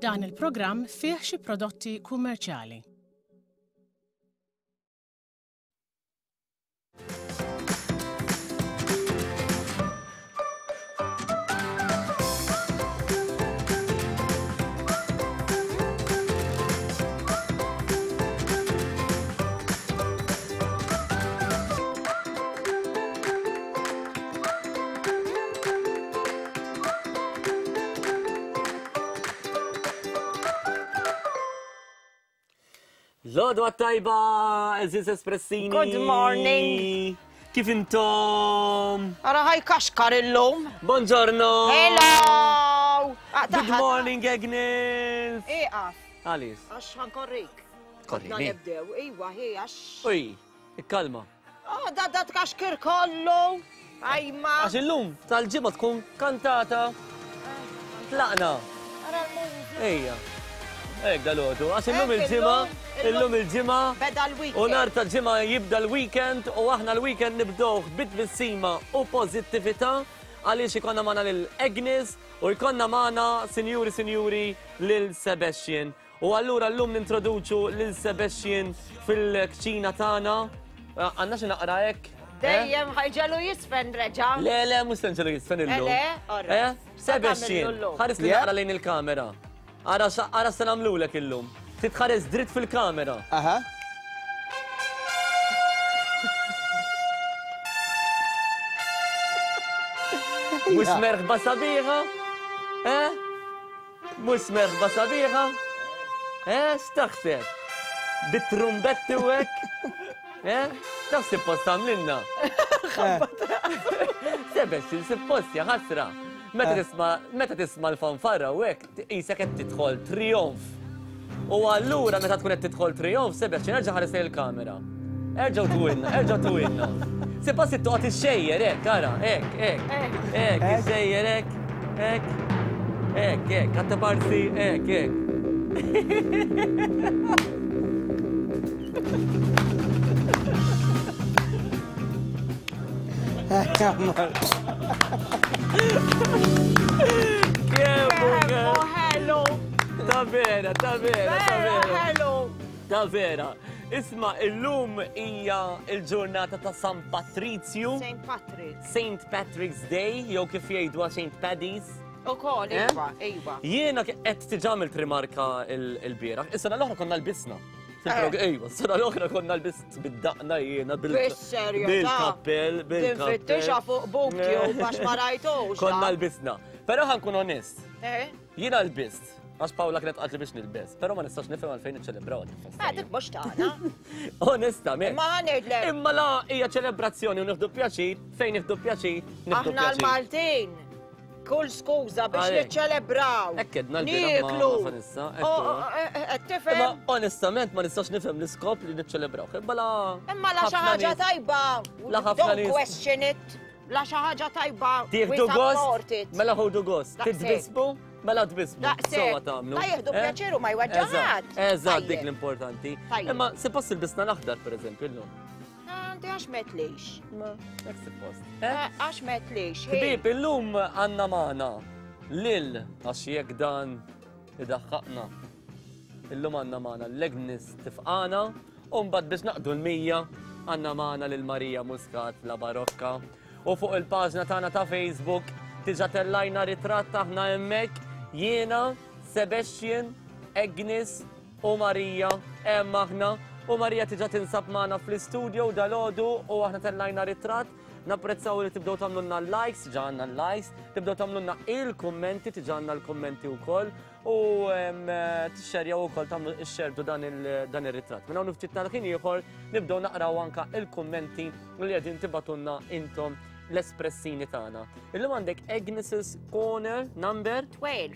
Dan il-programm fih xi prodotti kummerċjali. Lodwa tajba, eżiz espressini. Good morning. Kif intom? Ara ħaj kaxkar illum. Buongiorno. Hello. Good morning, Agnes. Iqaf. Għalis. Għax ħankorrik. Korrini. Nibdew, iwa, hi, għax. Uj, ikkalma. Oh, da da tkaxkir kollu. Ajma. Għax illum tal-ġimgħa tkun kantata. Tlaqna. Ara l-mużika. Ejja. Ek dal-għodu. Għax illum Hekk il-ġimgħa, illum, illum il-ġimgħa. Beda l-weekend. U nar ta' ġimgħa jibda l-weekend u aħna l-weekend nibdewh bit-tbissima u pożittività għaliex ikonna magħna lil Agnes u jkollna magħna, sinjuri sinjuri, lil Sebastian. U allura llum nintroduċu lil Sebastian fil-kċina tagħna. Għandna xi naqra hekk? Eh? Dejjem ħajġelu jisfen reġa. Le, le, mhux se nġelu jisfen illum. Le, le, eh? Sebastian, ħares li naqra lejn il-kamera. Ara ara se nagħmlulek illum. Titħares dritt fil-kamera. Aha. Mhux merħba sabiħa? Eh? Mhux merħba sabiħa? Eh, x'taħseb? Bit-trumbetti u hekk? Eh? Taf suppost għamlilna? Sebex, suppost ja ħasra. Meta eh. tisma' meta tisma' l-fanfarra u hekk qisek qed tidħol trijonf. U allura meta tkun qed tidħol trijonf, sebex, nerġa' ħares il-kamera. Erġgħu tuwilna, erġgħu tuwilna. Suppost toqgħod ixxejjer hekk, ara, hekk, hekk. Hekk, ixxejjer hekk, hekk. Hekk, hekk, għatta parti, hekk, hekk. Kemmu ħelu. Ta' vera, ta' vera, ta' vera. Ħelu. Ta' vera. Isma' illum hija l-ġurnata ta' San Patrizju. Saint Patrick. Saint Patrick's Day, jew kif jgħidwa Saint Paddy's. Ukoll, Eh? iva, iva. Jiena qed diġà għamilt rimarka l-bieraħ. Is-sena l-oħra konna lbisna. Eh. Ejwa, s-sena l-oħra konna lbist bid-daqna jiena bil- Bis-serjetà. bil-kappell, bil-kappell. Tinfittixha fuq BookTube għax ma rajtux. Konna lbisna. Però ħa nkun onest. Eh? Jiena lbist, għax Paola kienet qaltli biex nilbes, però ma nistax nifhem għalfejn niċċelebraw din il-festa. Ah, dik mhux tagħna. Onestament. Imma ħa ngħidlek. Imma la hija ċelebrazzjoni u nieħdu pjaċir, fejn nieħdu pjaċir, nieħdu Aħna pjaċir. l-Maltin, kull skuża biex Għalhekk. niċċelebraw. Hekk għedna l-bieraħ ma' Nieklu. ma' Vanessa, hekk Oh, huwa. oh, eh, eh, qed tifhem? Imma onestament ma nistax nifhem l-iskop li niċċelebraw. Imma la. Imma la xi ħafna ħaġa nies- tajba. La ħafna Don't nies- question it. La xi ħaġa tajba. we Tieħdu support gost, it. mela ħudu gost. Daqshekk. Titbisbu, mela tbisbu. Daqshekk. Sewwa tagħmlu. La jieħdu Eh? pjaċir u ma jweġġa' Eżatt, ħadd. Eżatt, dik Tajjeb. l-importanti. Tajjeb. Imma suppost ilbisna l-aħdar pereżempju llum. Għandi għax metlix. Ma, hekk suppost. Eh? Eh, Għax metlix. hi. Ħbieb, illum għandna magħna lil għax jekk dan idaħħaqna. Illum għandna magħna l-Agnes tifqana u mbagħad biex naqdu l-100 għandna magħna lil Marija Muscat la Barokka. U fuq il-paġna tagħna ta' Facebook diġà tellajna ritratt aħna hemmhekk jiena, Sebastian, Agnes u Marija hemm aħna. U Marija diġà tinsab magħna fl-istudio dalgħodu u aħna tellajna ritratt. Napprezzaw li tibdew tagħmlulna likes, diġà għandna likes, tibdew tagħmlulna il-kummenti, diġà għandna l-kummenti wkoll u tixxerjaw ukoll tagħmlu xxerdu dan ir-ritratt. Minn hawn ftit tal-ħin ieħor nibdew naqraw anka il-kummenti li qegħdin tibatunna intom l-espressini tagħna. Illum għandek Agnes's Corner number 12.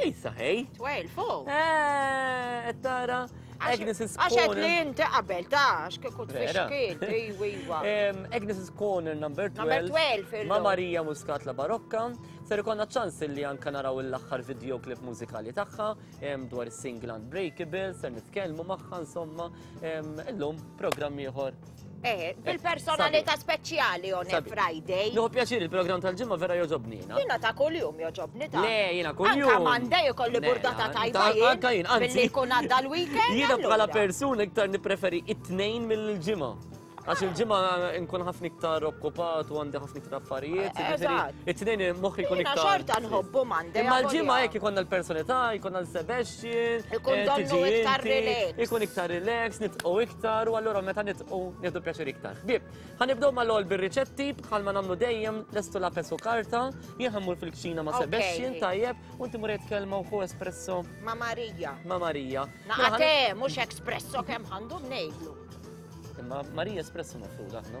Isa ħej. 12, oh. Eh, tara. Agnes's Għax qed Corner. li inti qabel ta' għax kieku Vera. tfixkil, iwa iwa. Agnes's Corner number 12. Number 12 illum. Ma' Marija Muscat la Barokka. Ser ikonna ċans li anka naraw l-aħħar videoclip mużikali tagħha dwar is-single Unbreakable, ser nitkellmu magħha insomma. Illum programm ieħor. Eh, bil-personalità speċjali on a Friday. Nieħu pjaċir il-programm tal-ġimgħa vera jogħġobni jiena. Jiena ta' kuljum jogħġobni ta'. Le, jiena kuljum. Anka Monday ikolli burdata tajba jien. Anka jien, anzi. Billi jkun għadda l-weekend. Jiena bħala persuna iktar nippreferi it-tnejn mill-ġimgħa. Għax il-ġimgħa nkun ħafna iktar okkupat u għandi ħafna iktar affarijiet. Eżatt. It-tnejn moħħi jkun Jiena iktar. xorta nħobbu Monday. Imma l-ġimgħa avolja. jekk ikollna l-personalità, jkollna l-Sebastian, Ikun eh, donnu tiġi iktar inti, relax. Ikun iktar relax, nitqgħu iktar u allura meta nitqgħu nieħdu pjaċir iktar. Ħbieb, ħa nibdew mal-ewwel bir-riċetti bħalma nagħmlu dejjem lestu lapes u karta, jien ħa mmur fil-kċina ma' Ok. Sebastian tajjeb u inti mur kelma u ħu espresso Ma' Marija. ma' Marija. Mela, Naqa ħa te, mhux espresso kemm għandu ngħidlu. Imma Marija espresso mafruda, no?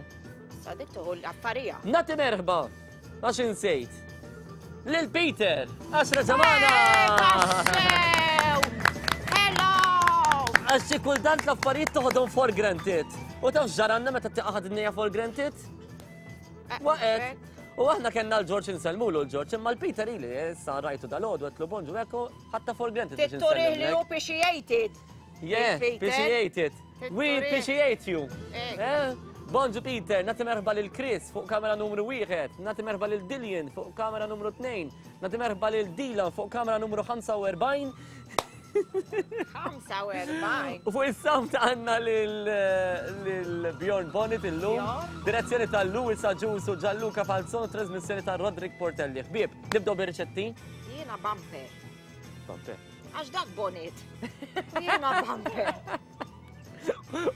Sa dik tuħu l-affarija. Nati merħba, għax insejt. Lil Peter, għax reġamana! Tassew! Hello! Għax xi kultant l-affarijiet toħodhom for granted. U taf ġaranna meta tiqaħad id-dinja for granted? Eh, Waqet. U aħna kellna l-Ġorġ insellmulu l-Ġorġ, imma l-Peter ili, issa rajtu dal-għodu għetlu bonġu ekku, ħatta for granted. biex Titturih li hu insellmlek. appreciated. Yeah, Peter. appreciate it. We Titturih. appreciate you. Ek. Eh? Bonġu Peter, nati merħba lil Chris fuq kamera numru 1, nati merħba lil Dillian fuq kamera numru 2, nati merħba lil Dylan fuq kamera numru 45 45. u fuq is-sound għandna lil lil Bjorn Bonnet illum, Bjorn. direzzjoni ta' Louis Agius u Gianluca Falzon, trasmissjoni ta' Roderick Portelli. Ħbieb, nibdew bir-riċetti? Jiena bampe. Bampe. Għax dak bonnet. Jiena bampe.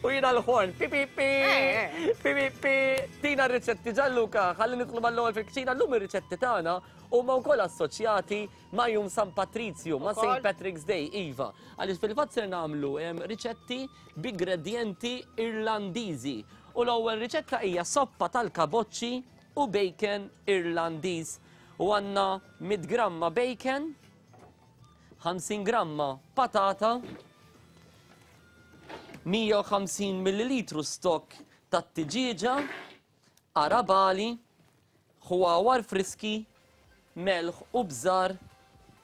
U jina l-ħorn, pi pi pi, Eh, pi pi pi, tina r-riċetti Gianluca, ħalli nidħlu mal-ewwel fil-kċina, llum ir-riċetti tagħna huma wkoll assoċjati ma' Jum San Patrizju, ma' Ukoll? St. Patrick's Day, iva. Għaliex fil-fatt ser nagħmlu em, riċetti b'ingredjenti Irlandiżi. U l-ewwel riċetta hija soppa tal-kaboċċi u bacon Irlandiż. U għandna 100 gramma bacon, 50 gramma patata, 150 millilitru stokk tat-tiġieġa, arabali, ħwawar friski, melħ u bżar,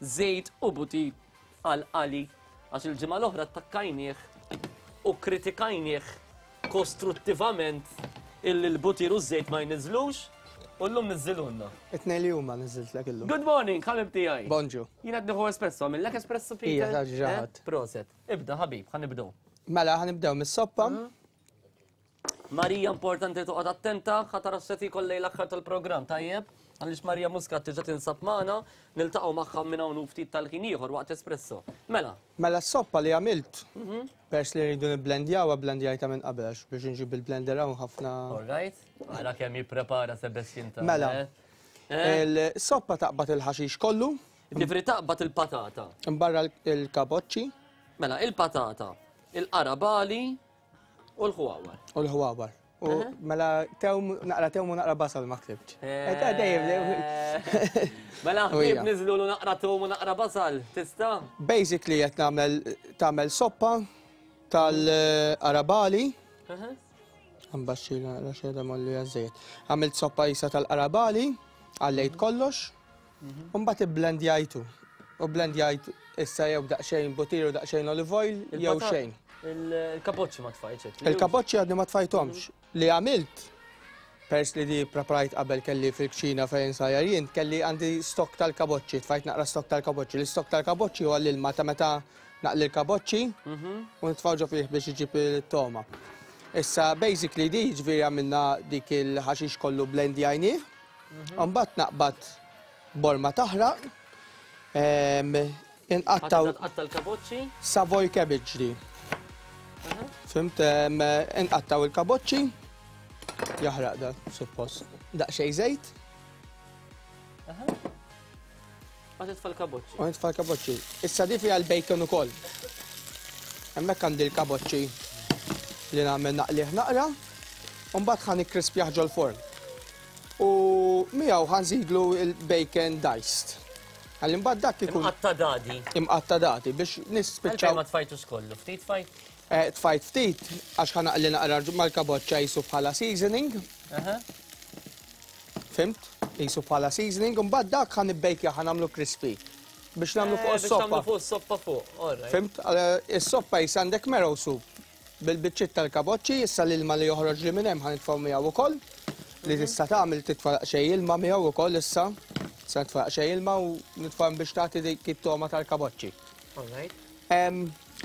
żejt u butir għal qali għax il-ġimgħa l-oħra attakkajnieh u kritikajnieh kostruttivament illi l-butir u ż-żejt ma jniżlux u llum niżżilulna. It-tnejn li huma niżiltlek illum. Good morning, ħabib tiegħi. Bonġu. Jien qed nieħu espresso, għamillek espresso Peter? Ija, ta' ġaħat. Eh? Proset. Ibda ħabib, ħa nibdew. Mela, ħanibdew mis-soppa. Marija importanti toqgħod attenta ħa tara x'se tiekol lejl l-aħħar tal-programm, tajjeb? Għaliex Marija Muscat diġà tinsab magħna, niltaqgħu magħha minn hawn u ftit tal-ħin ieħor waqt espresso. Mela, Mela s-soppa li għamilt, pers li rridu nibblendjawha, bblendjajtha minn qabel għax biex nġib il-blender hawn ħafna. all right? Ara kemm jipprepara Sebastian tagħna. Mela. eh? Eh? Il-soppa taqbad il-ħaxix kollu, Ġifieri taqbad il-patata. imbarra l-kaboċċi Mela, il-patata, il-qarabali u l-ħwawar. u l-ħwawar. U mela tewm, naqra tewm u naqra basal ma ktibx. Eh, ta' dejjem, dejjem. Mela, U hija. ħbieb niżlu naqra tewm u naqra basal, tista'? Basically qed nagħmel tagħmel soppa tal-qarabali. Għambaxxi naqra xejda molli għażejjed. Għamilt soppa jisa tal-qarabali, għallejt kollox, u mbagħad ibblendjajtu. U blendjajt issa jew daqsxejn butir u daqsxejn olive oil jew Il-patat- xejn. Il-kapoċċi ma tfajtx. Il-kapoċċi għadni ma tfajthomx. Li għamilt, pers li di preparajt qabel kelli fil-kċina fejn sajjar jien, kelli għandi stok tal-kaboċċi, tfajt naqra stok tal-kaboċċi. L-istok tal-kaboċċi huwa l-ilma ta' meta naqli l-kaboċċi u nitfgħu ġo fih biex iġib il-toma. Issa basically di ġifieri għamilna dik il-ħaxix kollu blendjajnieh, u mbagħad naqbad borma taħraq, inqattaw Tqatta' l-kaboċċi. Savoy cabbage di. Fimt, inqattaw il-kaboċċi, jaħraq da, suppost. Daqsxejn żejt, Ma titfa' l-kaboċċi. u nitfa' l-kaboċċi. Issa di fiha l-bacon ukoll. Hemmhekk għandi l-kaboċċi li nagħmel naqlih naqra, u mbagħad ħa nikkrispjah ġol-forn. U miegħu ħa nżidlu l-bacon diced. Ħalli mbagħad dak ikun Imqatta' dadi. imqatta' dadi biex Għalfejn nispiċċaw. ma tfajtux kollu, ftit tfajt? Eh, tfajt ftit għax ħa naqli naqra mal-kaboċċa jisu bħala seasoning. Fimt? Jisu bħala seasoning, u mbagħad dak ħa nibbejkja ħa nagħmlu crispy. Biex nagħmlu fuq Eh, Biex nagħmlu is-soppa. fuq is-soppa fuq, all right. Fimt? Is-soppa jis għandek marrow soup. Bil-biċċiet tal-kaboċċi, issa l-ilma li joħroġ li minn hemm ħa nitfgħu miegħu ukoll. Li tista' tagħmel titfa' daqsxejn ilma miegħu ukoll issa. Tista' titfa' daqsxejn ilma u nitfa' biex tagħti dik it-togħma tal-kaboċċi.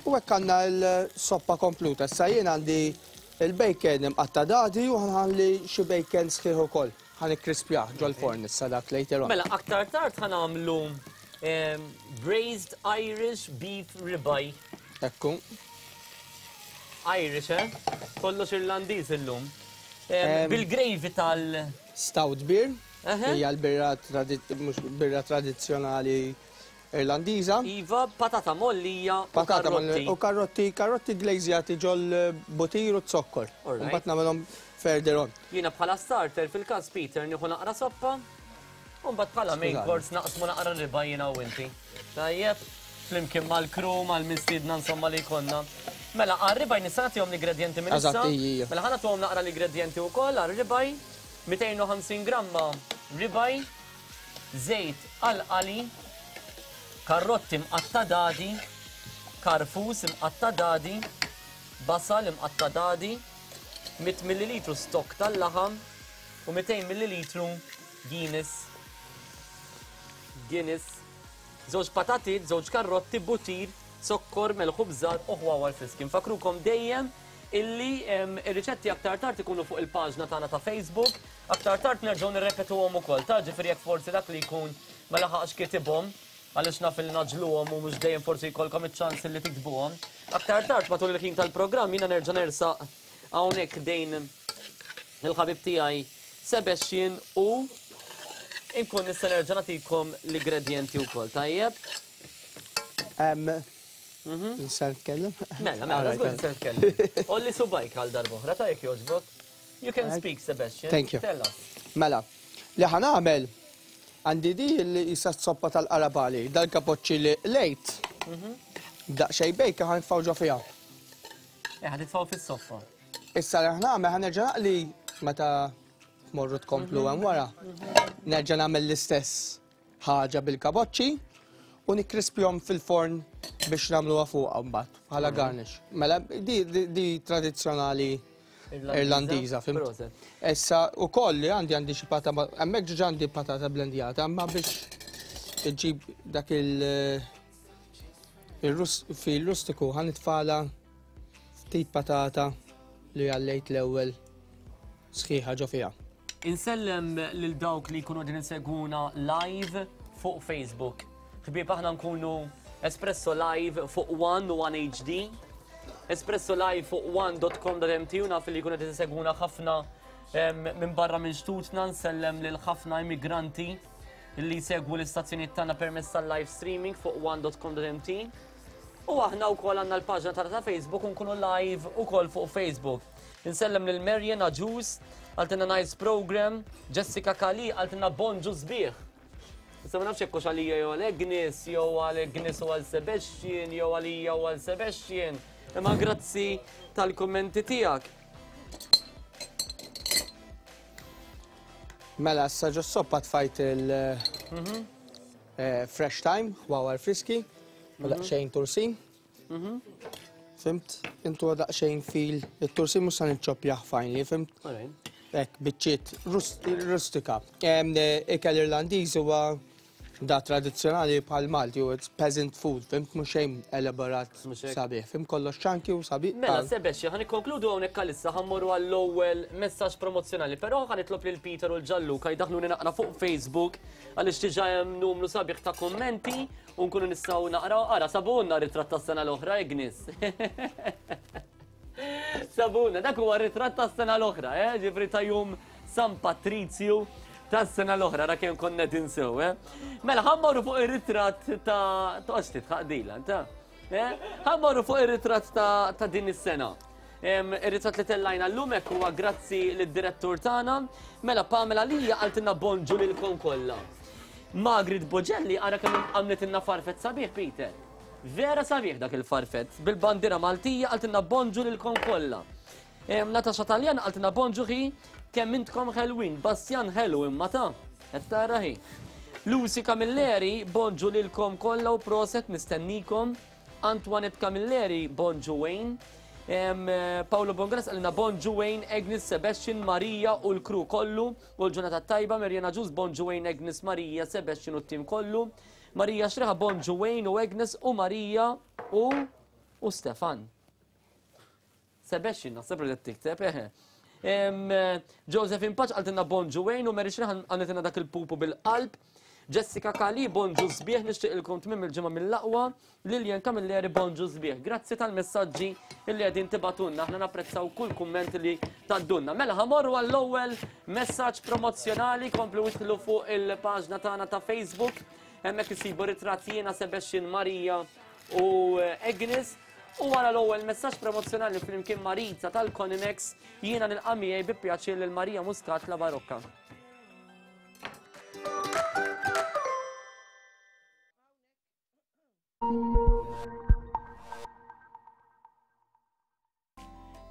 U hekk għandna l-soppa kompluta. Issa jien għandi il-bacon imqatta' dadi u ħanħalli xi bacon sħiħ ukoll. Ħa nikkrispjah ġol-forn issa dak later on. Mela aktar tard ħa nagħmlu braised Irish beef ribeye. Ekku. Irish, eh? Kollox Irlandiż illum. Bil-gravy tal- Stout beer. Hija l-birra birra tradizzjonali Irlandiża. Iva, patata mgħollija u karrotti. U karrotti, karrotti glazjati ġol butir u zokkor. Mbagħad nagħmelhom further on. Jiena bħala starter fil-każ Peter nieħu naqra soppa. U mbagħad bħala main course naqsmu naqra riba jiena u inti. Tajjeb, flimkien mal-crew, mal-mistiedna insomma li jkollna. Mela, għar-ribaj nista' nagħtihom l-ingredjenti minn issa. Mela ħa nagħtuhom naqra l-ingredjenti wkoll għar-ribaj. 250 gramma ribaj, żejt għall-qali, karrotti mqatta' dadi, karfus imqatta' dadi, basal imqatta' dadi, 100 millilitru stokk tal-laħam u 200 millilitru Guinness. Guinness. Żewġ patatiet, żewġ karrotti, butir, zokkor, melħ u bżar u ħwawar friski. Nfakkrukom dejjem illi ir-riċetti aktar tard ikunu fuq il-paġna tagħna ta' Facebook. Aktar tard nerġgħu nirrepetuhom ukoll, ta' ġifieri jekk forsi dak li jkun ma laħaqx kitibhom, għaliex naf li ngħaġġluhom u mhux dejjem forsi jkollkom iċ-ċans li tiktbuhom. Aktar tard matul il-ħin tal-programm jiena nerġa' nersaq hawnhekk ħdejn il-ħabib tiegħi Sebastian u nkun nista' nerġa' nagħtikom l-ingredjenti wkoll, tajjeb? Nista' nitkellem? Mela, mela, żgur nista' nitkellem. Għolli subgħajk għal darb'oħra, ta' jekk jogħġbok. You can speak, Sebastian. Thank you. Tell us. Mela, li ħa nagħmel għandi di li jisa soppa tal-qarabali, dal-kapoċċi li lejt. Daqsxejn bejka ħa nitfgħu ġo fiha. Eh, ħa nitfgħu fis-soppa. Issa li ħa nagħmel ħa nerġa' naqli meta tmorru tkomplu hemm wara. Nerġa' nagħmel l-istess ħaġa bil-kaboċċi u nikkrispjhom fil-forn biex nagħmluha fuqha mbagħad bħala garnish. Mela di, di, di tradizzjonali Irlandiża, fhimt? Proset. Issa ukoll li għandi għandi xi patata, hemmhekk ġiġa għandi patata blendjata, imma biex iġġib dak il fil-rustiku ħa nitfala ftit patata li għallejt l-ewwel sħiħa ġo fiha. Insellem lil dawk li jkunu qegħdin isegwuna live fuq Facebook. Ħbieb aħna nkunu Espresso Live fuq One u One HD. Espresso Live fuq one.com.mt u naf li jkunu qegħdin isegwuna ħafna minn barra minn xtutna nsellem lil ħafna immigranti li jsegwu l-istazzjonijiet tagħna permezz tal-live streaming fuq one.com.mt. U aħna wkoll għandna l-paġna tagħna ta' Facebook u nkunu live ukoll fuq Facebook. Insellem lil Marian Agius, qaltilna nice program, Jessica Kali qaltilna bonġu sbieħ. Issa ma nafx jekk hux għalija jew għal Agnes, jew għal Agnes u għal Sebastian, jew għalija u għal Sebastian. Imma grazzi tal-kummenti tiegħek. Mela, issa ġo soppa tfajt il- fresh thyme, ħwawar friski, u daqsxejn tursin. Fhimt? Intu daqsxejn fil it-tursin mhux se niċċoppjah finely, fhimt? Hekk biċċiet rustika. Ikel Irlandiż huwa da tradizzjonali bħal Malti u it's peasant food, fhimt mhux xejn elaborat sabiħ, fhimt kollox ċanki u sabiħ. Mela, Sebastian, ħa nikkonkludu hawnhekk għalissa ħa mmorru għall-ewwel messaġġ promozzjonali, però ħa nitlob lil Peter u l-Gianluca jdaħħluni naqra fuq Facebook għaliex diġà hemm numru sabiħ ta' kummenti u nkunu nistgħu naqraw. Ara, sabunna ritratt tas-sena l-oħra, Ignis. Sabuna, dak huwa ritratt tas-sena l-oħra, eh? Ġifri ta' jum San Patrizju tas-sena l-oħra, ra kemm konna tinsew, eh? Mela, ħammorru fuq ir-ritratt ta' toqgħodx titħaq dila, ta' eh? Ħammorru fuq ir-ritratt ta' din is-sena. Ir-ritratt li tellajna llum hekk huwa grazzi lid-direttur tagħna. Mela Pamela Lija qaltilna bonġu lilkom kollha. Margaret Bogelli ara kemm għamlitilna farfett sabiħ Peter. Vera sabiħ dak il-farfett. Bil-bandiera Maltija qaltilna bonġu lilkom kollha. Natasha Taljan qaltilna bonġu ħi kemm intkom ħelwin. Bastian ħelu imma ta' qed tara ħi. Lucy Camilleri bonġu lilkom kollha u proset nistennikom. Antoinette Camilleri bonġu Wayne. Paolo Bongras qalilna bonġu Wayne, Agnes, Sebastian, Marija u l-kru kollu u l-ġurnata tajba, Mirjana Ġus, bonġu Wayne, Agnes, Marija, Sebastian u t-tim kollu. Marija Xreħa, bonġu Wayne u Agnes u Marija u u Stefan. Sebastian, naħseb li tikteb, eħe. Joseph Impaċ qaltilna bonġu Wayne u Mary Xreħa għamlitilna dak il-pupu bil-qalb. Jessica Kali, bonġu sbieħ, nixtieqilkom tmiem il-ġimgħa mill-aqwa. Lilian Camilleri, bonġu sbieħ. Grazzi tal-messaġġi illi qegħdin tibgħatulna, aħna napprezzaw kull kumment li tgħaddulna. Mela ħamorru għall-ewwel messaġġ promozzjonali, komplu idħlu fuq il-paġna tagħna ta' Facebook, hemmhekk isibu ritratt jiena Sebastian Maria u Agnes. U wara l-ewwel messaġġ promozzjonali flimkien ma' Rita tal-Conimex, jiena nilqa' miegħi bi pjaċir lil Maria Muscat La Barocca.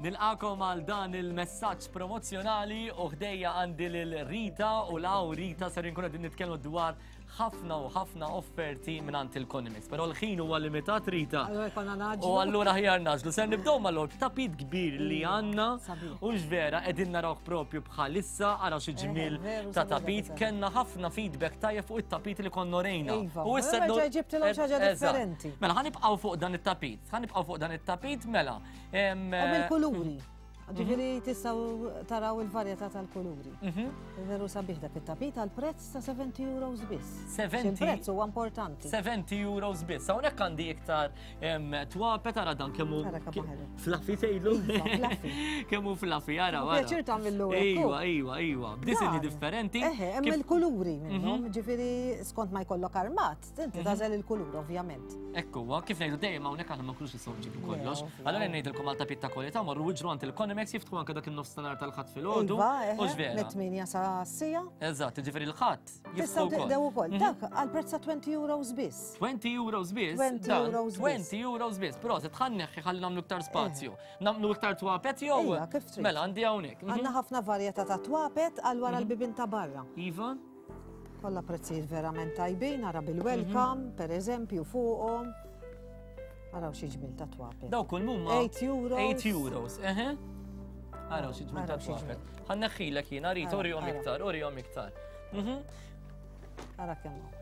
Nilqakom għal dan il-messaġġ promozzjonali u ħdejja għandi lil Rita u law Rita ser inkunu qegħdin nitkellmu dwar ħafna u ħafna offerti mingħand il-Conimix. Però l-ħin huwa limitat Rita. Allura jkollna naġlu. U allura ħjar naġlu. Ser nibdew mal-logħob tapit kbir li għandna u vera qegħdin narawh propju bħalissa ara xi ġmiel ta' tapit. Kellna ħafna feedback tajjeb fuq it-tapit li konna rejna. Iva, u issa ġibtilhom xi ħaġa differenti. Mela ħanibqgħu fuq dan it-tapit. Ħanibqgħu fuq dan it-tapit mela. Hemm il-kuluri. Ġifieri tistgħu taraw il-varjetà tal-kuluri. Mhm. Veru sabiħ dak it-tapit għal prezz ta' 70 euros biss. 70 Il-prezz huwa importanti. 70 euros biss. Hawnhekk għandi iktar twape tara dan kemm hu fluffy tgħidlu. Iva, kemm hu fluffy ara. Pjaċir tagħmillu Iva, iva, iva. B'disinji differenti. Eħe, hemm il-kuluri minnhom, mhm. ġifieri skont ma jkollok armat. Inti mhm. tagħżel il-kulur ovvjament. Ekku, kif ngħidu dejjem hawnhekk aħna ma nkunux nistgħu nġibu kollox. Allura ngħidilkom għal tapit ta' kwalità morru iġru għand il-Conimex jiftħu anke dak in-nofstanhar tal-ħadd filgħodu. Iva, mit-8 sa sija. Eżatt, ġifieri l-ħadd jiftħu wkoll. ukoll. Mhm. Dak għal prezz ta' 20 euros biss. 20 euros biss. 20 euros biss. 20 euros biss. Però se tħanneħħi ħalli nagħmlu iktar spazju. Nagħmlu iktar twapet jew? Mela għandi hawnhekk. Mhm. Għandna ħafna varjetà ta' twapet għal wara l-bibien ta' barra. Iva. Kollha prezzijiet verament tajbin, ara bil-welcome, mhm. per eżempju, fuqhom. Araw xi ġmil ta' twapet. Daw kull mumma. 8 euros. 8 euros, eħe. Araw xi ġmil ta' twapet. Ħanneħħilek jiena, rrit, urihom iktar, urihom iktar. Mhm. Ara kemm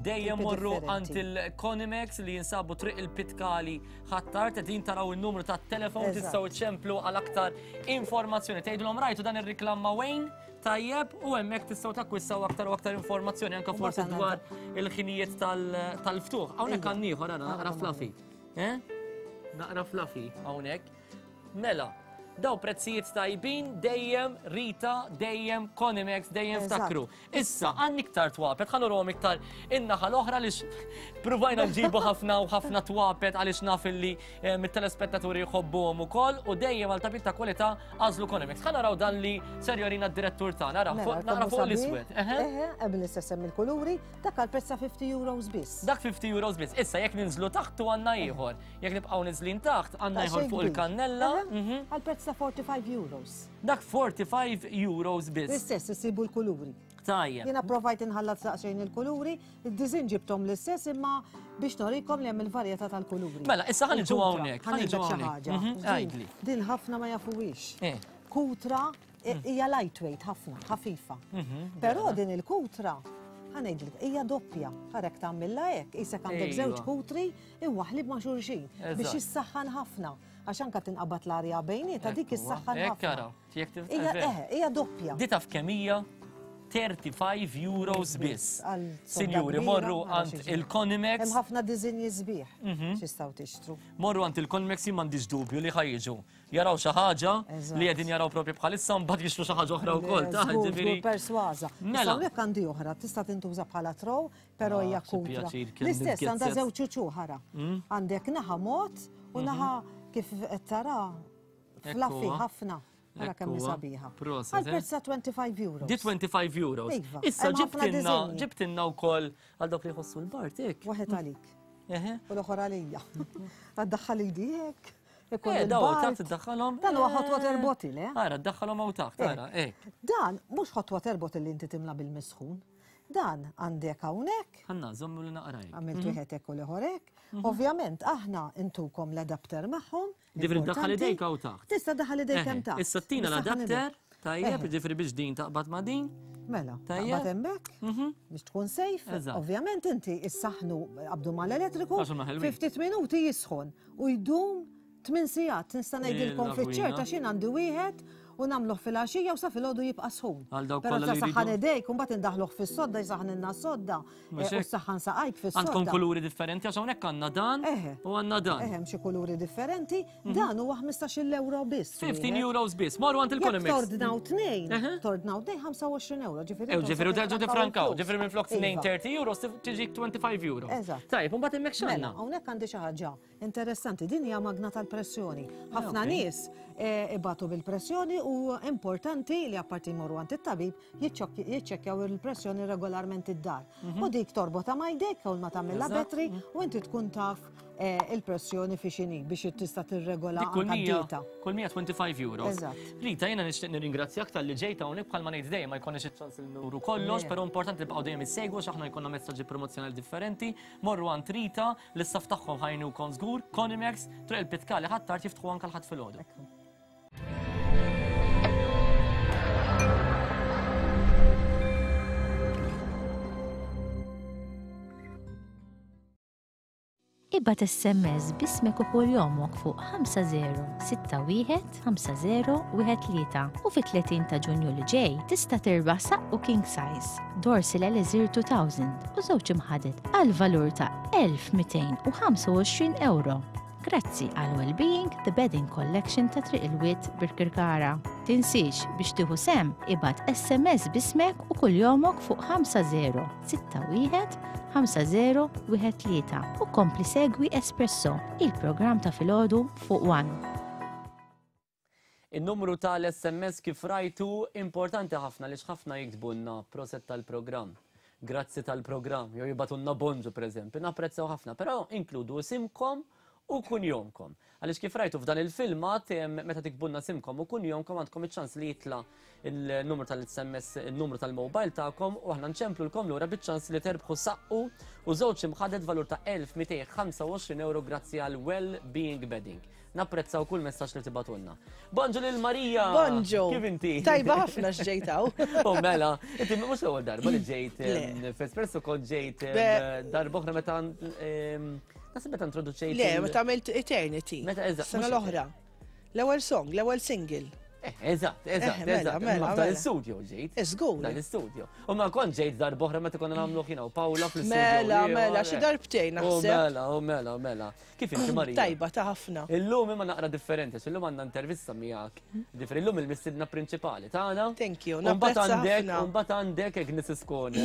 Dejjem morru għand il-Conimex li jinsabu triq il-Pitkali ħattar, qegħdin taraw il-numru tat-telefon tistgħu ċemplu għal aktar informazzjoni. Tgħidulhom rajtu dan ir-riklam ma' Wayne? Tajjeb, u hemmhekk tistgħu takkwissaw aktar u aktar informazzjoni anke forsi dwar il-ħinijiet tal-ftuħ. Hawnhekk għandna ieħor ara naqra fluffy. Eh? Naqra fluffy hawnhekk. Mela, daw prezzijiet tajbin dejjem Rita, dejjem Conimex, dejjem ftakru. Issa, għandni iktar twapet, ħa nurhom iktar in-naħa l-oħra għaliex pruvajna nġibu ħafna u ħafna twapet għaliex naf illi eh, mit-telespettaturi jħobbuhom ukoll u dejjem għal tapit ta' kwalità għażlu Conimex. Ħa naraw dan li ser jorina d-direttur tagħna, nara mela, nara fuq l-iswed. Eħe, hemm l-istess hemm il-kuluri, dak għal prezz ta' 50 euros biss. Dak 50 euros biss. Issa jekk ninżlu taħt u għandna ieħor. Jekk nibqgħu niżlin taħt għandna ieħor fuq il-kannella. Mhm. Għal prezz ta' 45 euros. Dak 45 euros biss. L-istess isibu l-kuluri. Tajjeb. Jiena provajt inħallat daqsxejn il-kuluri, id-diżin ġibthom l-istess imma biex norikom li hemm il-varjetà tal-kuluri. Mela, issa ħa niġu hawnhekk, ħa niġu xi ħaġa. Mhm, għidli. Din ħafna ma jafuhiex. Eh. Kutra eh, hija lightweight ħafna, ħafifa. Mhm, Però din il-kutra ħa ngħidlek, hija doppja. Ħarek tagħmilha hekk, isek għandek Ejwa. żewġ kutri imwaħħlin ma' xulxin biex Eżatt. jissaħħan ħafna. Għax anka tinqabad l-arja bejnietha dik issaħħan Hekk ħafna. ara, jekk tif- Hija vera. eh, hija doppja. Di taf kemm hija 35 euros biss. Għal sodda Sinjuri, kbira, morru ara għand xi ġmiel. il-Conimex. Hemm ħafna diżinji sbieħ x'jistgħu tixtru. Morru għand il-Conimex jien m'għandix dubju li ħa jiġu. Jaraw xi ħaġa Eżatt. li qegħdin jaraw propju bħalissa mbagħad jixtru xi ħaġa oħra wkoll. Ta' Żgur, ġifieri. żgur persważa. Mela. Issa hawnhekk għandi oħra, tista' tintuża bħala trow, Però hija Ah, xi kutra. pjaċir kemm L-istess għandha nitgezzez. żewġ uċuħ ara. Mm. Għandek naħa mod u naħa kif qed tara fluffy Ekku, ħafna. Ara kemm hi Ekku, sabiħa. Proset, Għal eh? prezz ta' 25 euros. Di 25 euros. Iva, Issa hemm ħafna ġibtinna, diżinji. ġibtinna wkoll għal dawk li jħossu l-bart, hekk. Waħed għalik Eħe. u l-oħra għalija. Għaddaħħal idi hekk. Ikun Eh, daw il-bart. taħt iddaħħalhom. Dan huwa hot eh, water bottle, eh? Ara, ddaħħalhom hawn taħt, ara, hekk. Dan mhux hot water bottle li inti timla bil-misħun. Dan għandek hawnhekk. Ħanna, żommu li naqraj. Għamilt wieħed hekk u l-ieħor hekk. Ovvjament aħna intukom l-adapter magħhom. Ġifieri ddaħħal idejk hawn taħt. Tista' ddaħħal idejk hemm taħt. Issa tina l-adapter, tajjeb, ġifieri biex din taqbad ma' din. Mela, taqbad hemmhekk biex tkun safe. Ovvjament inti issaħħnu qabdu mal-elettriku, fi ftit minuti jisħon u jdum 8 sigħat nista' ngħidilkom fiċ-ċert għax jien għandi wieħed u nagħmluh filgħaxija u sa filgħodu jibqa' sħun. Għal dawk Però kollha ta' li saħħan jridu. idejk u mbagħad indaħħluh fis-sodda jsaħħnilna s-sodda Mhux eh, u hekk? ssaħħan saqajk fis-sodda. Għandkom kuluri differenti għax hawnhekk għandna dan Eħe. u għandna dan. Eħe, hemm xi kuluri differenti, dan huwa 15-il euro biss. 15 wieħed. euros biss. Morru għand Jekk il-Economics. tordnaw tnejn, Eħe. tordnaw tnejn 25 euro, ġifieri. Ew intom ġifieri u se terġgħu tifrankaw tifrankaw, il-flus. ġifieri minn flok Iva. 30 euros tiġik 25 euros. Eżatt. Tajjeb, u mbagħad hemmhekk Mela, x'għandna? hawnhekk għandi xi ħaġa Interessanti, din hija magna tal-pressjoni. Ħafna ok. nies eh, ibatu bil-pressjoni u importanti li apparti jmorru għand it-tabib jiċċekkjaw il-pressjoni regolarment id-dar. U dik torbota ma' jdejk u ma tagħmilha Eżatt. battery u inti tkun taf eh, il-pressjoni fi xini biex tista' tirregola Dik kull anka 100, d-dieta. kull 125 euros. Eżatt. Rita, jiena nixtieq nirringrazzjak talli ġejt hawnhekk bħalma ngħid dejjem ma jkollniex iċ-ċans li nuru kollox, Le. però importanti li bqgħu dejjem issegwu għax aħna jkollna messaġġi promozzjonali differenti. Morru għand Rita, l-istaff tagħhom ħa jgħinukom żgur, Conimex, Triq il-Pitkali Ħ'Attard jiftħu anke l-Ħadd filgħodu. Ibgħat SMS b'ismek u kuljomok fuq 5061 5013 u fit-30 ta' Ġunju li ġej tista' tirbaħ saqqu king size Dorsil Elixir 2000 u żewġ imħaded għal valur ta' 1225 ewro. Grazzi għal Wellbeing The Bedding Collection ta' Triq il-Wied Birkirkara. Tinsiex biex tieħu sehem ibgħat SMS b'ismek u kuljomok fuq 5061 5013 u kompli segwi Espresso, il-programm ta' filgħodu fuq One. In-numru tal-SMS kif rajtu importanti ħafna għaliex ħafna jiktbulna proset tal-programm, grazzi tal-programm, jew jibgħatulna bonġu pereżempju, napprezzaw ħafna, però inkludu isimkom u kunjomkom. Għaliex kif rajtu f'dan il-filmat, meta tiktbulna isimkom u kunjomkom għandkom iċ-ċans li jitla' il-numru tal-SMS, il-numru tal-mobile tagħkom u aħna nċemplulkom lura biċ-ċans li terbħu saqqu u żewġ imħaded valur ta' 1225 euro grazzi għal Well Being Bedding. Napprezzaw kull messaġġ li tibgħatulna. Bonġu lil Marija! Bonġu! Kif inti? Tajba ħafna x'ġejt hawn. U mela, inti mhux l-ewwel darba li ġejt f'Espresso kont ġejt darba oħra meta naħseb meta introduċejt. Le, meta għamilt Eternity. Meta eżatt. Sena l-oħra. L-ewwel song, l-ewwel single. Eh, eżatt, eżatt, eh, mela, eżatt. Mela, Dan mela. l-istudio ġejt. Żgur. Dan l-istudio. U ma kont ġejt darba oħra meta konna nagħmlu jiena u Paola fl-istudio. Mela, mela, xi darbtejn naħseb. Mela, u mela, u mela. Kif inti Marija? Tajba ta' ħafna. Illum imma naqra differenti, għax illum għandna intervista miegħek. Ġifieri illum il-mistiedna prinċipali tagħna. Thank you, U mbagħad napprezza għandek, ħafna. u mbagħad għandek Agnes Iskone.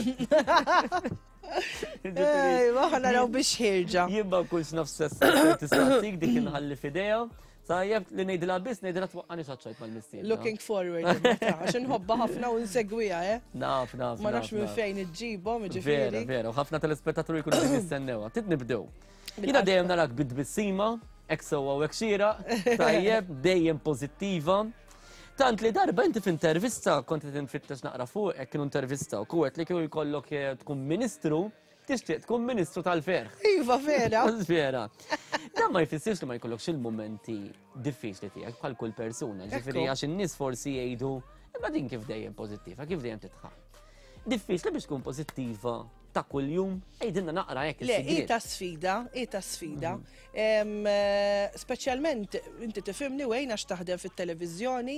Ejwa, ħa naraw biex ħirġa. Jien ma nkunx naf sess tistaqsik dik inħalli f'idejha. Tajjeb li ngħidilha biss ngħidilha twaqqani xaċċajt mal-mistiedna. Looking forward, imma għax inħobbha ħafna u nsegwiha, eh? Naf, naf. Ma nafx minn fejn iġġibhom, jiġifieri. Vera, vera, u ħafna telespettaturi jkunu qegħdin jistennewha. Trid nibdew. Jiena dejjem narak bit-tbissima, hekk sewwa u hekk xieraq, tajjeb, dejjem pożittiva. Tant li darba inti f'intervista kont qed infittex naqra fuqek kienu intervista u għedt li kieku jkollok eh, tkun ministru, Tixtieq tkun Ministru tal-Ferħ. Iva, vera. Vera. Dan ma jfissirx li ma jkollokx il-mumenti diffiċli tiegħek bħal kull persuna. Ġifieri għax in-nies forsi jgħidu imma din kif dejjem pożittiva, kif dejjem tidħaq. Diffiċli biex tkun pożittiva ta' kuljum, għidilna naqra hekk Le, hi ta' sfida, hi ta' sfida. Mhm. Eh, speċjalment inti tifhimni wejn għax taħdem fit-televiżjoni,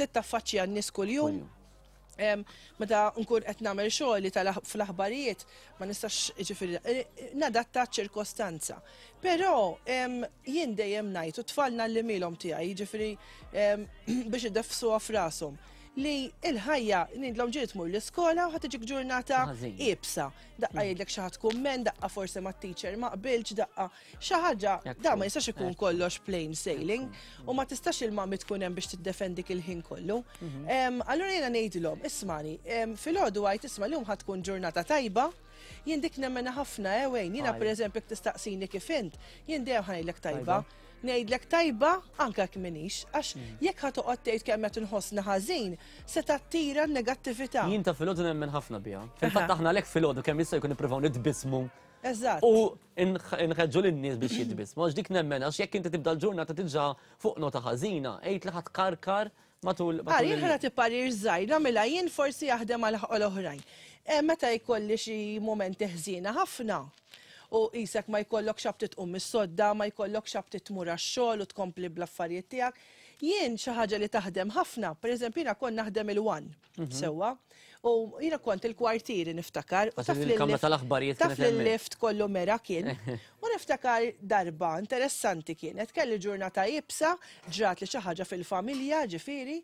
titaffaċċja n-nies kuljum. Meta nkun qed nagħmel xogħli fl-aħbarijiet ma nistax ġifieri eh, nadatta ċirkostanza. Però jien dejjem ngħid u tfal nallimilhom tiegħi jiġifieri biex ideffsuha f'rashom li il-ħajja ngħidlhom ġieli tmur l-iskola u ħa tiġik ġurnata iebsa. Daqqa jgħidlek xi ħadd kumment, daqqa forsi mat-teacher ma qbiltx, daqqa Xi ħaġa, da ma jistax ikun kollox plain sailing u ma tistax il-mami tkun hemm biex tiddefendik il-ħin kollu. Mhm. Allura jiena ngħidilhom, ismani, filgħodu għajt isma' llum ħadd tkun ġurnata tajba. Jien dik nemmena ħafna, eh, Wayne, jiena pereżempju jekk tistaqsini kif int, jien dejjem ħa ngħidlek tajba. Ngħidlek tajba anke jekk m'iniex, għax jekk ħa toqgħod tgħid kemm qed inħossni ħażin, se tattira n-negattività. Jien ta' filgħodu nemmen ħafna biha. Fil-fatt aħna għalhekk filgħodu kemm jista' jkun nippruvaw nitbissmu. Eżatt. U nħeġġu lin-nies biex jitbissmu, għax dik nemmen għax jekk inti tibda l-ġurnata diġà fuq nota ħażina, għid li ħa tkarkar matul. Ara, jien ħa nagħti parir żgħir, nagħmilha jien forsi jaħdem għal oħrajn. Meta jkolli xi mumenti ħżiena ħafna, u qisek ma jkollokx aptit tqum mis-sodda, ma jkollokx aptit tmur għax-xogħol u tkompli bl-affarijiet tiegħek, jien xi ħaġa li taħdem ħafna, pereżempju jiena kont naħdem il-One, sewwa, u jiena kont il-kwartieri niftakar, u taf li l-kamra tal-aħbarijiet taf li l-lift kollu mera kien. U niftakar darba interessanti kienet, kelli ġurnata iebsa, ġrat li xi ħaġa fil-familja, ġifieri,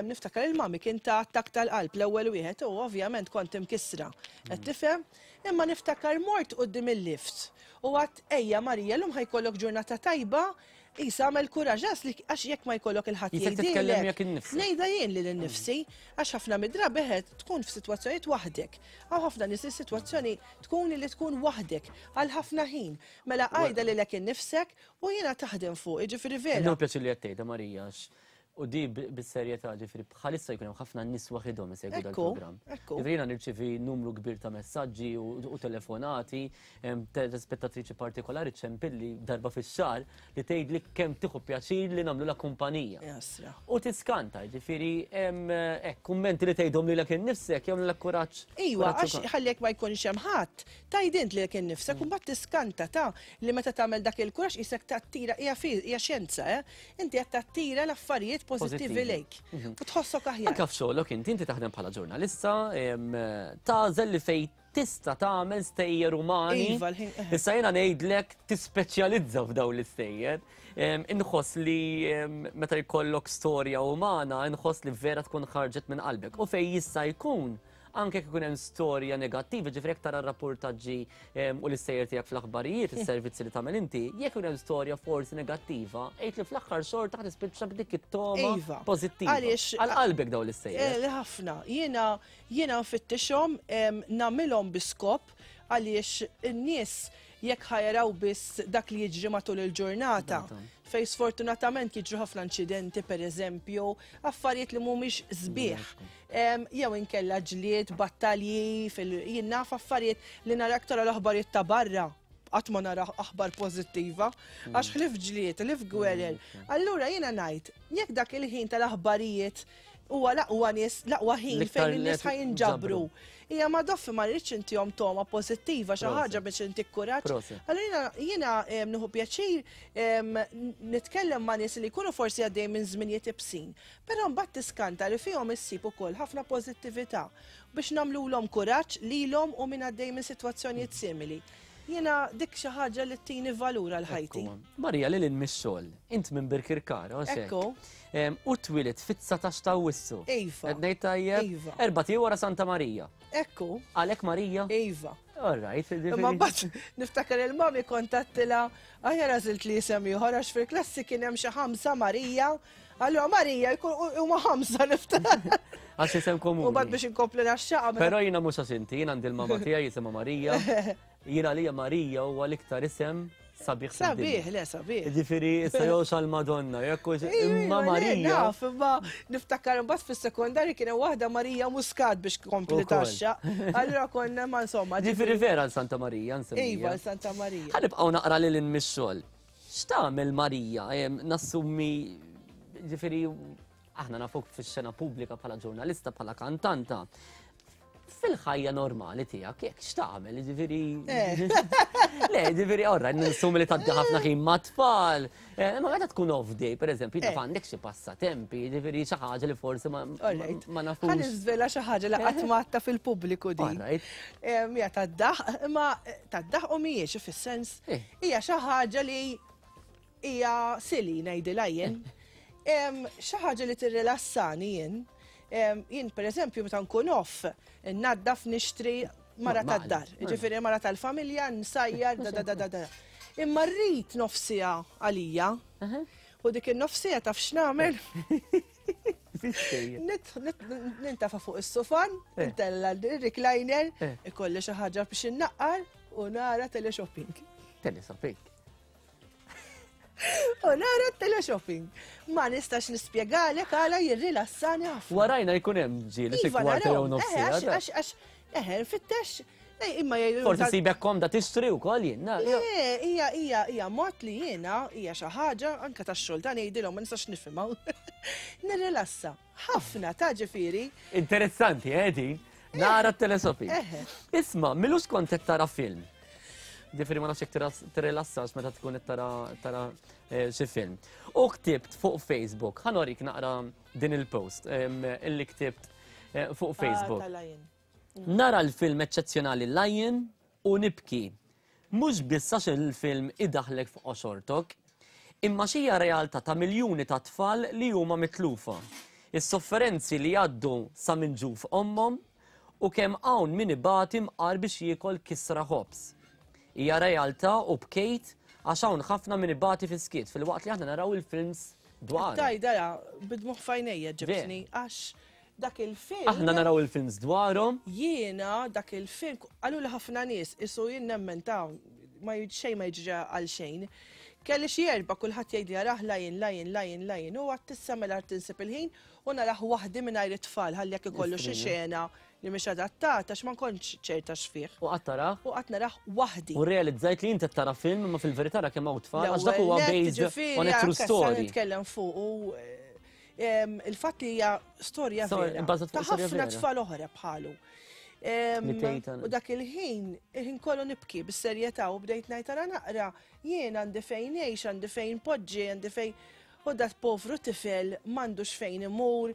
niftakar il-mami kien ta' attakk tal-qalb l-ewwel wieħed u ovvjament kont imkissra. Qed tifhem? Imma niftakar mort quddiem il-lift u għadt ejja Marija llum ħa jkollok ġurnata tajba, qisha għamel kuraġġ għax li għax jekk ma jkollok il ħadd Qisek titkellem miegħek innifsek. Ngħidha jien lili nnifsi għax ħafna mid-drabi eħe tkun f'sitwazzjonijiet waħdek. Hawn ħafna nies li s-sitwazzjoni tkun li tkun waħdek għal ħafna ħin. Mela għidha lilek innifsek u jiena taħdem fuqi, ġifieri vera. Nieħu pjaċir li qed tgħidha Marija għax U di bis-serjetà, ġifieri bħalissa jkun hemm ħafna nies waħidhom isegwu dal-programm. Ġifieri jiena nirċievi numru kbir ta' messaġġi u telefonati, telespettatriċi partikolari ċempilli darba fix-xahar li tgħidli kemm tieħu pjaċir li nagħmlulha kumpanija. U tiskanta, ġifieri hekk kummenti li tgħidhom lilek innifsek jagħmlulek kuraġġ. Iva, għax ħalli jekk ma jkunx hemm ħadd, tgħid int lilek innifsek u mbagħad tiskanta ta' li meta tagħmel dak il-kuraġġ qisek tattira hija xjenza, eh? Inti qed tattira l-affarijiet pożittivi lejk u tħossok aħjar. Anke f'xogħlok inti, inti taħdem bħala ġurnalista, tagħżel li fejn tista' tagħmel stejjer umani. Iva, l-ħin. Issa jiena ngħidlek tispeċjalizza f'dawn l-istejjer. Inħoss li meta jkollok storja umana, inħoss li vera tkun ħarġet minn qalbek. U fejn jista' jkun Anke jekk ikun hemm storja negattiva, ġifieri jekk tara r-rappurtaġġi u l-istejjer tiegħek fl-aħbarijiet, is-servizzi li tagħmel inti, jekk ikun hemm storja forsi negattiva, għid li fl-aħħar xorta ħa tispiċċa b'dik it-togħma Iva. pożittiva. Għaliex Għal qalbek dawn l-istejjer. Eh, ħafna. Jiena jiena nfittixhom nagħmilhom bi skop għaliex in-nies jekk ħa jaraw biss dak li jiġri matul il-ġurnata, fejn sfortunatament jiġru ħafna inċidenti pereżempju, affarijiet li mhumiex sbieħ. Jew inkella ġlied, battalji, jien naf affarijiet li nara aktar l-aħbarijiet ta' barra, qatt ma nara aħbar pożittiva, għax ħlief ġlied, ħlief gwerer. Allura jiena ngħid, jekk dak il-ħin tal-aħbarijiet huwa l-aqwa nies, l-aqwa ħin fejn in-nies ħa jinġabru. Hija ma doffi ma rridx intihom togħma pożittiva xi ħaġa biex intik kuraġġ. Allura jiena nieħu pjaċir nitkellem ma' nies li jkunu forsi għaddejjin minn żminijiet ibsin. Però mbagħad tiskanta li fihom issib ukoll ħafna pożittività biex nagħmlulhom kuraġġ lilhom u min għaddej minn sitwazzjonijiet simili. Jiena dik xi ħaġa li ttini valur għal ħajti. Marija, lil hinn mix-xogħol, int minn Birkirkara, hux hekk? Ekku. U twilidt fit-19 ta' Awwissu. Iva. Qed ngħid tajjeb? Iva. Erbat ijiem wara Santa Marija. Ekku. Għalhekk Marija? Iva. All right. Imma mbagħad niftakar il-mami kont għedtilha aħjar għażilt li isem ieħor għax fil-klassi kien hemm xi ħamsa Marija. Allura Marija jkun huma ħamsa niftakar. Għax isem komuni. U bad biex inkompli naxxaqa. Però jiena mhux għax inti, jiena għandi l-mama tiegħi jisimha Marija. Jiena għalija Marija huwa l-iktar isem sabiħ Sabiħ, le sabiħ. Ġifieri issa jew xal-Madonna, jekk hux imma Marija. Naf, imma niftakar imbagħad fis-sekondarji kien hemm waħda Marija Muscat biex kompli taxxa. Allura konna ma insomma. Ġifieri vera għal Santa Marija nsemmija. Iva, għal Santa Marija. Ħa nibqgħu naqra lil hinn mix-xogħol. X'tagħmel Marija? Nassumi, ġifieri, aħna nafuk fix-xena pubblika bħala ġurnalista, bħala kantanta. Fil-ħajja normali tiegħek, jekk x'tagħmel, ġifieri. Eh. Le, ġifieri, orra, nassumi li tgħaddi ħafna ħin mat-tfal. Eh, ma meta tkun off day, per eżempju, taf eh. għandek xi passatempi, ġifieri xi ħaġa li forsi ma nafux. Ħa niżvela xi ħaġa li qatt ma fil-pubbliku din. Hija tad-daħ, imma tad-daħ u mhijiex fis-sens Hija xi ħaġa li hija silly ngħidilha jien. Xi ħaġa li tirrilassani jien. Jien pereżempju meta nkun off, naddaf nixtri mara tad-dar. Ġifieri mara tal-familja, nsajjar, da da da da. Imma rrid nofsija għalija. U dik in-nofsija taf x'nagħmel? Nintafa fuq is-sufan, ntella l-recliner, ikolli xi ħaġa biex innaqqar u nara teleshopping. Teleshopping. U nara teleshopping. Ma nistax nispjegalek għala jirrilassani ħafna. Warajna jkun hemm ġieli xi Iva, kwarta jew narahom. nofs Eħe, siegħa. għax, għax, eħe, nfittex, imma jgħidu. Forsi sibek komda tixtri wkoll jien. na, Le, hija hija hija mod li jiena hija xi ħaġa anke tax-xogħol ta' ngħidilhom ma nistax nifhimha. Nirrilassa. Ħafna ta' ġifieri. Interessanti, eh, din. Nara t-teleshopping. Eħe. Isma, milux kont qed tara film. Ġifieri ma nafx jekk tirrilassax meta tkun qed tara tara eh, xi film. U ktibt fuq Facebook, ħa norik naqra din il-post illi ktibt eh, fuq Facebook. Ah, tal-Lion. Nara l-film eċċezzjonali Lion u nibki. Mhux biss għax il-film idaħħlek fuq qoxortok, imma x'hija realtà ta' miljuni ta' tfal li huma mitlufa. Is-sofferenzi li jgħaddu sa minn ġuf ommhom u kemm hawn min ibati mqar biex jiekol kisra ħobż. Hija realtà u bkejt għax hawn ħafna min ibati fis-skiet filwaqt li aħna naraw il-films dwarhom. Tajda ra, bid-dmugħ f'għajnejja ġibtni għax dak il-film. Aħna naraw il-films dwarhom. Jiena dak il-film, qaluli ħafna nies, isu jien nemmen ta' ma xejn ma jiġri għal xejn. Kelli xi erba' kulħadd jgħidli arah Lion, Lion, Lion, Lion u għad tissa mela tinsib il-ħin u narah waħdi mingħajr it-tfal ħalli jekk ikollu xi xena li mhix adattata għax ma nkontx ċerta x'fih. U qatt tarah? U qatt narah waħdi. U rrealizzajt li inti qed tara film imma fil-verità ra kemm hawn tfal għax dak huwa based on a true story. Nitkellem fuq u il-fatt li hija storja vera. Ta' ħafna tfal oħra bħalu. U dak il-ħin, il-ħin kollu nibki bis-serjetà u bdejt ngħid ara naqra jien għandi fejn ngħix, għandi fejn poġġi, għandi fejn U dat povru tifel m'għandux fejn imur,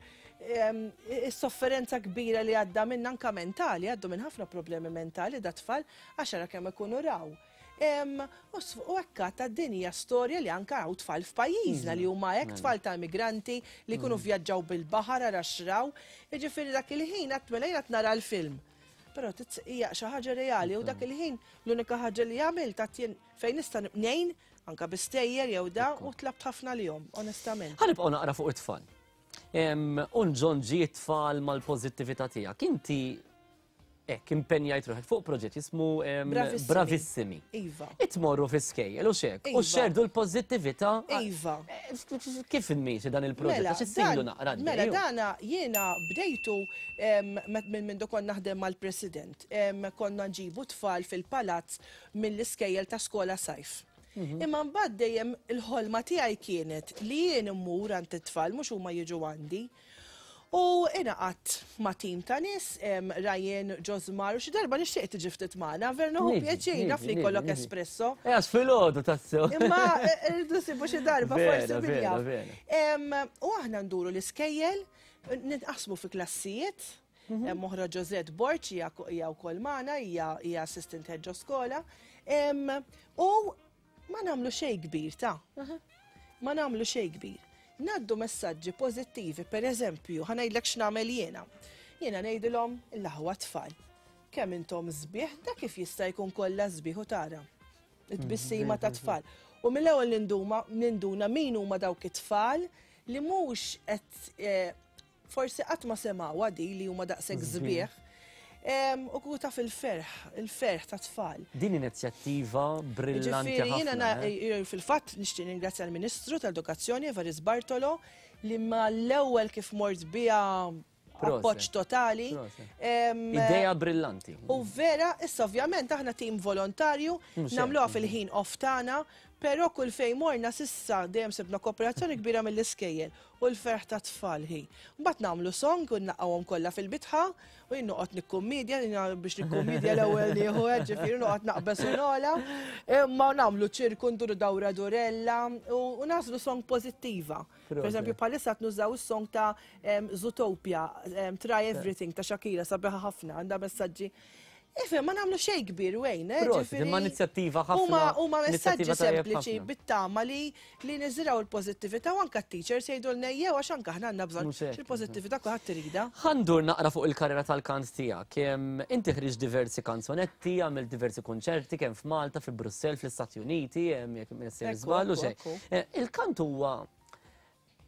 is-sofferenza kbira li għadda minn anka mentali, għaddu minn ħafna problemi mentali dat tfal għax ara kemm ikunu raw. U hekk ta' din hija storja li anka hawn tfal f'pajjiżna li huma hekk tfal ta' immigranti li jkunu vvjaġġaw bil-baħar ara x'raw. Jiġifieri dak il-ħin għad mela jien qed nara l-film. Però hija xi ħaġa reali u dak il-ħin l-unika ħaġa li għamilt għad jien fejn nista' ngħin Anka bi stejjer jew da u tlabt ħafna lihom, onestament. Ħa nibqgħu naqra fuq it-tfal. U nġonġi t-tfal mal-pożittività tiegħek. Inti hekk impenjajt ruħek fuq proġett jismu Bravissimi. Iva. Itmorru fi skejjel u xek. U xerdu l-pożittività. Iva. Kif immiexi dan il-proġett? Mela, Għax issilu naqra. Mela dana jiena bdejtu minn mindu kont naħdem mal-President. Konna nġibu tfal fil-palazz mill-iskejjel ta' skola sajf. Imma mbagħad dejjem il-ħolma tiegħi kienet li jien immur għand it-tfal mhux huma jiġu għandi. U ingħaqadt ma' tim ta' nies, Ryan, Josmar, u xi darba nixtieq tiġi ftit magħna, vera nieħu pjaċir naf li jkollok espresso. Eh, għax filgħodu tassew. Imma eh, rridu nsibu xi darba forsi min jaf. U aħna nduru l-iskejjel, nitqasmu fi klassijiet, mhm. Hemm oħra Josette Borg hija wkoll magħna, hija assistant head ġo skola. U ma nagħmlu xejn kbir ta' Ma nagħmlu xejn kbir. Naddu messaġġi pożittivi, per eżempju, ħa ngħidlek x'nagħmel jiena. Jiena ngħidilhom l-aħwa tfal. Kemm intom sbieħ, da kif jista' jkun kollha sbieħ u tara. It-tbissima ta' tfal. U mill-ewwel ninduma ninduna min huma dawk it-tfal li mhux qed eh, Forsi qatt ma semgħuha di li huma daqshekk sbieħ. U kieku taf il-ferħ, il-ferħ tat-tfal. Din inizjattiva brillanti Ġifieri jiena ħafna. Eh? fil-fatt nixtieq ningrazzja l-Ministru tal-Edukazzjoni Evarist Bartolo li mal-ewwel kif mort biha appoġġ totali. Idea brillanti. U vera, issa ovvjament aħna tim volontarju, nagħmluha fil-ħin off tagħna, però kull fejn morna s'issa dejjem sibna kooperazzjoni kbira mill-iskejjel. U l-ferħ tat-tfal hi. Mbagħad nagħmlu song u nlaqqgħuhom kollha fil-bitħa u jien noqgħod nikkummedja, jiena biex nikkummedja l-ewwel nieħu hekk ġifieri noqgħod naqbeż u nogħla. Imma nagħmlu ċirku nduru dawra durella u nagħżlu song pożittiva. Per eżempju bħalissa qed nużaw is-song ta' Zootopia, Try Everything ta' Shakira sabiħa ħafna, għandha messaġġi Ifhem, ma nagħmlu xejn kbir Wayne, eh, Prosit, ġifieri imma inizjattiva ħafna. Huma messaġġi inizjattiva tajjeb sempliċi ħafna. bit-tama li li niżirgħu l-pożittività u anke t-teachers jgħidulna ejjew għax anke aħna għandna bżonn Mhux hekk, il-pożittività kulħadd iridha. Ħa ndur naqra fuq il-karriera tal-kant tiegħek. Inti ħriġt diversi kanzonetti, għamilt diversi kunċerti kemm f'Malta, fi Brussell, fl-Istati Uniti, jekk m'iniex sejjer Ekku, żball u ekku, xejn. ekku. Eh, Il-kant huwa.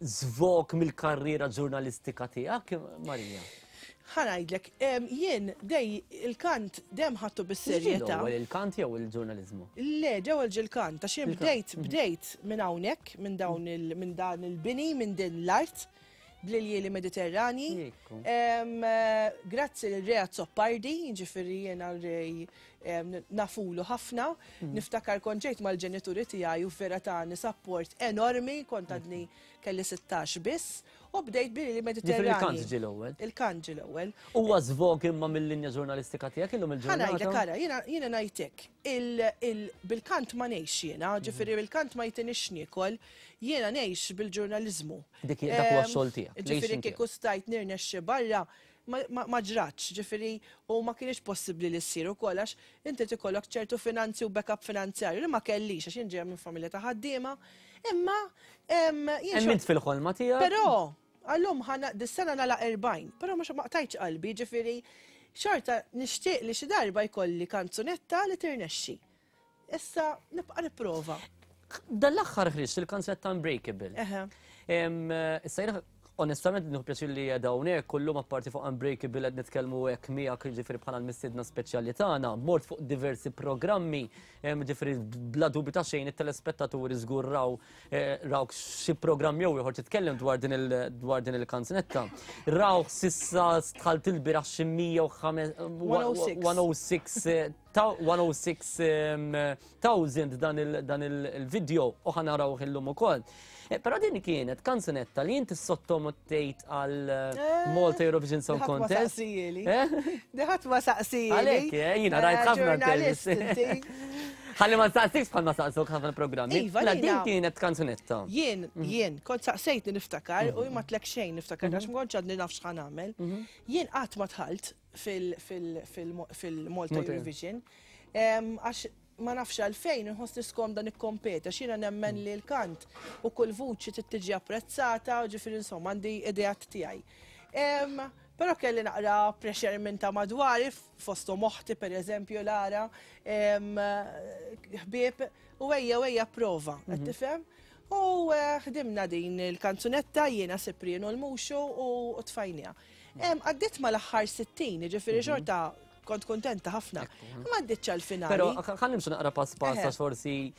żvog mill-karriera ġurnalistika tiegħek, Marija? Ħa ngħidlek, jien dej il-kant dejjem ħadtu bis-serjetà. L-ewwel il-kant jew il-ġurnaliżmu? Le, ġewwa il-kant, għax jien bdejt bdejt minn hawnhekk, minn dawn il minn dan il-bini, minn din l-art, bl-iljieli Mediterranji. Grazzi lil Rea Azzopardi, jiġifieri jiena Ray nafulu ħafna. Niftakar kont ġejt mal-ġenituri tiegħi u vera tani support enormi, kont għadni kelli 16 biss, u bdejt billi Mediterranji. Il-kant ġie l-ewwel. Il-kant ġie l-ewwel. Huwa żvog imma mill-linja ġurnalistika tiegħek illum il-ġurnata. Ħa ngħidlek ara, jiena ngħidlek, bil-kant ma ngħix jiena, ġifieri bil-kant ma jtinix niekol, jiena ngħix bil-ġurnaliżmu. Dik dak huwa x-xogħol tiegħek. Ġifieri kieku stajt nirnexxi barra, ma ġratx, ġifieri u ma kienx possibbli li ssir ukoll għax inti tikollok ċertu finanzi u backup finanzjarju li ma kellix għax jien ġejja minn familja ta' ħaddiema. Imma jien Emmint fil-ħolma tiegħek. Però għallum ħana dis-sena nagħlaq 40, però mhux ma qtajtx qalbi, ġifieri xorta nixtieq li xi darba jkolli kanzunetta li tirnexxi. Issa nibqa' nipprova. Dan l-aħħar ħriġt il-kanzunetta Unbreakable. Issa jiena onestament nieħu pjaċir li qiegħda hawnhekk kullum apparti fuq Unbreakable qed nitkellmu hekk miegħek jiġifieri bħala l-mistiedna speċjali tagħna. Mort fuq diversi programmi, jiġifieri bla dubju ta' xejn it-telespettaturi żgur raw eh, rawk xi programm jew ieħor titkellem dwar din dwar din il-kanzunetta. Rawk sissa dħalt ilbieraħ xi 106 106,000 dan il-video u ħa narawh illum ukoll. Eh, però din kienet kanzunetta li inti sottomettejt għal eh, Malta Eurovision Song Contest. Eh? Diħat ma saqsijili. Għalek, jina rajt ħafna intervisti. Ħalli ma saqsix bħal ma saqsuk ħafna programmi. Iva, mela din kienet kanzunetta. Jien, jien, kont saqsejtni niftakar u ma tlek xejn niftakar għax ma kontx għadni naf x'ħan nagħmel. Jien qatt ma dħalt fil-Malta Eurovision. Għax ma nafx għalfejn inħossni skomda nikkompeti għax jiena nemmen li l-kant u kull vuċi trid tiġi apprezzata u ġifieri insomma għandi ideat tiegħi. Però kelli naqra pressure minn ta' madwari fosthom oħti pereżempju Lara, ħbieb u ejja u ejja prova, qed tifhem? U ħdimna din il-kanzunetta jiena Cyprian u l-Muxu u tfajniha. Għaddiet mal-aħħar 60, jiġifieri xorta kont kuntenta ħafna. Ma għaddietx għall-finali. Però ħa nimxu naqra pass pass għax forsi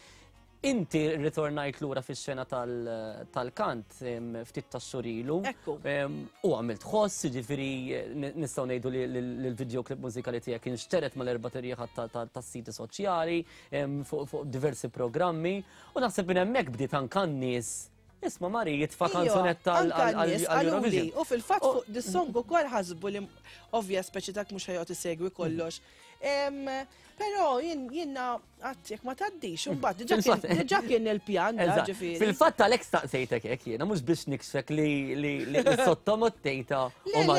inti ritornajt lura fix-xena tal-kant ftit tax-xhur ilu. Ekku. U għamilt ħoss, jiġifieri nistgħu ngħidu li l-videoclip mużikali tiegħek inxteret mal-erba' tirjieħat tas-siti soċjali fuq diversi programmi. U naħseb minn hemmhekk bdiet anke n-nies Isma' Mari jitfa' kanzunetta għall-Eurovision. U fil-fatt fuq dis-song ukoll ħasbu li ovvja speċi dak mhux ħajqgħod isegwi kollox. Però jiena qatt jekk ma tgħaddix, imbagħad diġà kien il-pjan ġifieri. Fil-fatt għalhekk staqsejtek hekk jiena mhux biex nikxfek li sottomottejta u ma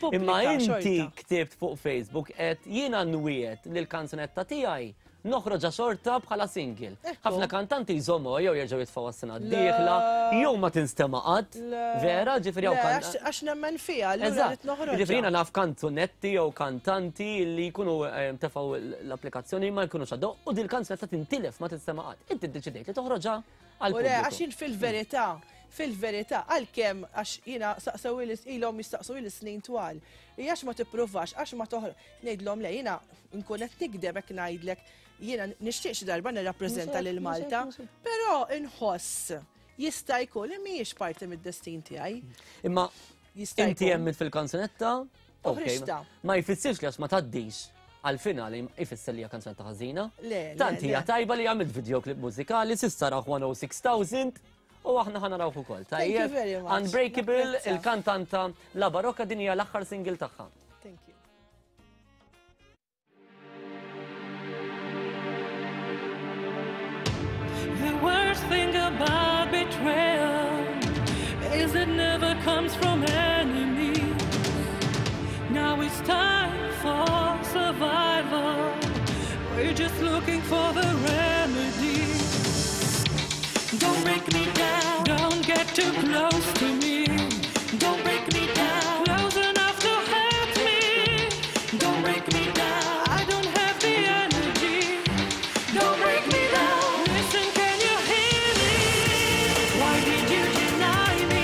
Imma inti ktibt fuq Facebook qed jiena nwiegħed li l-kanzunetta tiegħi Noħroġha xorta bħala single. Ħafna kantanti jżommuha jew jerġgħu jitfgħuha s-sena d-dieħla, jew ma tinstema' qatt. Vera, ġifieri hawn kan. Għax nemmen fiha, allura rrid noħroġha. Ġifieri jiena naf kanzunetti jew kantanti li jkunu tefgħu l-applikazzjoni ma jkunux għaddew u dil-kanzunetta tintilef ma tinstema' qatt. Inti ddeċidejt li toħroġha għall-pubbliku. U le, għax jien fil-verità, fil-verità, għalkemm għax jiena saqsewili ilhom jistaqsuli snin twal. Hija għax ma tippruvax, għax ma toħroġ. Ngħidlhom le jiena nkun qed nikdeb hekk ngħidlek jiena nixtieq xi darba nirrappreżenta lil Malta, però inħoss jista' jkun li mhijiex parti mid-destin tiegħi. Imma inti hemmit fil-kanzunetta, ma jfissirx li għax ma tgħaddix għal-finali jfisser li hija kanzunetta ħażina. Tant hija tajba li għamilt videoclip mużikali s'issa raħ 106,000 u aħna ħa narawh ukoll. Tajjeb. Unbreakable, il-kantanta La Barocca din hija l-aħħar single tagħha. Thank you. The worst thing about betrayal is it never comes from enemies. Now it's time for survival. We're just looking for the remedy. Don't break me down. Don't get too close to me. Don't break me down. Close enough to hurt me. Don't break me down. I don't have the energy. Don't break me down. Listen, can you hear me? Why did you deny me?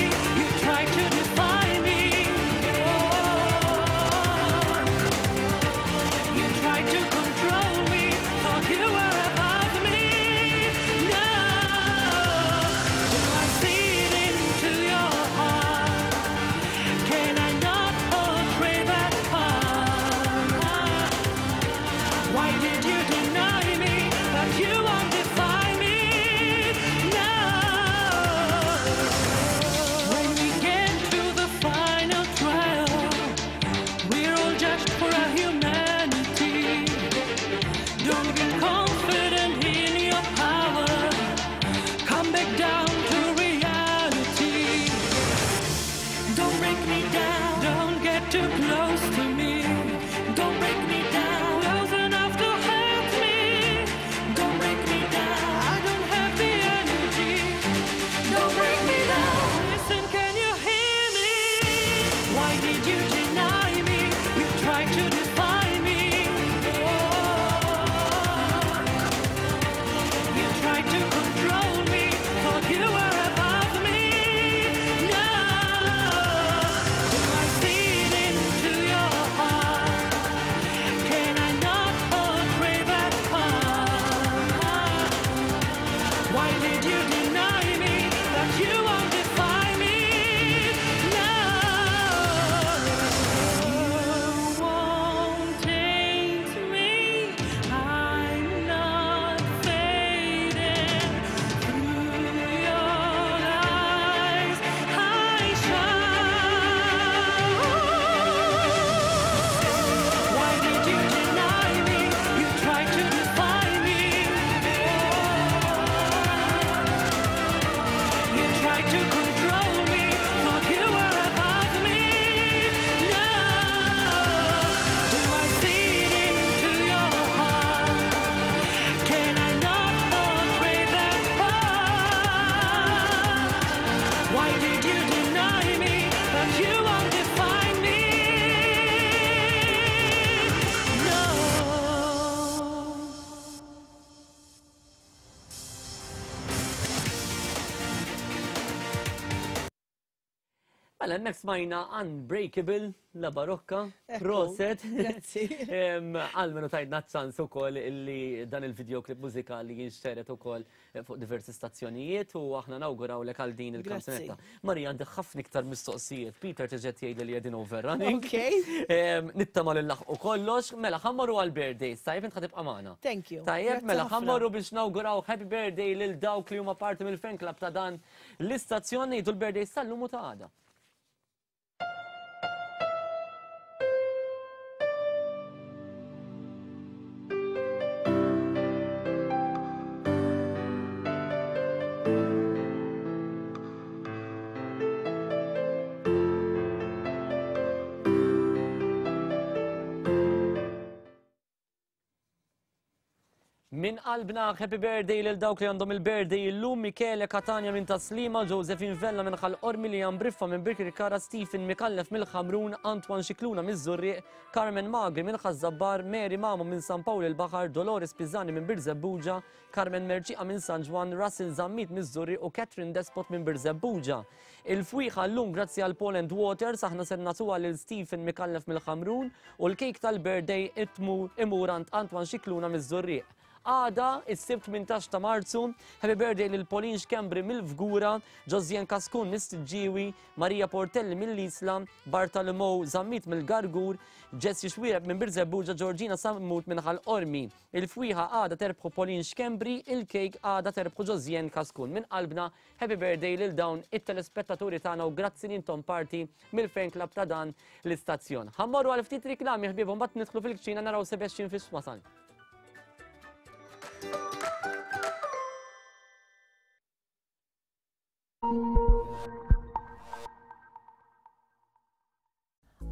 to control me, thought you were above me. Now, do I see into your heart? Can I not portray that part? Why did you deny me? But you won't define me. No. Mela, hemmhekk smajna Unbreakable, La Barocca, proset. Grazzi. Għalmenu tajtna ċans ukoll illi dan il-videoclip mużikali jinxteret ukoll fuq diversi stazzjonijiet u aħna nawgurawlek għal din il-kanzunetta. Marija, għandi ħafna iktar mistoqsijiet. Peter tiġet jgħidli li qegħdin overrunning. Ok. Nittama li nlaħqu kollox. Mela, ħa mmorru għal birthdays. Tajjeb, int ħa tibqa' magħna. Thank you. Tajjeb, Grazzi mela, ħafna. ħa mmorru biex nawguraw happy birthday lil dawk li huma parti mill-fan club ta' dan l-istazzjon ngħidu l-birthdays tal-lum u ta' għada. Min qalbna happy birthday lil dawk li għandhom il-birthday illum Michele Catania minn Taslima, Josephine Vella minn Ħal Qormi, Liam Briffa minn Birkirkara, Stephen Mikallef mill-Ħamrun, Antoine Scicluna miż-Żurrieq, Carmen Magri minn Ħaż-Żabbar, Mary Mamo minn San Pawl il-Baħar, Dolores Pisani minn Birżebbuġa, Carmen Merċiqa minn San Ġwann, Russell Zammit miż-Żurrieq u Catherine Despot minn Birżebbuġa. Il-fwieħa llum grazzi għal Paul and Waters aħna ser nagħtuha lil Stephen Mikallef mill-Ħamrun u l-kejk tal-birthday imur għand Antoine Scicluna miż-Żurrieq. Għada, is-Sibt 18 ta' Marzu, happy birthday lil Pauline Schembri mill-Fgura, Josien Kaskun mis-Siġġiewi, Maria Portelli mill-Isla, Bartolomeo Zammit mill-Gargur, Jessie Xwireb minn Birżebbuġa, Georgina Sammut minn Ħal Qormi. Il-fwieħa għada terbħu Pauline Schembri, il-kejk għada terbħu Josien Kaskun. Minn qalbna, happy birthday lil dawn it-telespettaturi tagħna u grazzi li intom parti mill-fan club ta' dan l-istazzjon. Ħa mmorru għal ftit riklami ħbieb u mbagħad nidħlu fil-kċina naraw Sebastian fiex wasal.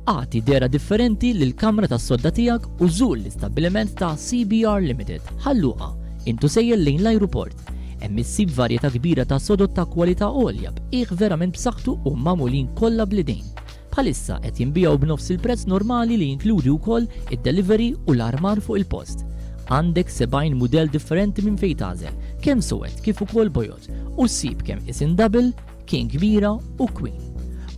Agħti dehra differenti lill-kamra tas-sodda tiegħek u żur l-istabbiliment ta' CBR Limited, Ħal Luqa, intu sejjer lejn l-ajruport. Hemm issib varjetà kbira ta' sodod ta' kwalità għolja b'qiegħ verament b'saħħtu u magħmulin kollha bl-idejn. Bħalissa qed jinbiegħu b'nofs il-prezz normali li jinkludi wkoll id-delivery u l-armar fuq il-post. Għandek 70 mudell differenti minn fejn tagħżel, kemm suwed kif ukoll bojod, u ssib kemm isin double, king kbira u queen.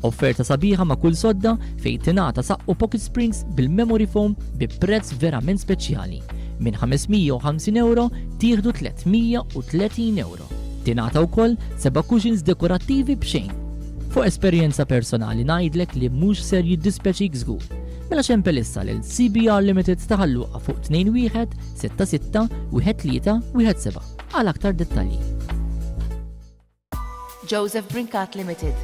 Offerta sabiħa ma' kull sodda fejn tingħata saqqu pocket springs bil-memory foam bi prezz verament speċjali. Minn 550 euro tieħdu 330 euro. Tingħata wkoll seba' cushions dekorattivi b'xejn. Fuq esperjenza personali ngħidlek li mhux ser jiddispjaċik żgur. Mela xempel issa lil CBR Limited ta' Ħal Luqa fuq 21 66 13 17 għal aktar dettalji. Joseph Brincat Limited.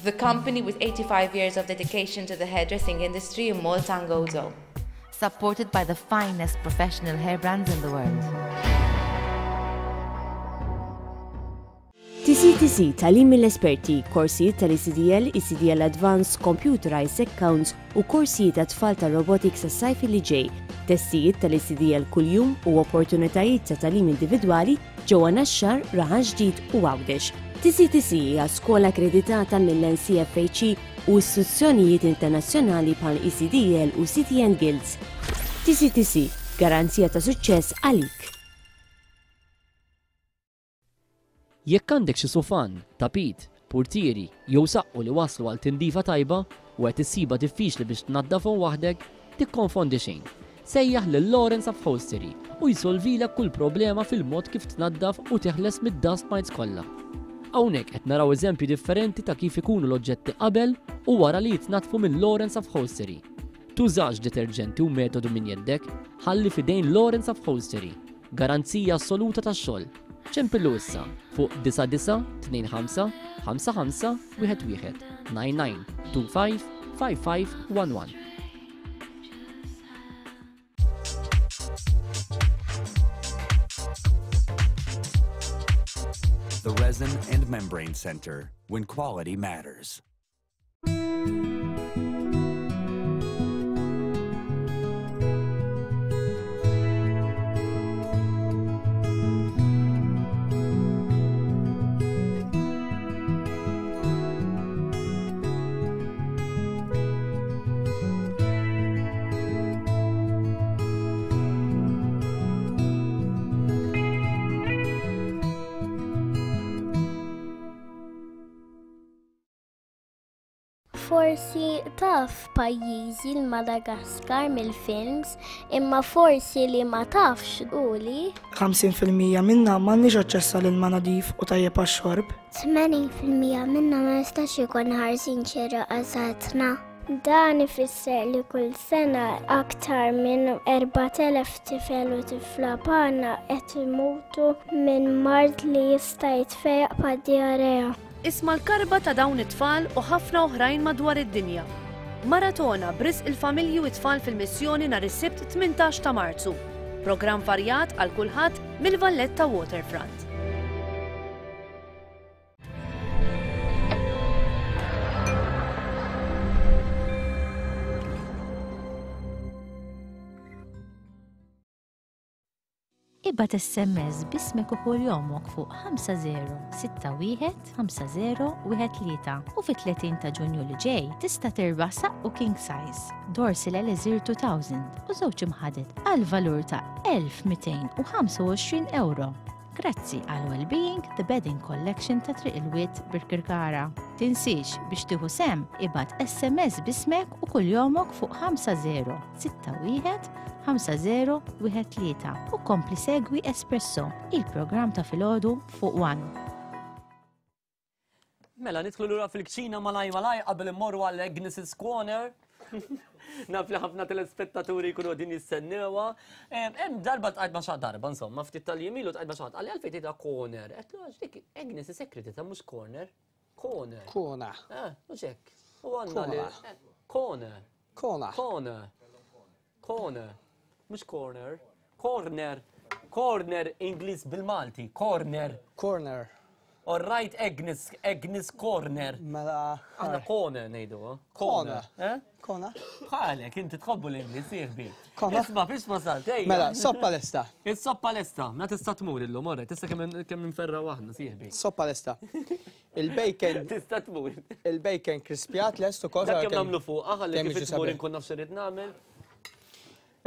The company with 85 years of dedication to the hairdressing industry in Malta and Gozo. Supported by the finest professional hair brands in the world. TCTC, tagħlim mill-esperti, korsijiet tal-ECDL, ECDL Advanced, Computerized Accounts u korsijiet għat-tfal tar-robotics għas-sajf li ġej, testijiet tal-ECDL kuljum u opportunitajiet ta' tagħlim individwali ġewwa Naxxar, Raħal Ġdid u Għawdex. TCTC hija skola akkreditata mill-NCFHE u istituzzjonijiet internazzjonali bħal ECDL u CTN Guilds. TCTC, garanzija ta' suċċess għalik. Jekk għandek xi sufan, tapit, purtieri jew saqqu li waslu għal tindifa tajba u qed issibha diffiċli biex tnaddafhom waħdek, tikkonfondi xejn. Sejjaħ lil Lawrence Upholstery u jsolvilek kull problema fil-mod kif tnaddaf u teħles mid-dust mites kollha. Hawnhekk qed naraw eżempji differenti ta' kif ikunu l-oġġetti qabel u wara li jitnaddfu minn Lawrence Upholstery. Tużax deterġenti u metodu minn jeddek, ħalli f'idejn Lawrence Upholstery. Garanzija assoluta tax-xogħol. Ċempillu issa fuq 99 25 55 11 99 25 55 11. The Resin and Membrane Center, when quality matters. Forsi taf pajjiżi l-Madagaskar mill-films, imma forsi li ma tafx hu li. 50% minna m'għandniex aċċess għal ilma nadif u tajjeb għax-xorb. 80% minna ma jistax ikun ħarsin xieraq għal saħħitna. Dan ifisser li kull sena aktar minn 4,000 tifel u tifla bħalna qed imutu minn mard li jista' jitfejjaq bħad-dijarea. Isma' l-karba ta' dawn it-tfal u ħafna oħrajn madwar id-dinja. Maratona b'risq il-familji u t-tfal fil-missjoni nhar is-Sibt 18 ta' Marzu. Programm varjat għal kulħadd mill-Valletta Waterfront. Ibgħat SMS b'ismek u kuljomok fuq 5061 5013 u fit-30 ta' Ġunju li ġej tista' tirbaħ saqqu king size, Dorsil Elixir 2000 u żewġ imħaded għal valur ta' 1225 ewro. Grazzi għal Wellbeing The Bedding Collection ta' Triq il-Wied Birkirkara. Tinsiex biex tieħu sehem ibgħat SMS b'ismek u kuljomok fuq 5061 5013 u kompli segwi Espresso, il-programm ta' filgħodu fuq One. Mela, nidħlu lura fil-kċina malaj malaj qabel immorru għal Agnes's Corner. Naf li ħafna telespettaturi jkunu din jistennewa. Hemm darba tqajt ma' xi darba, insomma, ftit tal-jemilu tqajt ma' xi ħadd qalli għalfejn tgħidha corner. Qed għax dik Agnes is ta' mhux corner. Corner. Corner. Eh, mhux hekk. U għandna li. Corner. Corner. Corner. Corner. Mhux corner. Corner. Corner Ingliż bil-Malti. Corner. Corner. All right, Agnes, Agnes Corner. Mela. Aħna corner ngħidu. Eh? Corner. Eh? Corner. Bħalek, inti tħobbu l-Ingliż, sieħbi. Corner. Isma' fiex wasalt, ejja. Mela, soppa lesta. Is-soppa lesta, ma tista' tmur illum, orre, tista' kemm inferra waħna, sieħbi. Soppa lesta. Il-bacon. Tista' tmur. Il-bacon krispjat lest ukoll. Dak kemm nagħmlu fuq, ħalli kif tmur inkun naf x'irid nagħmel.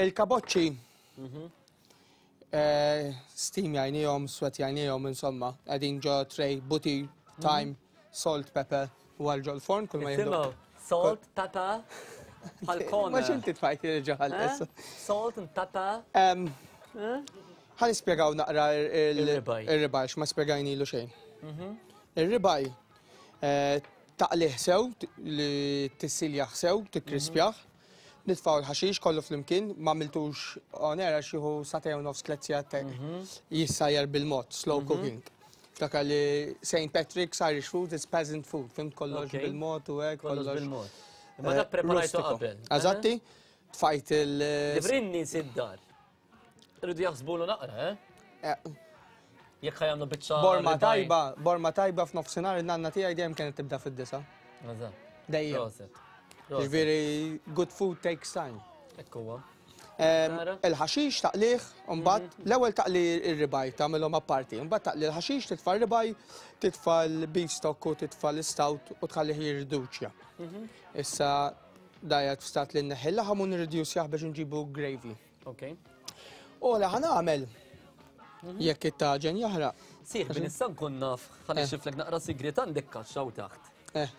Il-kaboċċi. Mhm. Eh, steam jajnijom, sweat jajnijom, insomma, għedin ġo tray, buti, mhm. thyme, salt, pepper, u għal ġo l-forn, kull ma jihdu. Salt, pepper, għal-kona. Ma xinti tfajt il-ġoħal. Eh? Salt and pepper. Eh? Ħa nispjegaw naqra il-ribaj, x'ma spjegajnilu xejn. Mhm. Ir-ribaj eh, taqlih sew, li tissiljaħ sew, tikkrispjaħ, mhm. nitfaw l-ħaxix kollu flimkien, ma miltux on air għax jieħu satej u nofs tliet sigħat mhm. jissajjar bil-mod, slow cooking. Ftakar li St. Patrick's Irish food is peasant food, fimt kollox bil-mod u hekk kollox bil-mod. Ma dak eh, preparajtu qabel. Eżatti, tfajt il- Librinni id-dar. Irridu jaħsbulu naqra, eh? eh. Jekk ħajamlu biċċa. Borma tajba, borma tajba f'nofsinhar in-nanna tiegħi dejjem kienet tibda fid-disa. Dejjem. Ġifieri good food takes time. Ekk huwa. Il-ħaxix taqliħ, mbagħad mhm. l-ewwel taqli r-ribaj tagħmilhom apparti, mbagħad taqli l-ħaxix, titfa' r-ribaj, titfa' l-beef stock u titfa' l-istout u tħallih jirriduċja. Mhm. Issa dajat f'stat li nneħħi l-laħam u nirridjuċjah biex nġibu gravy. Ok. U li ħa nagħmel mhm. jekk it-taġen jaħraq. Sieħ, bin issa nkun naf, ħalli eh. xiflek naqra sigriet għandek kaxxa u taħt. Eh.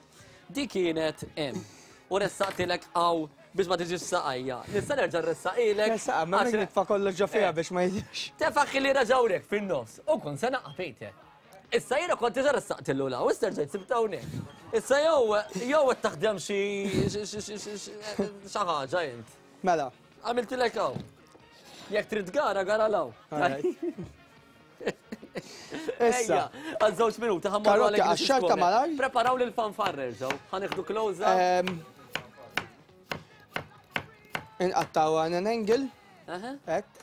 Di kienet hemm. U ressaqtilek għaw biex ma tiġix saqajja. Nista' nerġa' ressaqilek. Ressaqa, ma nitfa' kollox ġo fiha eh. biex ma jiġix. Tefaħ li raġawrek fin-nofs u kun se naqa' Peter. Issa jiena kont diġà ressaqtillu la, u issa rġajt sibt hawnhekk. Issa jew jew qed taħdem xi xi ħaġa int. Mela. Għamiltilek hawn. Jekk trid gara, gara law. Issa. Għal żewġ minuti ħammorru Karotti għax-xarta malaj. Preparaw lil fanfarrer ġew. Ħanieħdu close Inqattaw għan an angle. Hekk.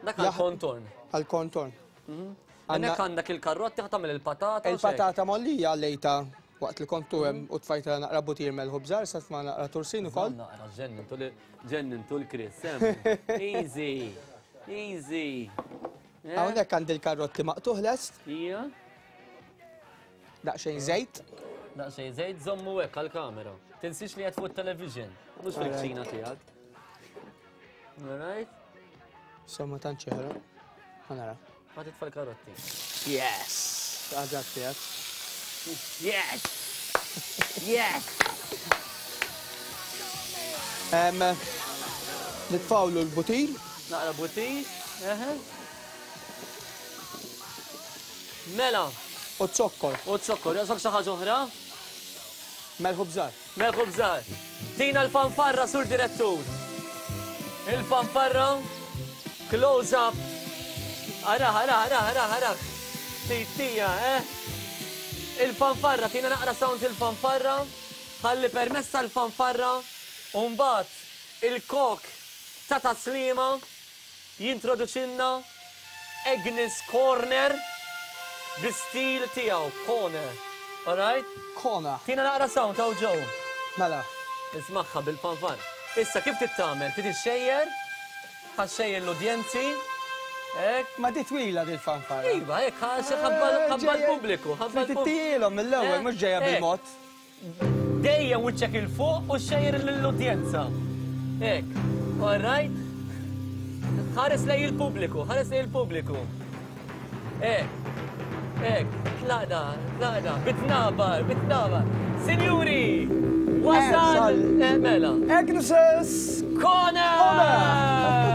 Dak għal kontorn. Għal kontorn. Mhm. Hemmhekk għandek il-karrotti ħa tagħmel il-patata. Il-patata mollija lejta waqt li kontu hemm u tfajta naqra butir melħu bżar, sa tma naqra tursin ukoll. Naqra ġennintu l-Chris. Easy. Easy. Eh? Hawnhekk għandi l-karrotti maqtuħ lest. Ija. Daqsxejn żejt. Daqsxejn żejt żommu hekk għall-kamera. Tinsiex li qed fuq television, mhux fil-kċina tiegħek. All right? Somma tantx jeħra. Ħanara. Ma titfa' l-karotti. Yes! Għaġat tiegħek. Yes! Yes! Nitfawlu l-butir. Naqra butir. Mela. U zokkor. U zokkor. Jaqsok xi ħaġa oħra? Melħu bżar. Melħu bżar. Tina l-fanfarra sur direttur. Il-fanfarra. Close up. Ara, ara, ara, ara, ara. Titija, eh? Il-fanfarra, tina naqra sound il-fanfarra. Ħalli permessa l-fanfarra. Umbat, il-kok ta' taslima Jintroduċilna Agnes Corner bi stil tiegħu, Corner. Alright? Corner. Tina naqra sound hawn ġew. Mela. Ismagħha bil-fanfar. Issa kif trid tagħmel? Trid ixxejjer? Ħa xxejjer l-udjenzi. Hekk. Ma di twila di l-fanfara. Iva, hekk ħabba l-pubbliku. Ħabba l-pubbliku. mill-ewwel, mhux ġejja bil-mod. Dejjem wiċċek 'il fuq u xejjer lill-udjenza. Hekk. All right? Ħares lejn il-pubbliku, ħares lejn il-pubbliku. Hekk. Hekk. Tlaqna, tlaqna. Bitnabar, bitnabar. Sinjuri, wasal eh, mela. Agnes's Corner!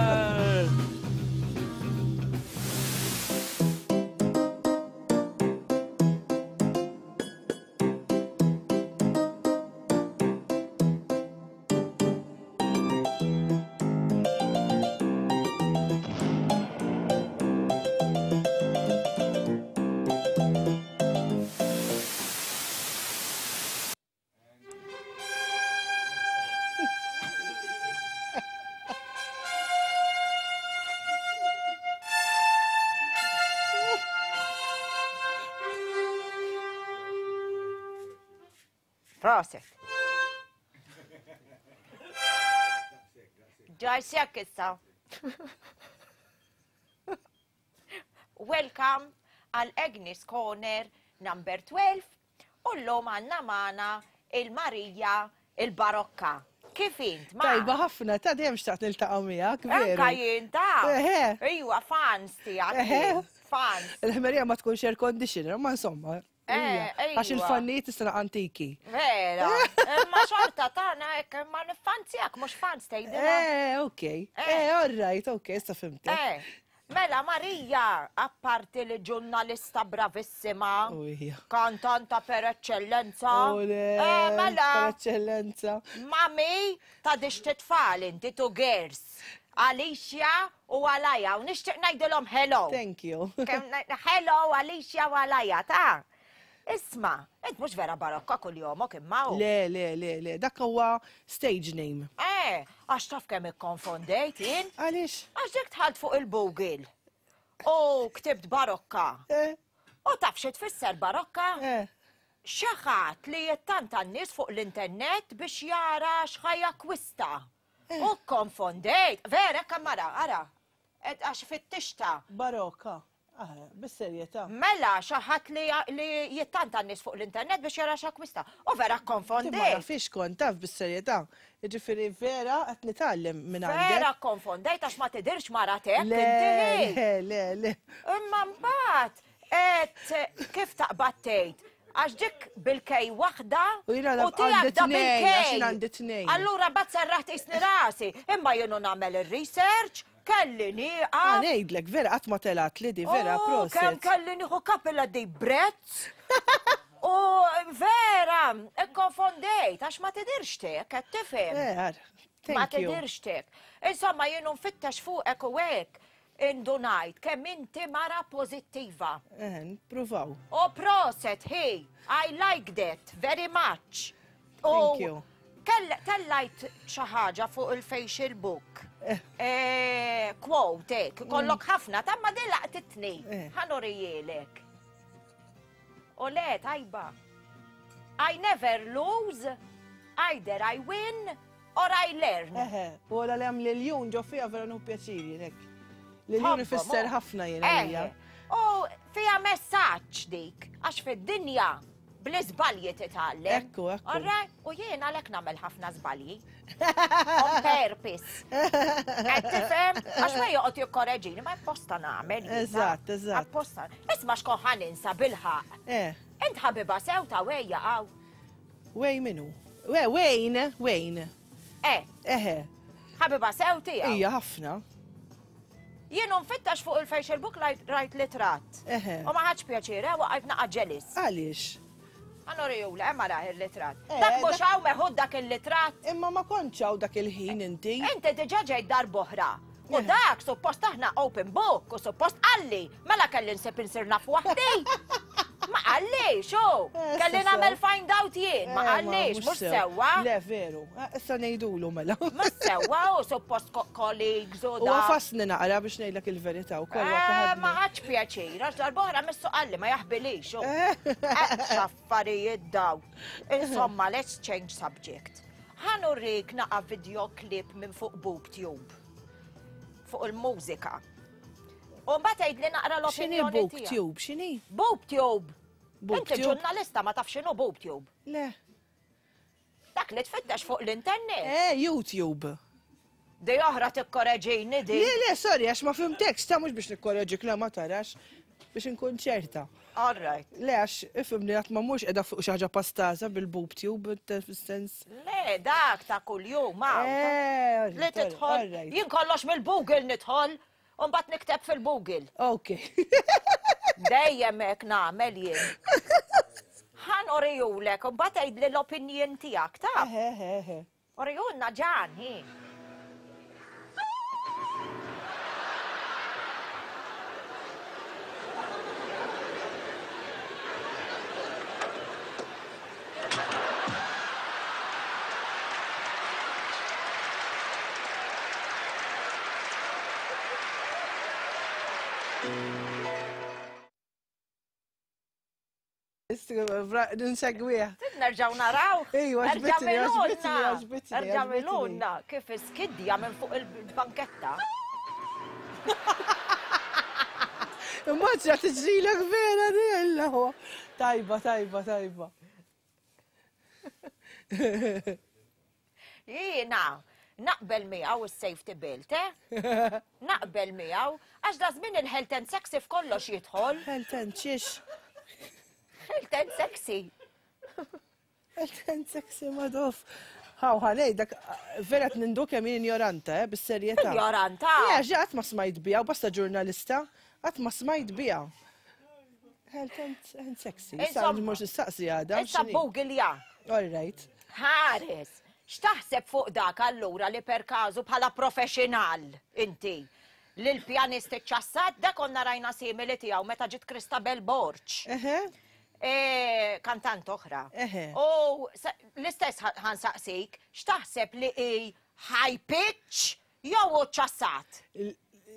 Proset. Ġajsek issa. Welcome għal Agnes Corner number 12 u l-lum għanna maħna il-Marija il-Barokka. Kif int, ma? Tajba ħafna, ta' dejjem xtaqt niltaqgħu miegħek, veru. Anka jien ta' Ejwa, fans tiegħek. Fans. Il-ħmerija ma tkunx air conditioner, ma insomma. Eh, Għax il-fannijiet is-sena antiki. Vera, imma xorta tagħna hekk imma nifanzjak mhux fans tgħidilha. Eh, ok. Eh, all right, ok, issa fimtek. Eh, mela Marija, apparti li ġurnalista bravissima, kantanta per eccellenza. Eh, mela. Per eccellenza. Mami ta' dixti tfal inti two girls. Alicia u Alaja, u nixtieq ngħidilhom hello. Thank you. Hello Alicia u Alaja, ta' Isma, int mhux vera barokka kull jomok imma u. Le, le, le, le, dak huwa stage name. Eh, għax taf kemm ikkonfondejt jien? Għaliex? Għax dik tħalt fuq il-Google u ktibt barokka. Eh. U taf xi tfisser barokka? Eh. Xi ħadd li jittanta n-nies fuq l-internet biex jara x'ħa jakkwista. Eh. U konfondejt, vera kamara, ara, għax fittixta. Barokka, ah, bis-serjetà. Mela, xi ħadd li jittanta n-nies fuq l-internet biex jara x'akkwista. U vera konfondejt. Ma nafix kont taf bis-serjetà. Jiġifieri vera qed nitgħallem minn għandek. Vera konfondejt għax ma tidirx mara tek. Le, le, le, le. Imma mbagħad Et kif taqbad tgħid? Għax dik bil-kej waħda u tiegħek da bil-kej. Allura bat serraħt isni rasi, imma jienu nagħmel ir-research, kelli nieqaf. Ah, ngħidlek, vera qatt ma telat li di vera oh, proset. Kemm kelli nieħu kapilla di brezz. U vera, ikkonfondejt, għax ma tidirx tek, qed tifhem. Eh, ma tidirx tek. Insomma, jienu nfittex fuqek u hekk. Indunajt kemm inti mara pożittiva. Eh, nipruvaw. U proset hi, I like that very much. Thank you. Tellajt xi ħaġa fuq il-facial book. Eh, quote, ek, kollok ħafna, ta' ma din laqtitni. Ħa nurijielek. U le, tajba. I never lose, either I win or I learn. Eħe, u għala li għam l-jun ġo fija vera nu pjaċiri, nek. L-jun ifisser ħafna jena. Eħe, u fija messaġġ dik, għax fid-dinja bl-iżbalji titgħallem. Ekku, ekku. All right? U jien għalhekk nagħmel ħafna żbalji. On purpose. Qed tifhem? Għax ma joqgħod jikkoreġini, ma apposta nagħmel. jiena. Eżatt, eżatt. Apposta. Isma' xkon ħa ninsa bilħaq. Eh. Int ħabiba sew ta' wejja għaw. Wej minu? We, Wayne, Wayne. Eh. Eħe. Ħabiba sew tiegħu. Ija ħafna. Jien nfittax fuq il-Facebook rajt litratt. Eħe. U ma ħadx pjaċir, eh, waqajt naqa' ġelis. Għaliex? Għanuriju, le, ma raħ il-litratt. Eh, Dak mhux hawn meħud dak il-litratt. Imma ma kontx hawn dak il-ħin inti. Inti diġà ġejt darb'oħra. U dak suppost aħna open book u suppost qalli, mela kelli nsib insir naf waħdi. Ma qalli, xu, Eh, kelli issa nagħmel sew. find out jien, ma Eh, qallix, mhux sewwa. Le, veru. Eh, Issa ngħidulu mela. Mhux sewwa u suppost colleagues u U da. għafasni naqra biex ngħidlek il-verità wkoll waqt li Eh, ħadni. Ma ħadx pjaċir, għax darb'oħra missu qalli ma jaħbilix. u. Eh, X'affarijiet daw. Insomma, let's change subject. Ħa nurik naqa' video clip minn fuq BoobTube. Fuq il-mużika. U mbagħad tgħidli naqra X'inhi l-opinjoni tiegħek. BoobTube? X'inhi? BoobTube. Inti BoobTube? ġurnalista ma taf x'inhu BoobTube. Le. Dak li tfittex fuq l-internet. Eh, YouTube. Di oħra tikkoreġini di. Le, le, sorry, għax ma fimtekx, ta' mhux biex nikkoreġik, le ma tarax, biex inkun ċerta. All right. Le, għax ifhimni għat ma mhux qiegħda fuq xi ħaġa pastaża bil-BoobTube, fis-sens. Le, dak ta' kuljum, hawn. Eh, Li tidħol. all right. Jien kollox mill-Google nidħol, u mbagħad nikteb fil-Google. Ok. Dejjem hekk nagħmel jien. Ħa norijulek, u mbagħad għidli l-opinjon tiegħek, ta'? Eħe, eħe, eħe. Orijulna ġan, hi. Nsegwih. Nerġaw naraw. Ejwa, għaġbitni, għaġbitni, għaġbitni, Erġaw għaġbitni. ilunna kif iskidja minn fuq il-banketta. Immaġna tiġrilek vera dilla. Tajba, tajba, tajba. Jiena, naqbel miegħu is-safety belt, eh? Naqbel miegħu, għax da żmien il-health and sexy f'kollox jidħol. Health and xiex? Health and sexy. Health and sexy madof. Haw, ħanej, dak vera nindu kemm jien ignoranta, eh, bis-serjetà. Ignoranta? Le, għax qatt ma smajt biha, u basta ġurnalista, qatt ma smajt biha. Health and sexy. Issa Insomma. mhux nistaqsi għada. Issa Google ja. All right. Ħares, x'taħseb fuq dak allura li per każu bħala professional inti? Li l-pjanist iċċassat, dak konna rajna simili tiegħu meta ġiet Christabel Borg. Eħe. E, kantant oħra. Eħe. U l-istess ħansaqsik, x'taħseb li hi high pitch jew hu ċassat?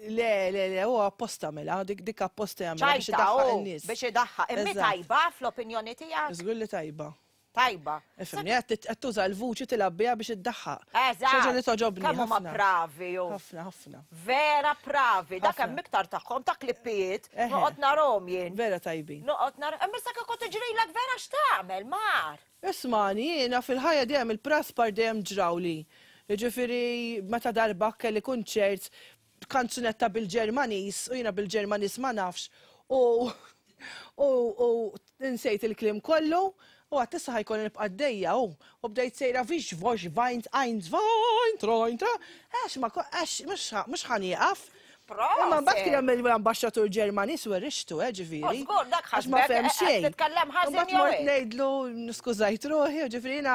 Le, le, le, huwa apposta mela, dik dik apposta jagħmel biex Ċajta, idaħħaq u in-nies. biex idaħħaq. Immi Eżatt. tajba fl-opinjoni tiegħek? Żgur li tajba. Tajba. Ifhimni, qed tuża l-vuċi tilgħab biha biex iddaħħaq. Eżatt. Xi ħaġa li toġobni Kemm huma ħafna. bravi ju. Ħafna, ħafna. Vera bravi. Dak Ħafna. hemm iktar tagħhom ta' klippijiet. Eħe. Noqgħod narhom jien. Vera tajbin. Noqgħod nar. Imma issa kieku tiġrilek vera x'tagħmel, Mar? Ismani, jiena fil-ħajja dejjem il-praspar dejjem ġrawli. Jiġifieri meta darba kelli kunċert kanzunetta bil-Ġermaniż u jiena bil-Ġermaniż ma nafx u u u insejt il-kliem kollu u għat issa ħajkolli nibqa' għaddejja u u bdejt sejra vix vox vajnt eins vajnt trojn tra għax ma għax mhux ħa nieqaf. Imma mbagħad kien hemm l-ambaxxatur Ġermaniż u rixtu, eh, ġifieri. U żgur, dak Għax ma ħasbek, fehem eh, xejn. titkellem ħażin Mbagħad jew mort hekk. ngħidlu niskużajt ruħi, ġifieri jiena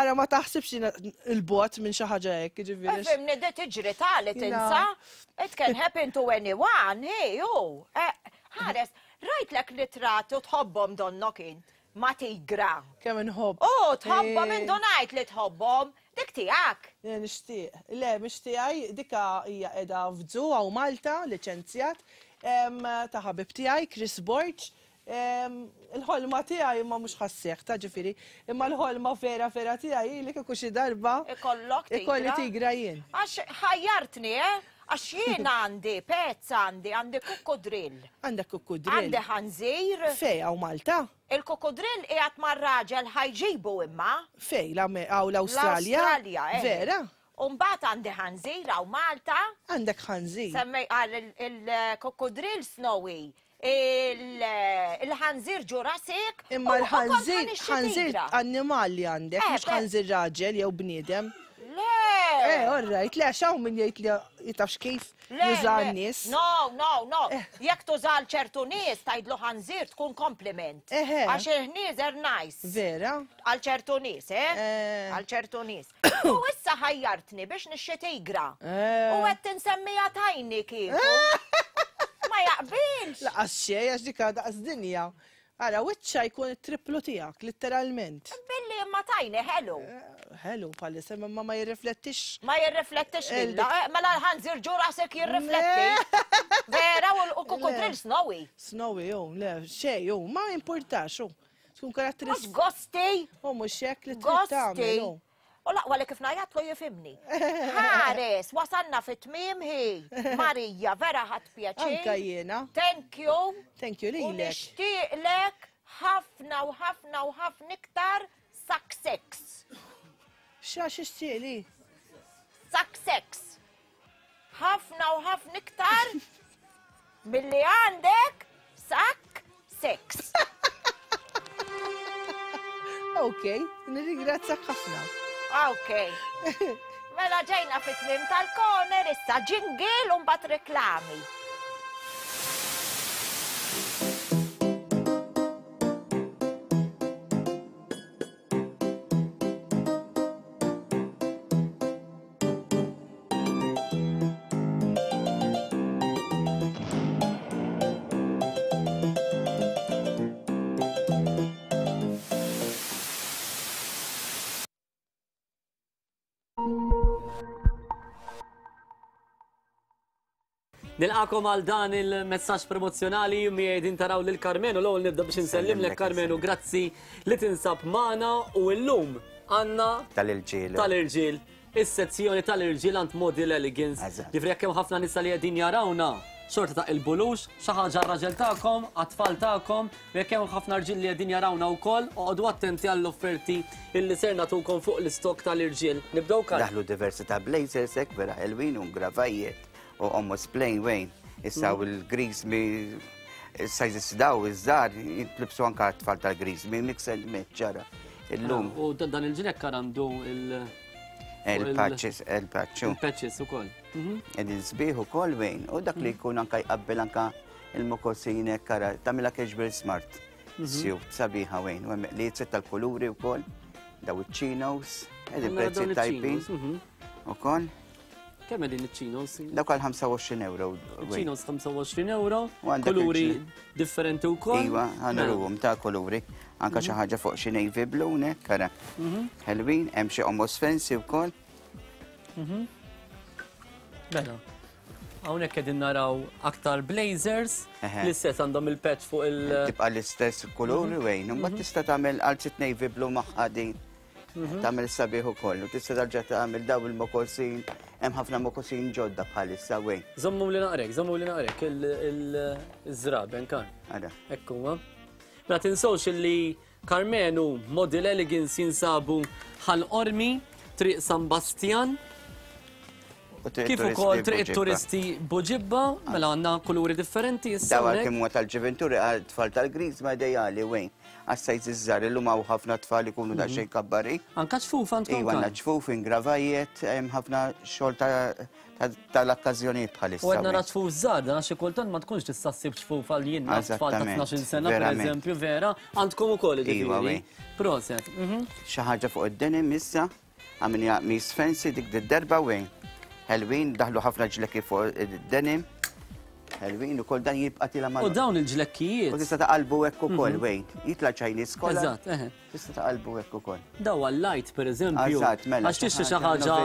ara ma taħsibx jiena il-bogħod minn xi ħaġa hekk, ġifieri. Ifhimni di tiġri tali Jiena- tinsa. It can happen to anyone, hi, hu. Eh, Ħares, rajtlek litrat u tħobbhom donnok int ma' tigra. Kemm inħobb. U tħobbhom Eh. indunajt li tħobbhom. Dik tiegħek? Le nixtieq. Le mhix tiegħi, dika hija qiegħda f'zoo hawn Malta, liċenzjat, ta' ħabib tiegħi, Chris Borg. Il-ħolma tiegħi imma mhux ħa sseħħ ta' ġifieri, imma l-ħolma vera vera tiegħi hi li kieku xi darba Ikollok tigra. Ikolli tigra jien. Għax ħajjartni, eh? Għax jien għandi pets għandi, għandi kukkudrill. Għandek kukkudrill? Għandi ħanżir. Fejn hawn Malta? Il-kukkudrill qiegħed mar-raġel ħa jġibu imma. Fejn, hawn l-Awstralja? L-Awstralja, eh. Vera? U mbagħad għandi ħanżir hawn Malta. Għandek ħanżir? Semmej qal il-kukkudrill Snowy, il-ħanżir Jurassic. Imma l-ħanżir, ħanżir annimal li għandek, eh, mhux ħanżir raġel jew bniedem. Le! Eh, all right, le, għax hawn min jgħid li jitafx kif juża n-nies. No, no, no. Eh. Jekk tuża ċertu nies tgħidlu ħanżir tkun kompliment. Għax il-ħnieżer nice. Vera? Għal ċertu nies, eh? eh. Għal ċertu nies. U issa ħajjartni biex nixxi tigra. Eh. U qed tinsemmiha tajni kieku. Ma jaqbilx. Laqas xejn għax dik daqs dinja. Ara, wiċċha jkun it-triplu tiegħek, litteralment. Billi imma tajni ħelu. Eh, ħelu bħalissa imma ma jirriflettix. Ma jirriflettix lilla. Eh, mela l-ħanżir ġu rasek jirrifletti. Vera u kukudril snowy. Snowy, jo, le, xej, jo, ma importax, jo. Tkun karatteristika. Mhux gosti. U mhux hekk li trid tagħmel. U l-aqwa li kif ngħajjatlu jifhimni. Ħares, wasalna fi tmiem hi. Marija, vera ħadt pjaċir. Anka jiena. Thank you. Thank you lilek. U nixtieqlek ħafna u ħafna u ħafna iktar success. Xa xixtieqli? Success. Ħafna u ħafna iktar milli għandek sak sex. Ok, nirringrazzjak ħafna. Ok. Mela ġejna fit-tmiem tal-corner issa jingle u mbagħad reklami. Nilqakom għal dan il-messaġġ promozzjonali miegħi din taraw lil Karmenu l-ewwel nibda biex insellimlek Karmenu grazzi li tinsab magħna u llum għandna tal-irġiel. Tal-irġiel. Is-sezzjoni tal-irġiel għand Model Elegance. Ġifieri jekk hemm ħafna nisa li qegħdin jarawna, xorta ta' il-bulux, xi ħaġa r-raġel tagħkom, għat-tfal tagħkom, u jekk hemm ħafna rġiel li qegħdin jarawna wkoll, oqogħdu attenti għall-offerti illi ser nagħtukom fuq l-istokk tal-irġiel. Nibdew Karl. Daħlu diversi ta' blazers hekk vera ħelwin u ngravajiet u almost plain wejn. Issa u l-griżmi sizes daw iż-żgħar jintlibsu anke għat-tfal tal-griżmi mix and match ġara. Illum. Ah, u dan il-ġlekk għandu il- Il-patches, il-patchu. Il-patches ukoll. Mhm. Qegħdin sbieħ ukoll wejn u dak li mhm. jkun anke jqabbel anke il-mokosin kara tagħmilha casual smart. Mhm. Sjub sabiħa wejn u hemm li tal-kuluri wkoll daw iċ-chinos, qegħdin prezzi tajbin. Ukoll. Kemm qegħdin iċ-chinos? Dawk għal 25 euro. Chinos 25 euro, kuluri differenti wkoll. Iva, għanruhom ta' kuluri. Anka xi mhm. ħaġa fuq xi navy blue nek, kara. Mhm. Ħelwin, hemm xi almost fancy wkoll. Mhm. Mela. Hawnhekk qegħdin naraw aktar blazers, l-istess għandhom il-patch fuq il- Tibqa' l-istess kuluri wejn, imbagħad tista' tagħmel għal navy blue magħha din. Mhm. Tagħmel sabiħ ukoll u tista' tarġa' tagħmel daw il-mokosin, hemm ħafna mokosin ġodda bħalissa wejn. Żommu li naqrek, żommu li naqrek il-żraben kan. Ara. Hekk huwa. Ma tinsewx illi Karmenu Model Elegance jinsabu Ħal Qormi, Triq San Bastjan. Kif ukoll Triq it-Turisti Buġibba, mela għandna kuluri differenti issa. Daw għalkemm huwa tal-ġiventuri għal tfal tal-Griżma ideali wejn. Għas-sajz iż-żgħar illum hawn ħafna tfal ikunu daqsxejn kabbarin. Anka ċfuf għandkom. Iva għandna ċfuf, ingravajiet, hemm ħafna xogħol tal-okkażjonijiet bħalissa. U qed nara ċfuf żgħar, dan għax xi kultant ma tkunx tista' ssib ċfuf għal jien naf tfal ta' 12-il sena pereżempju, vera, għandkom ukoll jiġifieri. Proset. Xi ħaġa fuq id-denim issa. Għamilniha qmis fancy dik d-darba wejn. Ħelwin, daħlu ħafna ġlekki fuq id-denim. Ħelwin ukoll dan jibqa' tila mal. U dawn il-ġlekkijiet. U tista' taqalbu hekk ukoll wejn. Jitla' Chinese collar. Eżatt, eħe. Tista' taqalbu hekk ukoll. Daw għal-light pereżempju. Eżatt, mela. Għax tixtri xi ħaġa.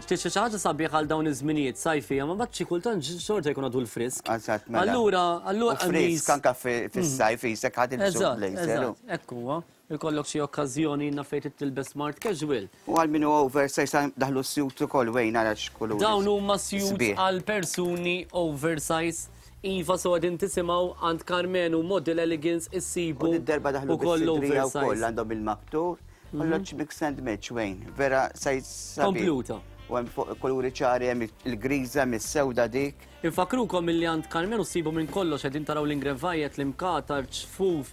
Tixtri xi ħaġa sabiħ għal dawn iż-żminijiet sajfija, ma mbagħad xi kultant xorta jkun għadu l-frisk. Eżatt, mela. Allura, allura. Frisk anka fis-sajf isek ħadd il-blazer. Eżatt, hekk huwa. Ikollok xi okkażjoni jiena fejn trid tilbes smart casual. U għal min hu oversize daħlu s-suits ukoll Wayne ara x'kulur. Dawn huma suits għal persuni oversize. Iva so qegħdin tisimgħu għand Karmenu Model Elegance issibu U darba daħlu ukoll bis-sidrija oversize. wkoll għandhom il-maktur. Kollox mix and match Wayne, vera size sabiħ. Kompluta. U hemm fuq kuluri ċari hemm il-griża, hemm is-sewda dik. Infakkrukom illi għand Karmenu ssibu minn kollox, qegħdin taraw l-ingrevajet, l-imkatar, ċfuf,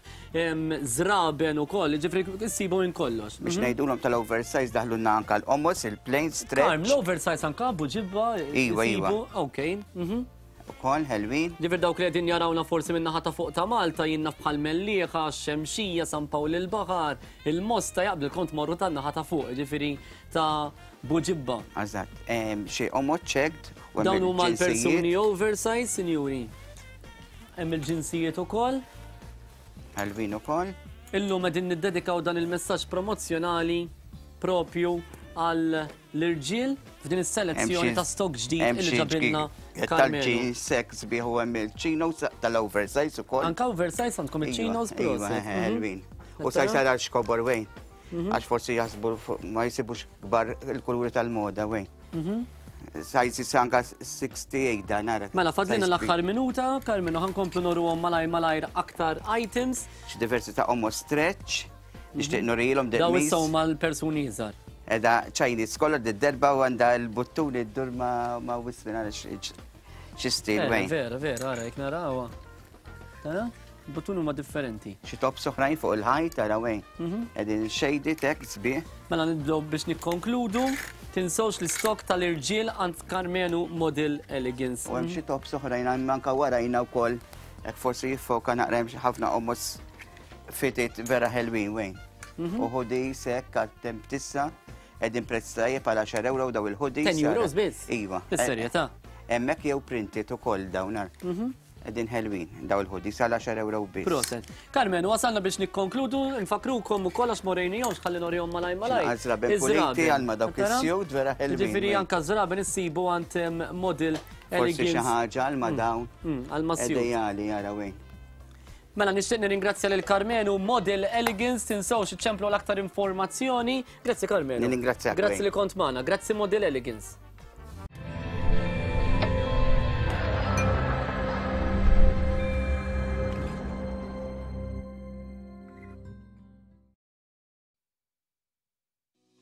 żraben ukoll, jiġifieri ssibu minn kollox. Biex ngħidulhom tal-oversize daħlulna anke l-qomos, il-plain stretch. Karm, l-oversize anke buġibba Iva, iva. Ok. Mhm. Ukoll ħelwin. Ġifier dawk li qegħdin jarawna forsi minn naħa ta' fuq ta' Malta jien naf bħal Mellieħa, Xemxija, San Pawl il-Baħar, il-Mosta jaqbel kont morru tan-naħa ta' fuq, ġifieri ta' Buġibba. Eżatt, xi omod checked. Dawn huma l-persuni oversize, sinjuri. Hemm il-ġinsijiet ukoll. Ħelwin ukoll. Illum qegħdin niddedikaw dan il-messaġġ promozzjonali propju għal l-irġiel f'din is-selezzjoni ta' stock ġdid li ġabilna Carmelo. Tal-jeans sex biħu hemm il-chinos tal-oversize ukoll. Anka oversize għandkom il-chinos iva, iva, ħelwin. U sa jsar għal xkobor wejn. Mhm. Għax forsi jaħsbu ma jsibux kbar il-kuluri tal-moda wejn. Mhm. Size anka 68 dan ara. Mela fadlina l-aħħar minuta, Karmenu ħankomplu noruhom malajr malajr aktar items. Xi diversi ta' omo stretch, nixtieq mhm. nurilhom Daw issa huma l-persuni iżgħar. Edha Chinese kollha d-derba u għandha l-buttuni ddur ma wismin għal xi stil eh, wejn. Vera, vera, ara jekk narawha. Tara? Buttuni huma differenti. Xi tops oħrajn fuq il-ħajt tara wejn. Mhm. Qegħdin shady tek sbieħ. Mela nibdew biex nikkonkludu. Tinsewx l-istok tal-irġiel għand Karmenu Model Elegance. U hemm xi tops oħrajn hemm anke warajna wkoll hekk forsi jiffoka naqra hemm xi ħafna qomos fitted vera ħelwin wejn. Mhm. U hoodies hekk għat-temp tissa qegħdin prezz tajjeb għal 10 euro daw il-hoodies. 10 euros biss? Iva. Bis-serjetà. Hemmhekk jew printed ukoll dawn. Mhm. Qegħdin ħelwin daw il-hoodies għal 10 euro biss. Proset. Carmen, wasalna biex nikkonkludu, nfakkrukom ukoll għax morejnihomx ħalli norihom malaj malaj. Żraben puliti għal ma dawk is-sjud vera ħelwin. Ġifieri anka żraben issibu għand model Forsi xi ħaġa għal ma mm. dawn. Mm, għal ma sjud. Ideali jara wejn. Mela nixtieq nirringrazzja lil Karmenu Model Elegance, tinsewx iċċemplu għal aktar informazzjoni. Grazzi Karmenu. Nirringrazzjak. Grazzi li kont magħna. Grazzi Model Elegance.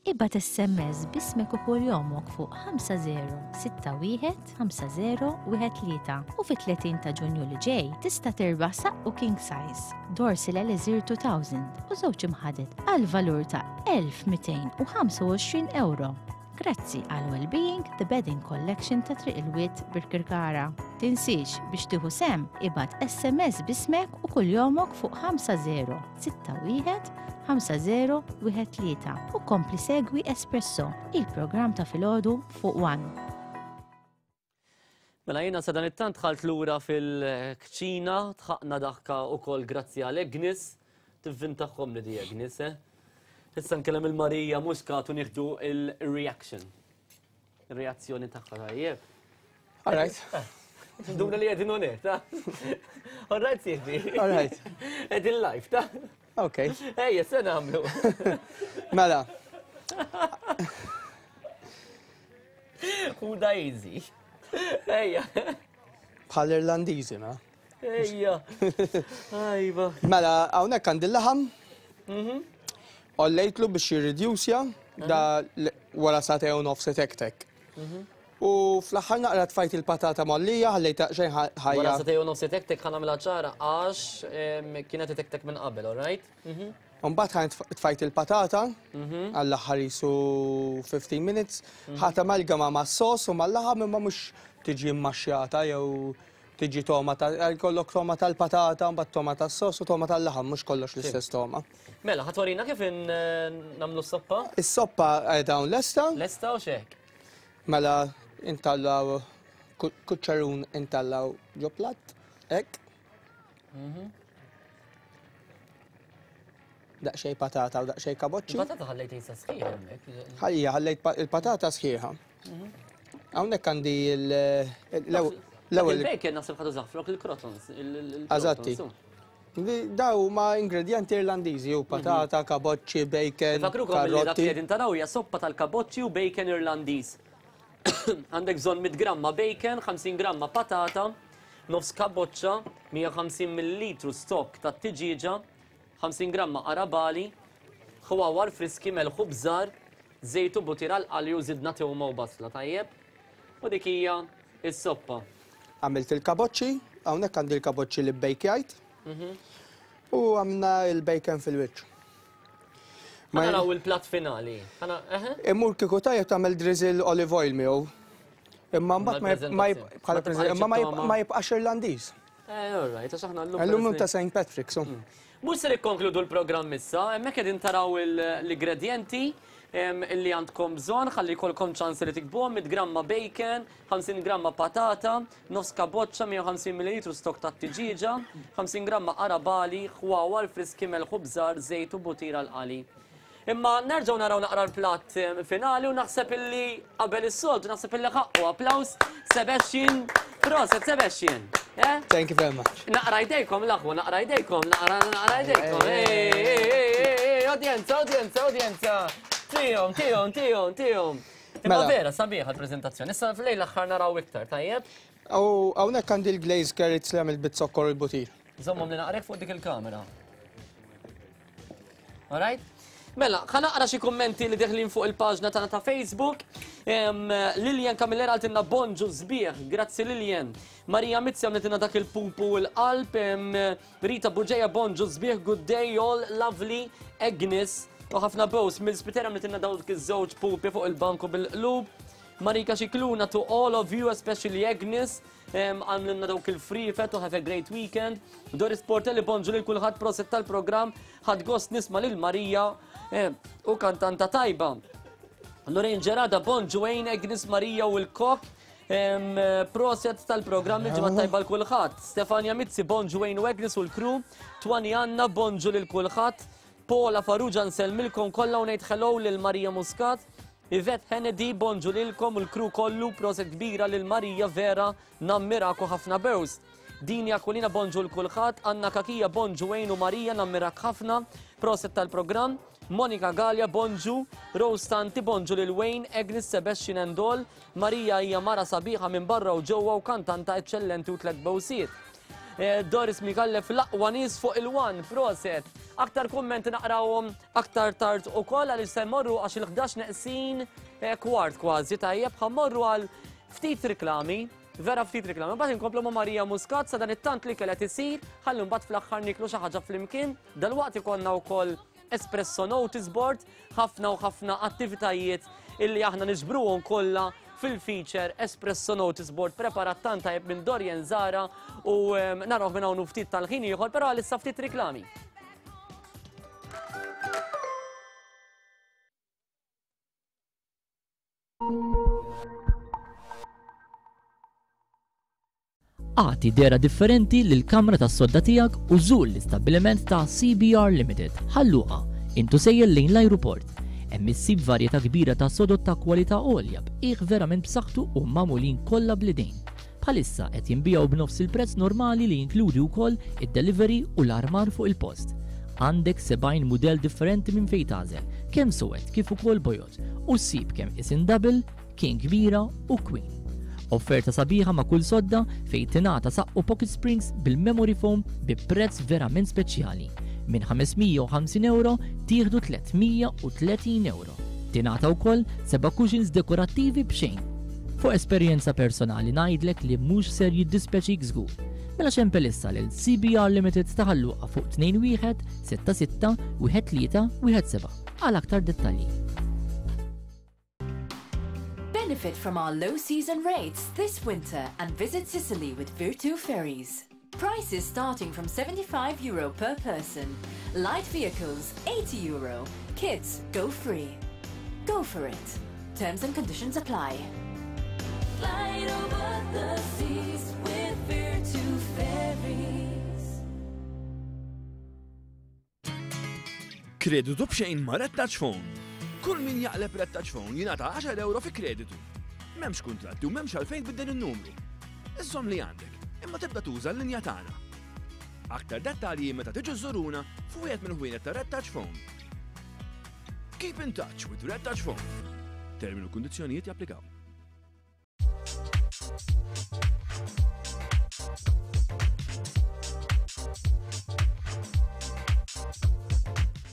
Ibgħat SMS b'ismek u kuljomok fuq 5061 5013 u fit-30 ta' Ġunju li ġej tista' tirbaħ saqqu king size, Dorsil Elixir 2000 u żewġ imħaded għal valur ta' 1225 ewro. Grazzi għal Wellbeing The Bedding Collection ta' Triq il-Wied Birkirkara. Tinsiex biex tieħu sehem ibgħat SMS b'ismek u kuljomok fuq 5061 5013 u kompli segwi Espresso, il-programm ta' filgħodu fuq One. Mela jiena sadanittant dħalt lura fil-kċina, dħaqna daħka ukoll grazzi għal Agnes, tivvintahom li di Agnes, eh? Issa nkellem il-Marija Muscat u nieħdu il-reaction. Il-reazzjoni tagħha tajjeb. All right. Eh, Nduna li qegħdin on air, ta' All right, sieħbi. All right. Qegħdin live, ta' Ok. Ejja, se nagħmlu. Mela. Ħuda easy. Ejja. Bħal Irlandiżi, ma? Ejja. Ajba. Mela, hawnhekk għandi l-laħam. Mhm. Ollejtlu biex jirridjusja da wara sagħtejn u nofs itektek. Mhm. U fl-aħħar naqra tfajt il-patata mollija, ħallejta xejn ħajja. Wara sagħtejn u nofs itektek ħa nagħmilha ċara għax kienet itektek minn qabel, all right? Mhm. Mbagħad ħa tfajt il-patata mhm. għall-aħħar jisu 15 minutes, mhm. ħa tamalgama mas-sos u mal-laħam imma mhux tiġi mmaxxjata jew tiġi toma ta' kollok toma tal-patata, mbagħad toma tas-sos u toma tal-laħam, mhux kollox l-istess toma. Mela, ħa twarina kif nagħmlu s-soppa? Is-soppa qiegħda hawn lesta. Lesta u xek. Mela intallaw. Kuċċarun intallaw ġo platt, hekk. Daqsxejn patata u daqsxejn kaboċċi. Il-patata ħallejt jisa sħiħa hemmhekk. Ħajja ħallejt il-patata sħiħa. Mhm. Hawnhekk għandi l-ewwel. Il-bacon naħseb ħadu zaħfrok il-crotons. Eżatti. Daw ma ingredienti Irlandiżi u patata, mhm. kaboċċi, bacon. Fakrukom li dak li qegħdin taraw hija soppa tal-kaboċċi u bacon Irlandiż. Għandek bżonn 100 gramma bacon, 50 gramma patata, nofs kaboċċa, 150 millilitru stock tat-tiġieġa, 50 gramma qarabagħli, ħwawar friski, melħ u bżar, żejt u butir għall-qali u żidna tewma u basla, tajjeb? U dik hija s-soppa. Għamilt il-kaboċċi, hawnhekk għandi l-kaboċċi li bbejkjajt. Mhm. U għamna il-bacon fil-wiċċ. Ma naraw il-platt finali. Imur kieku tajjeb tagħmel drizzle olive oil miegħu. Imma mbagħad ma bħala imma ma jibqax Irlandiż. Eh, all right, għax aħna llum. Illum ta' St. Patrick's. Mm. Mhux se nikkonkludu l-programm issa, hemmhekk qegħdin taraw l-ingredjenti illi għandkom bżonn ħalli jkollkom ċans li tikbuhom 100 gramma bacon, 50 gramma patata, nofs kaboċċa, 150 ml stok ta' tiġieġa, 50 gramma qarabali, ħwawar friski melħ u bżar, żejt u butir għall-qali. Imma nerġgħu naraw naqra l-platt eh, finali u naħseb illi qabel is-soltu naħseb illi ħaqqu applaus Sebastian Proset Sebastian. Eh? Thank you very much. Naqra jdejkom l-aħwa, naqra jdejkom, naqra naqra jdejkom. Udjenza, udjenza, udjenza. Tihom, tihom, tihom, tihom. Imma mela. vera, sabiħa l-prezentazzjoni. Issa f'lejl l-aħħar naraw iktar, tajjeb? U hawnhekk għandi l-glazed carrots li għamilt bit-zokkor u l-butir. Żommhom li naqrek fuq dik il-kamera. Alright? Mela, ħa naqra xi kummenti li deħlin fuq il-paġna tagħna ta' Facebook. Lilian Camillera għaltilna bonġu sbieħ, grazzi Lilian. Marija Mizzi għamletilna dak il-pupu u l-qalb. Rita Buġeja bonġu sbieħ, good day all, lovely, Agnes. U ħafna bows mill-spitera għamletilna dawk iż-żewġ pupi fuq il-banku bil-qlub. Marika Xikluna to all of you, especially Agnes. Għamlilna dawk il-frifet u have a great weekend. Doris Portelli bonġu lil kulħadd proset tal-programm. Ħadd gost nisma' lil Marija u kantanta tajba. Lorraine Gerada bonġu għejn Agnes Marija u l-kok. Proset tal-programm il-ġimgħa tajba l kulħadd. Stefania Mizzi bonġu għejn u Agnes u l-crew. Twani Anna bonġu lil kulħadd. Paula Farrugia nsellmilkom kollha u ngħid hello lil Marija Muscat. Yvette Hennedy, bonġu lilkom u l-crew kollu, proset kbira lil Marija vera nammiraku ħafna bews. Dini Aquilina bonġu l kulħadd, Anna Kakija bonġu Wayne u Marija nammirak ħafna, proset tal-programm. Monika Galea bonġu, Rose Tanti bonġu lil Wayne, Agnes Sebastian and all, Marija hija mara sabiħa minn barra u ġewwa u kantanta eċċellenti u tlett bewsiet. Eh, Doris Micallef l-aqwa nies fuq il-one, proset. Aktar kummenti naqrawhom aktar tard ukoll għaliex se mmorru għax il-11 neqsin eh, kwart kważi tajjeb ħa mmorru għal ftit riklami, vera ftit riklami. Mbagħad inkomplu ma' Marija Muscat sa dan it-tant li kellha isir, ħalli mbagħad fl-aħħar niklu xi ħaġa flimkien. Dalwaqt ikollna wkoll Espresso Notice Board, ħafna u ħafna attivitajiet illi aħna niġbruhom kollha fil-feature Espresso Notice Board preparat tant tajjeb minn Dorian Zara u ehm, narawh minn hawn ftit tal-ħin ieħor, però għalissa ftit riklami. Agħti dehra differenti lill-kamra tas-sodda tiegħek u żur l-istabbiliment ta' CBR Limited, Ħal Luqa, int u sejjer lejn l-ajruport. Hemm issib varjetà kbira ta' sodod ta' kwalità għolja b'qiegħ verament b'saħħtu u magħmulin kollha bl-idejn. Bħalissa qed jinbiegħu b'nofs il-prezz normali li jinkludi wkoll id-delivery u l-armar fuq il-post. Għandek 70 mudell differenti minn fejn tagħżel, kemm suwed kif ukoll bojod, u ssib kemm isin double, King kbira u Queen. Offerta sabiħa ma' kull sodda fejn tingħata saqqu pocket springs bil-memory foam bi prezz verament speċjali. Minn 550 ewro tieħdu 330 ewro. Tingħata wkoll seba' cushions dekorattivi b'xejn. Fuq esperjenza personali ngħidlek li mhux ser jiddispjaċik żgur. Mela xempel issa lil CBR Limited ta' Ħal Luqa fuq 21 66 13 17 għal aktar dettalji. Benefit from our low season rates this winter and visit Sicily with Virtu Ferries. Prices starting from 75 euro per person. Light vehicles, 80 euro. Kids, go free. Go for it. Terms and conditions apply. Glide over the seas with Virtu Ferries. Kreditu b'xejn ma' Red Touch Phone. Kull min jaqleb Red Touch Phone jingħata 10 euro fi kreditu. M'hemmx kuntratti u m'hemmx għalfejn tbiddel in-numru. Iżżomm li għandek, imma tibda tuża l-linja tagħna. Aktar dettalji meta tiġu żżuruna f'wieħed mill-ħwienet ta' Red Touch Phone. Keep in touch with Red Touch Phone. Termini u kundizzjonijiet japplikaw.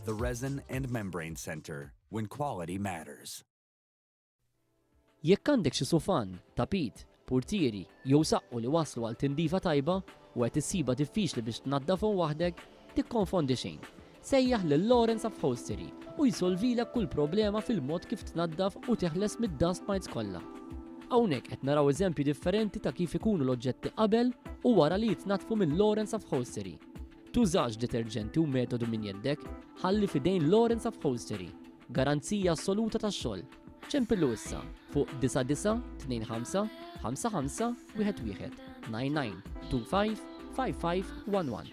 The Resin and Membrane Center, when quality matters. Jekk għandek xi sufan, tapit, purtieri jew saqqu li waslu għal tindifa tajba u qed issibha diffiċli biex tnaddafhom waħdek, tikkonfondi xejn. Sejjaħ lil Lawrence Upholstery u jsolvilek kull problema fil-mod kif tnaddaf u teħles mid-dust mites kollha. Hawnhekk qed naraw eżempji differenti ta' kif ikunu l-oġġetti qabel u wara li jitnaddfu minn Lawrence Upholstery. Tużax deterġenti u metodu minn jeddek, ħalli f'idejn Lawrence Upholstery. Garanzija assoluta tax-xogħol. Ċempillu issa fuq 9925 55 11 99 25 55 11.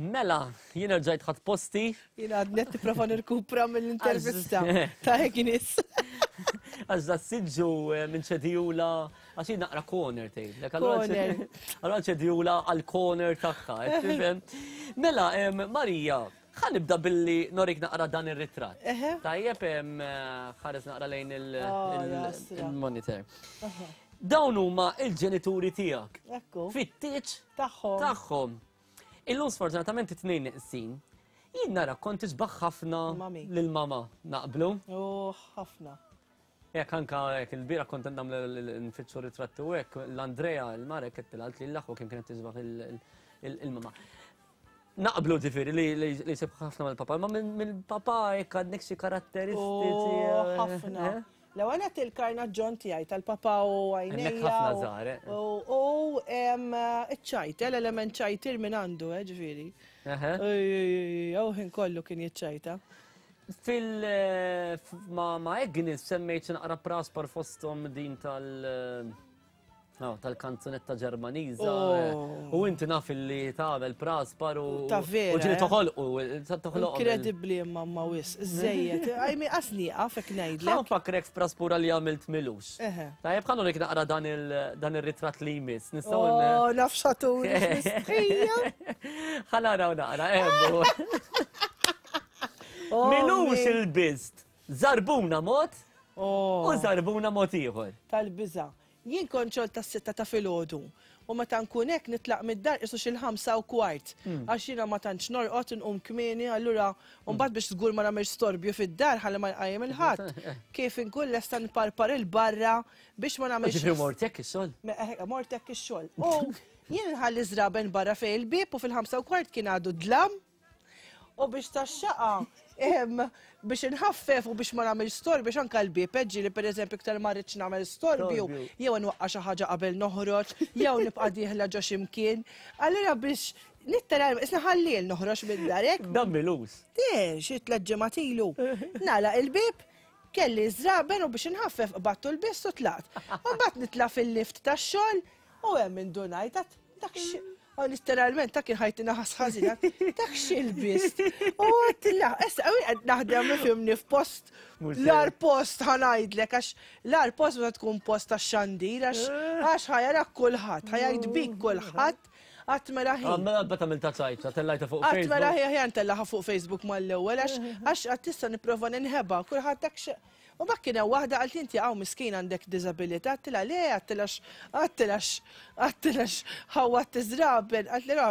Mela, jien rġajt ħadd posti. Jien għadni qed nipprova nirkupra mill-intervista ta' Agnes. Għax da siġġu eh, minn ċedijula, għax jien naqra corner tgħidlek. Corner. Allura ċedijula għal corner tagħha, qed tifhem? Mela, em, Marija, ħa nibda billi norik naqra dan ir-ritratt. Tajjeb em, eh, ħares naqra lejn il- Oh, il- jasra. il-monitor. Dawn huma il-ġenituri tiegħek. Ekku. Fit-tieġ tagħhom. Tagħhom. Illum sfortunatament it-tnejn neqsin. Jien nara kont tisbaħ ħafna lil mama naqblu. Oh, ħafna. Jekk anka jekk il-bira kont nagħmel nfittxu ritratti u hekk l-Andrea l-Marek qed tilgħalt li l-aħwa kemm kienet tisbaħ il-mama. Naqblu ġifieri li li sebħ ħafna mal-papa, ma mill-papa jekk għandek xi karatteristiċi. Oh, ħafna. Eh? L-ewwel qed il-karnaġġon tiegħi tal-papa u għajnejja. Hemmhekk ħafna żgħar, eh. U iċ-ċajt, eh, l-element ċajtir minn għandu, eh, ġifieri. U ħin kollu kien jiċċajta. Fil eh, ma ma Agnes semmejt xi naqra praspar fosthom din tal- No, tal-kanzunetta Ġermaniża. Oh. U inti naf li tagħmel praspar u Ta' vera, U ġieli eh? toħolqu, toħloq. Inkredibbli imma ma wis, żejjed. Għajmi qasni għafek ngħidlek. Ħa nfakkrek f'praspura li għamilt milux. Eħe. Tajjeb ħa nurik naqra dan il-ritratt li jmiss. Nistgħu Oh, naf xatur, mistħija. Ħa naraw naqra, emmu. Oh, Milux min. il-bizt. Zarbuna mod Oh. u zarbuna mod ieħor. Tal-biża'. Jien kont xogħol tas-sitta ta' filgħodu u meta nkun hekk nitlaq mid-dar qisu xil-5:15 għax jiena ma tantx norqod inqum kmieni allura mbagħad biex żgur ma nagħmilx storbju fid-dar ħalli ma nqajjem il ħadd kif inkun lesta nparpar 'il barra biex ma nagħmilx Ġifieri mort hekk ix-xogħol? Eh, mort hekk ix-xogħol. U jien nħalli żraben barra fejn il-bieb u fil-5:15 kien għadu dlam U biex tax-xaqa, biex inħaffef u biex ma nagħmel storbju, biex anke l-bieb ġieli pereżempju iktar ma rridx nagħmel storbju, jew nwaqqa' xi ħaġa qabel noħroġ, jew nibqa' dieħla ġo xi mkien. Allura biex nitteralment, isna ħalliel noħroġ mid-dar hekk. Dan milus. Eh, xi tliet ġimgħat ilu. Nagħlaq il-bieb, kelli ż-żraben u biex inħaffef qbadtu l-biss u tlaqt. U mbagħad nitla' fil-lift tax-xogħol u hemm indunajt dak. U literalment ta' kien ħajti naħas ħażina, dak x'ilbist. U għedtilha, issa qed naħdem ifhimni f'post l-ar post ħanajdlek għax l-ar post meta tkun post tax-xandir għax għax ħajarak kulħadd, ħajajt bik kulħadd Qatt mela ħin. Ah, mela bata mill ta' ċajta, tellajta fuq Facebook. Qatt mela ħin ħjan tellaħa fuq Facebook mal-ewwel għax għax qatt tista' nipprova ninħeba, kulħadd dak U mbagħad kien hemm waħda qalt inti hawn miskin għandek diżabilità, għedtilha le, għedtilha għedtilha għedtilha ħawwadt iż-żraben, qaltli ra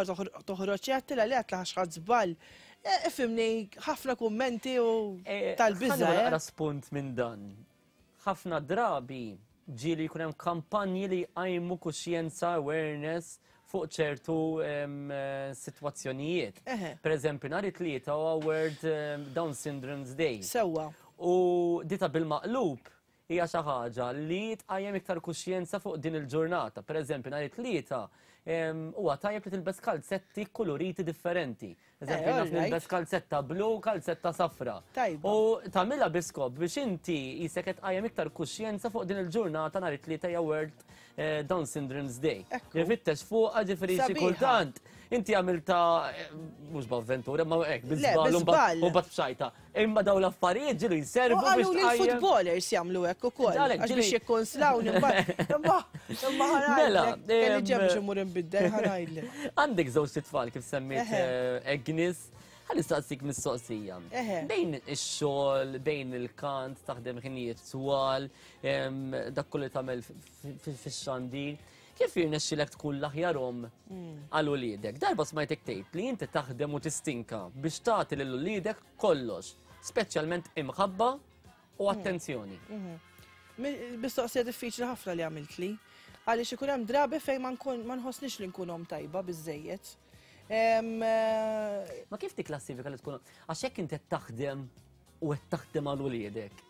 toħroġ, għedtilha le għedtilha għax ħadt żball. E, ifhimni, ħafna kummenti u e, tal-biża'. Ħa naqra spunt minn dan. Ħafna drabi ġieli jkun hemm kampanji li jqajmu kuxjenza, awareness fuq ċertu sitwazzjonijiet. Per eżempju, nhar it-Tlieta huwa World Down Syndrome's Day. Sewwa. U dita bil-maqlub hija xi ħaġa li tqajjem iktar kuxjenza fuq din il-ġurnata. Per eżempju, nhar it-Tlieta huwa tajjeb li tilbes kalzetti kkuluriti differenti. Eżempju, naf nilbes kalzetta blu, kalzetta safra. U tagħmilha bi skop biex inti jisek qed tqajjem iktar kuxjenza fuq din il-ġurnata nhar it-Tlieta hija World Down Syndrome's Day. Ifittex fuqha ġifieri xi kultant inti għamilta mhux b'avventura, ma hekk bi żball u mbagħad b'xajta. Imma dawn l-affarijiet ġielu jservu biex. U qalu li l-footballers jagħmlu hekk ukoll. Għax biex jikkonslawni mbagħad. Imma imma Mela, kelli ġem biex immur inbiddel ħa ngħidlek. Għandek żewġ tfal kif semmiet Agnes. Ħa nistaqsik mistoqsija. Bejn ix-xogħol, bejn il-kant, taħdem ħinijiet twal, dak kollu li tagħmel fix-xandir. Kif jirnexxilek tkun l-aħjar omm għal uliedek? Darba smajtek tgħid li inti taħdem u tistinka biex tagħti lil uliedek kollox, speċjalment imħabba u attenzjoni. Mistoqsija diffiċli ħafna li għamiltli. Għaliex ikun hemm drabi fejn ma nkun ma nħossnix li nkun omm tajba biżejjed. Ma kif tikklassifika li tkun għax jekk inti qed taħdem u qed taħdem għal uliedek.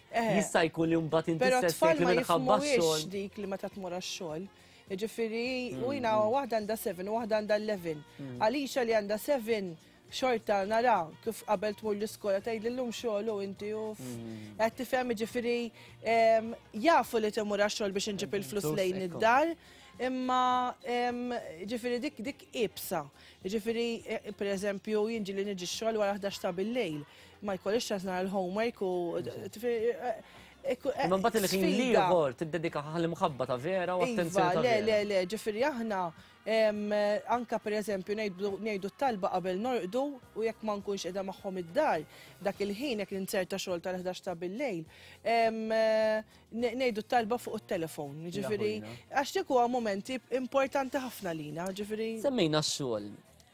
Jista' jkun li mbagħad inti Però stess tfal tgħid li ma minħabba jifhmuhiex x-xogħol. dik li meta tmur għax-xogħol. Jiġifieri, u jiena waħda għandha 7 u waħda għandha 11. Għalija li għandha 7 xorta nara kif qabel tmur l-iskola tgħid llum xogħol u inti u qed tifhem jiġifieri jafu li timur għax-xogħol biex inġib il-flus lejn id-dar, imma ġifieri dik dik iebsa. Jiġifieri pereżempju jien ġieli niġi x-xogħol wara 11 ta' bil-lejl. Ma jkollix ċans nara l-homework u Imma mbagħad il-ħin l-ieħor tiddedika għall-imħabba ta' vera u attenzjoni ta' vera. Le, le, le, ġifieri aħna anka pereżempju ngħidu t-talba qabel norqdu u jekk ma nkunx qiegħda magħhom id-dar, dak il-ħin jekk ninzerta xogħol tal-11 ta' bil-lejl, ngħidu t-talba fuq it-telefon. Ġifieri, għax dik huwa momenti importanti ħafna lina, ġifieri. Semmejna x-xogħol.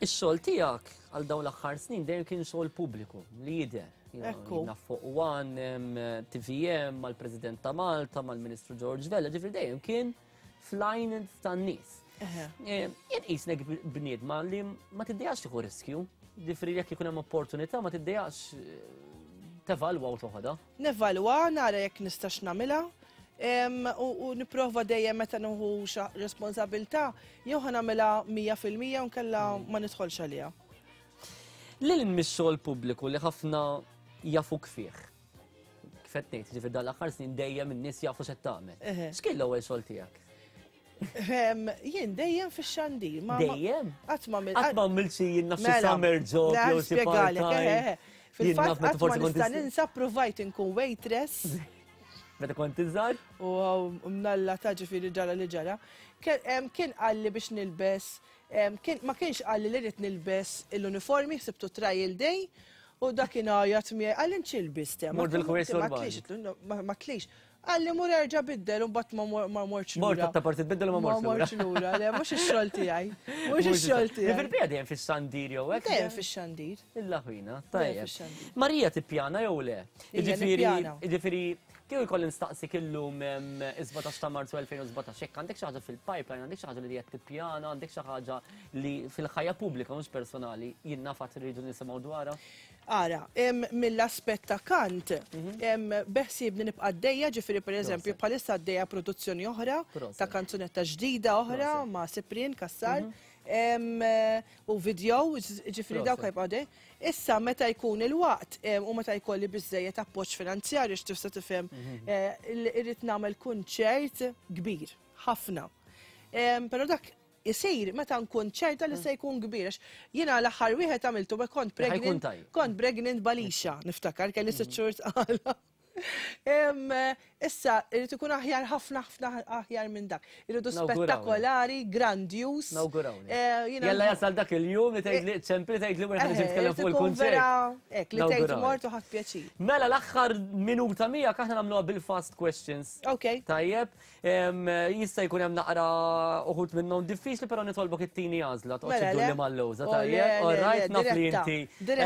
Ix-xogħol tiegħek għal dawn l-aħħar snin dejjem kien xogħol pubbliku li jidher. Ekku. Naf fuq One, TVM, mal-President ta' Malta, mal-Ministru George Vella, ġifieri dejjem kien fl-għajn tan-nies. Jien qisnek bniedma li ma tiddejjax tieħu riskju, ġifieri jekk ikun hemm opportunità ma tiddejjax tevalwa u toħodha. Nevalwa, nara jekk nistax nagħmilha, u nipprova dejjem meta nieħu responsabilità jew ħa nagħmilha 100% u nkella ma nidħolx għaliha. Lil hinn mix-xogħol pubbliku li ħafna jafuk fih. Kif qed ngħid, ġifieri dan l-aħħar snin dejjem in-nies jafu x'qed tagħmel. X'kien l-ewwel xogħol tiegħek? Jien dejjem fix-xandir. Dejjem? Qatt ma Qatt ma għamilt xi jien naf xi mela, summer job jew xi part-time. Fil-fatt qatt ma nista' ninsa provajt inkun waitress. Meta kont iżgħar? U mnalla ta' ġifieri ġara li ġara. Kien qalli biex nilbes, ma kienx qalli li rrid nilbes l-uniformi, ħsibtu trial day, u dak kien għajat miegħi, qalli nċilbis te. Mort bil-ħwejjeġ normali. Ma tlix. Qalli mur erġa' biddel u mbagħad ma mortx lura. Mort ta' parti tbiddel u ma mortx lura. Ma mortx lura, le mhux ix-xogħol tiegħi. Mhux ix-xogħol tiegħi. Ġifieri dejjem fix-xandir jew hekk? Dejjem fix-xandir. Illa ħwina, tajjeb. Marija tippjana jew le? Jiġifieri, jiġifieri, kieku jkolli nistaqsik illum is-17 ta' Marzu 2017, jekk għandek xi ħaġa fil-pipeline, għandek xi ħaġa li qed tippjana, għandek xi ħaġa li fil-ħajja pubblika mhux personali jien naf għad irridu nisimgħu dwarha? Ara, mill-aspett ta' kant, beħsiebni nibqa' għaddejja, ġifieri pereżempju bħalissa għaddejja produzzjoni oħra ta' kanzunetta ġdida oħra ma' Cyprian Cassar. U video, ġifieri dawk ħajbqgħu għaddej. Issa meta jkun il-waqt u meta jkolli biżżejjed appoġġ finanzjarju x'tista' tifhem irrid nagħmel kunċert kbir ħafna. Però dak isir meta nkun ċerta li se jkun kbir. Għax jiena l-aħħar wieħed għamiltu meta kont pregnant. Kont pregnant b'Alisha, niftakar, kelli sitt xhur tqala. Issa, irid ikun aħjar ħafna ħafna aħjar minn dak. Irridu spettakolari, grandjuż. Nawgurawli. Eh, Jalla jasal dak il-jum li tgħid li ċempli tgħid li wieħed eh, nitkellem fuq il-kunċert. Hekk li tgħid mort u ħadd pjaċir. Mela l-aħħar minuta miegħek aħna nagħmluha bil-fast questions. Ok. Tajjeb, jista' jkun hemm naqra uħud minnhom diffiċli, però nitolbok it-tieni għażla toqgħodx mela, iddulli mal-lewża, oh, tajjeb. All right, naf li inti.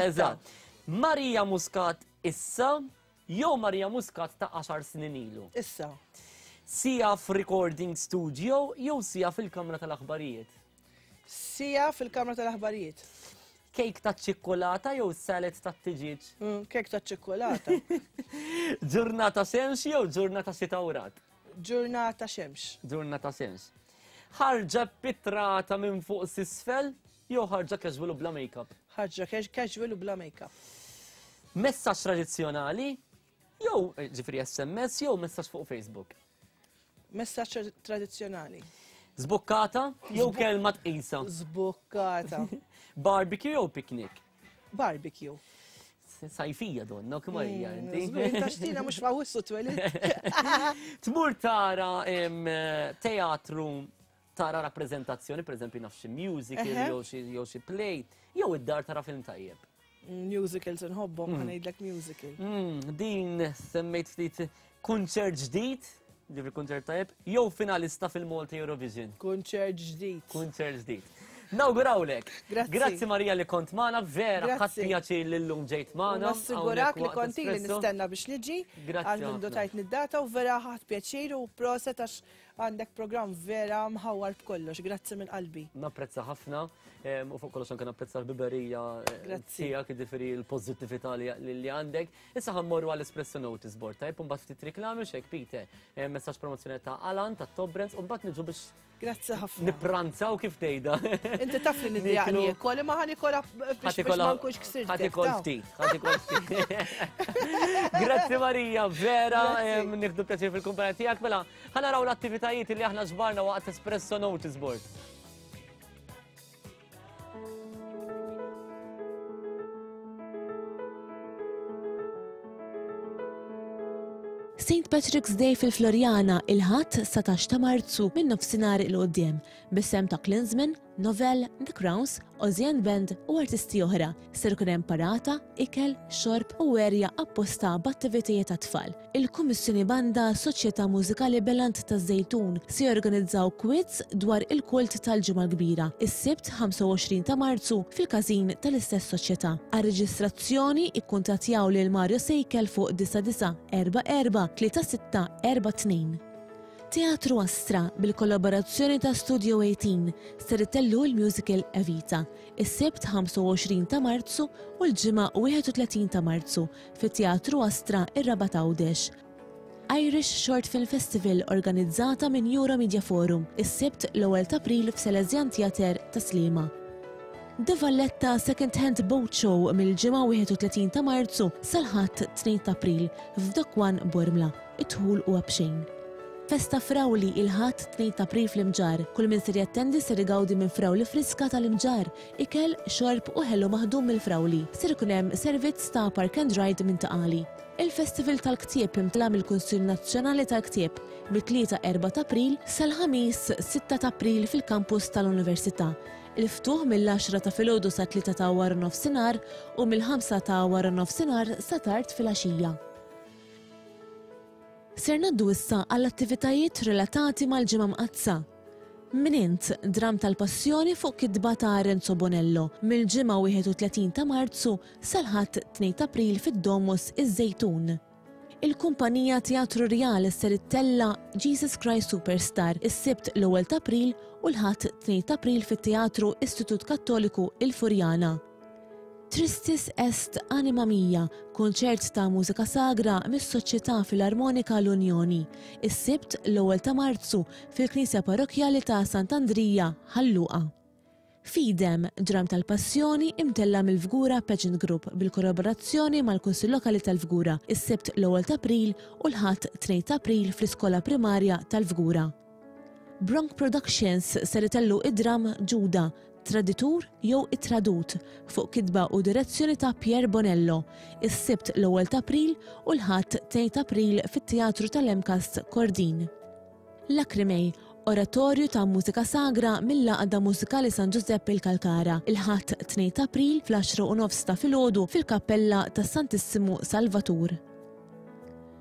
Eżatt. Marija Muscat issa jew Maria Muscat ta' għaxar snin ilu? Issa. Sija f'recording studio jew sija fil-kamra tal-aħbarijiet? Sija fil-kamra tal-aħbarijiet. Kejk ta' ċikkulata jew salad ta' tiġiġ? Mm, kejk ta' ċikkulata. Ġurnata xemx jew ġurnata xita u rad? Ġurnata xemx. Ġurnata xemx. Ħarġa pitrata minn fuq s'isfel Jew ħarġa casual u bla make-up? Ħarġa casual u bla make-up. Messaġġ tradizzjonali jew eh, ġifri SMS jew messaġġ fuq Facebook? Messaġġ tradizzjonali. Zbukkata jew kelma tqisa? Zbukkata. Barbecue jew picnic? Barbecue. Sajfija donna, kemm hija mm, inti. Taxtina mhux fawissu twelid. Tmur tara teatru tara rappreżentazzjoni, pereżempju naf xi musical jew xi play, jew id-dar tara film tajjeb. Musicals nħobbhom, mm. ngħidlek musical. Mm, din semmejt ftit kunċert ġdid, ġifri kunċert tajjeb, jew finalista fil-Malta Eurovision. Kunċert ġdid. Kunċert ġdid. Nawgurawlek. Grazzi. Grazzi Marija li kont magħna, vera ħadd pjaċir li llum ġejt magħna. Nassigurak li kont ili nistenna biex niġi. Grazzi. Għal mindu tajt nid-data u vera ħadd pjaċir u proset għax Għandek programm vera mħawwar b'kollox, grazzi minn qalbi. Napprezza ħafna u fuq kollox anke napprezza l-biberija eh, tiegħek, jiġifieri l-pożittività li għandek. Issa ħammorru għall espresso Notice Board, tajb, mbagħad ftit riklami xek Peter, messaġġ promozzjoni ta' Alan ta' Top Brands u mbagħad niġu biex Grazzi ħafna. Nipranzaw kif tgħidha. Inti taf li nidjaqni niekol, imma ħa nikola biex ma nkunx ksirt. Ħa tikol ftit, ħa tikol ftit. Grazzi Marija, vera, nieħdu pjaċir fil-kumpanija tiegħek mela. Ħa naraw l-attivitajiet li aħna ġbarna waqt Espresso Notice Board. St. Patrick's Day fil-Floriana il-Ħadd 19 ta' Marzu minn nofsinhar 'il quddiem bis-sehem ta' Klinsmann, Novell, The Crowns, Ozzy and Band u artisti oħra. Ser ikun hemm parata, ikel, xorb u erja apposta b'attivitajiet għat-tfal. Il-Kummissjoni Banda Soċjetà Mużikali Belant taż-Żejtun se jorganizzaw quiz dwar il-kult tal-Ġimgħa l-Kbira, is-Sibt 25 ta' Marzu fil-każin tal-istess soċjetà. Għar-reġistrazzjoni ikkuntattjaw lil Mario Sejkel fuq 9944 3642. Teatru Astra, bil-kollaborazzjoni ta' Studio 18, ser itellu l-musical Evita, is-Sibt 25 ta' Marzu u l-Ġimgħa 31 ta' Marzu, fit-Teatru Astra, ir-Rabat Għawdex. Irish Short Film Festival organizzata minn Euro Media Forum, is-Sibt l-ewwel t'April f'Salesian Theatre, Tas-Sliema. The Valletta Second Hand Boat Show mill-Ġimgħa 31 ta' Marzu sal-Ħadd 2 t'April f'Dock One Bormla. Id-dħul huwa b'xejn. Festa Frawli il-Ħadd 2 t'April fl-Imġarr. Kull min ser jattendi ser igawdi minn frawli friska tal-Imġarr, ikel, xorb u ħelu maħdum mill-frawli. Ser ikun hemm servizz ta' park and ride minn Ta' Qali. Il-Festival tal-Ktieb imtla' mill-Kunsill Nazzjonali tal-Ktieb mit-Tlieta 4 t'April sal-Ħamis 6 t'April fil-Kampus tal-Università. Il-ftuħ mill-għaxra ta' filgħodu sat-tlieta ta' waranofsinhar u mill-ħamsa ta' waranofsinhar sa tard filgħaxija. Ser ngħaddu issa għall-attivitajiet relatati mal-Ġimgħa Mqaddsa. Min Int? Dramm tal-Passjoni fuq kitba ta' Renzo Bonello, mill-Ġimgħa 31 ta' Marzu sal-Ħadd 2 t'April fid-Domus iż-Żejtun. Il-Kumpanija Teatru Rjal ser ittella' Jesus Christ Superstar is-Sibt l-ewwel t'April u l-Ħadd 2 t'April fit-Teatru Istitut Kattoliku Il-Furjana. Tristis Est Anima Mia, kunċert ta' mużika sagra mis-Soċjetà Filarmonika L-Unjoni, is-Sibt l-ewwel ta' Marzu fil-Knisja Parrokkjali ta' Sant'Andrija, Ħal Luqa. Fidem, dramm tal-passjoni imtella' mill-Fgura Pageant Group bil-kollaborazzjoni mal-Kunsill Lokali tal-Fgura, is-Sibt l-ewwel t'April u l-Ħadd 2 t'April fl-Iskola Primarja tal-Fgura. Bronk Productions ser itellu id-dramm Ġuda, Traditur jew Ittradut fuq kitba u direzzjoni ta' Pierre Bonello, is-Sibt l-ewwel t'April u l-Ħadd 2 t'April fit-Teatru tal-MCAST Kordin. Lacrimei, Oratorju ta' mużika sagra mill-Għaqda Mużikali San Ġużepp il-Kalkara, il-Ħadd 2 t'April fl-għaxra u nofs ta' filgħodu fil-Kappella tas-Santissimu Salvatur.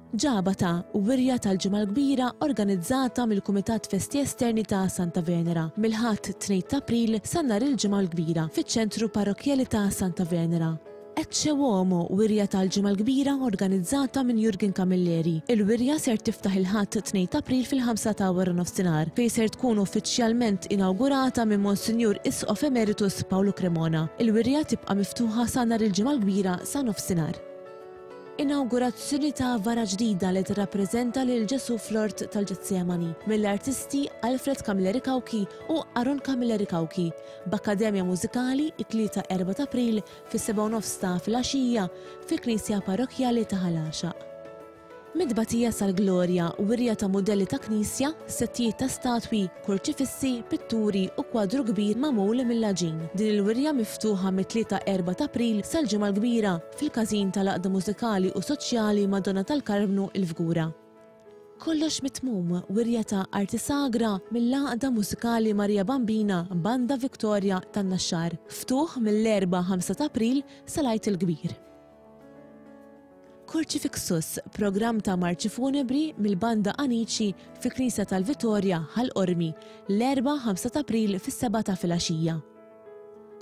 Ġabata, wirja tal-Ġimgħa l-Kbira organizzata mill-Kumitat Festi Esterni ta' Santa Venera, mill-Ħadd 2 t'April sa nhar il-Ġimgħa l-Kbira, fiċ-Ċentru Parrokkjali ta' Santa Venera. Ecce Uomo, wirja tal-Ġimgħa l-Kbira organizzata minn Jurgen Camilleri. Il-wirja ser tiftaħ il-Ħadd 2 t'April fil-ħamsa ta' waranofsinhar, fejn ser tkun uffiċjalment inawgurata minn Monsinjur Isqof Emeritus Paolo Cremona. Il-wirja tibqa' miftuħa sa nhar il-Ġimgħa l-Kbira sa nofsinhar. Inawgurazzjoni ta' vara ġdida li tirrappreżenta lil Ġesù fl-Ort tal-Ġetsemani mill-artisti Alfred Camilleri Cauchi u Aaron Camilleri Cauchi, b'akkademja mużikali it-Tlieta 4 t'April fis-sebgħa u nofs ta' filgħaxija fil-Knisja Parrokkjali ta' Ħal Għaxaq. Mit-tbatija sal-glorja, wirja ta' mudelli ta' knisja, settijiet ta' statwi, kurċifissi, pitturi u kwadru kbir magħmul mill-għaġin. Din il-wirja miftuħa mit-Tlieta 4 t'April sal-Ġimgħa l-Kbira fil-Każin tal-Għaqda Mużikali u Soċjali Madonna tal-Karmnu il-Fgura. Kollox Mitmum, wirja ta' arti sagra mill-Għaqda Mużikali Maria Bambina Banda Victoria tan-Naxxar. Ftuħ mill-Erbgħa 5 t'April sal-Għid il-Kbir. Kurċifixus, programm ta' marċi funebri mill-Banda Anici fil-Knisja tal-Vitorja, Ħal Qormi, l-Erbgħa 5 t'April fis-sebgħa ta' filgħaxija.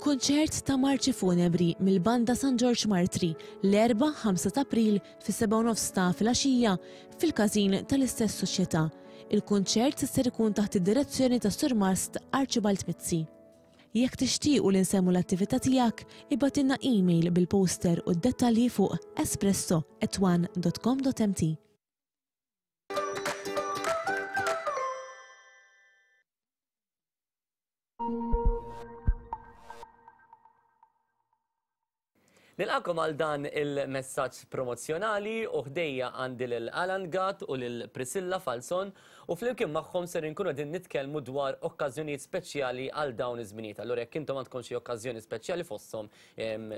Kunċert ta' marċi funebri mill-Banda San Ġorġ Martri, l-Erbgħa 5 t'April fis-sebgħa u nofs ta' filgħaxija fil-każin tal-istess soċjetà. Il-kunċert ser ikun taħt id-direzzjoni tas-Surmast Archibald Mizzi. Jekk tixtiequ li nsemmu l-attività tiegħek, ibgħatilna email bil-poster u d-dettalji fuq espresso at one dot com dot mt. Nilqakom għal dan il-messaġġ promozzjonali u ħdejja għandi lil Alan Gatt u lil Priscilla Falzon u flimkien magħhom ser inkunu qegħdin nitkellmu dwar okkażjonijiet speċjali għal dawn iż-żminijiet. Allura jekk intom għandkom xi okkażjoni speċjali fosthom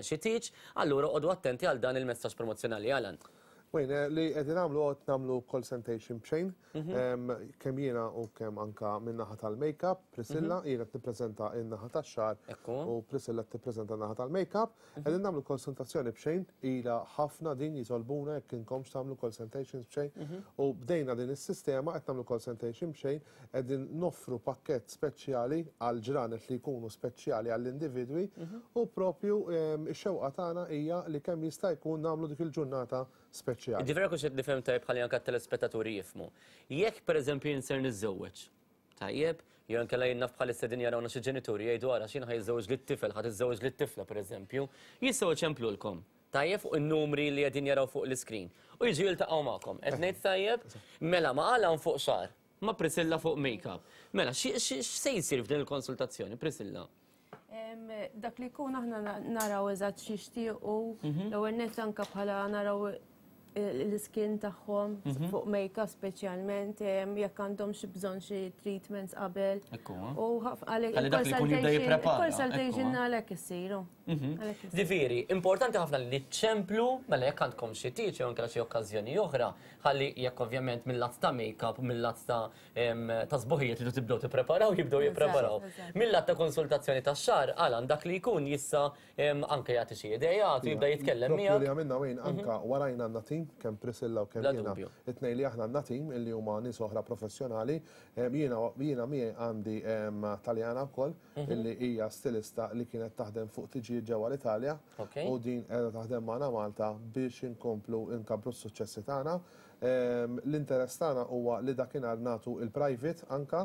xi tieġ, allura oqogħdu attenti għal dan il-messaġġ promozzjonali. Alan. Wayne, li qegħdin nagħmlu qed nagħmlu consultation b'xejn, kemm jiena u kemm anka min-naħa tal-makeup, Priscilla, jiena qed nippreżenta n-naħa tax-xagħar u Priscilla qed tippreżenta n-naħa tal-makeup. Qegħdin nagħmlu konsultazzjoni b'xejn, ilha ħafna din jitolbuna jekk inkomx tagħmlu consultations b'xejn. U bdejna din is-sistema qed nagħmlu consultation b'xejn, qegħdin noffru pakkett speċjali għal ġranet li jkunu speċjali għall-individwi u propju x-xewqa tagħna hija li kemm jista' jkun nagħmlu dik il-ġurnata speċjali. Jiġifieri jekk hux qed nifhem tajjeb ħalli anke t-telespettaturi jifhmu. Jekk pereżempju jien ser niżżewweġ, tajjeb, jew inkella jien naf bħalissa qegħdin jarawna xi ġenituri jgħidu ara x'jien ħa jiżżewweġ lit-tifel, ħa tiżżewweġ lit-tifla pereżempju, jistgħu jċemplulkom, tajjeb, fuq in-numri li qegħdin jaraw fuq l-iskrin u jiġu jiltaqgħu magħkom. Qed ngħid tajjeb? Mela ma' Alan fuq xagħar, ma' Priscilla fuq make-up. Mela, x'se jsir f'din il-konsultazzjoni, Priscilla? Dak li jkun aħna naraw eżatt x'jixtiequ, mhm. l-ewwel nett anke bħala naraw l-iskin tagħhom mhm. fuq make-up speċjalment jekk għandhom xi bżonn xi treatments qabel. U għalhekk consultation għalhekk issiru. Mhm. Ġifieri, importanti ħafna li ċemplu mela jekk għandkom xi tieġ jew anke xi okkażjoni oħra, ħalli jekk ovvjament mill-lat ta' make-up, mill-lat ta' ta' sbuħija tridu tibdew tippreparaw, jibdew jippreparaw. Mill-lat ta' konsultazzjoni tax-xagħar, Alan, dak li jkun jista' anke jagħti xi ideat u jibda jitkellem miegħek. Propju li għamilna Wayne anke warajna għandna tim, kemm Priscilla u kemm jiena. It-tnejn li aħna għandna tim illi huma nies oħra professjonali. Jiena jiena miegħi għandi Taljana wkoll illi hija stilista li kienet taħdem fuq tiġijiet ġewwa l-Italja u din qiegħda taħdem magħna Malta biex inkomplu nkabbru s-suċċessi tagħna. L-interess tagħna huwa li dakinhar nagħtu il-private anka,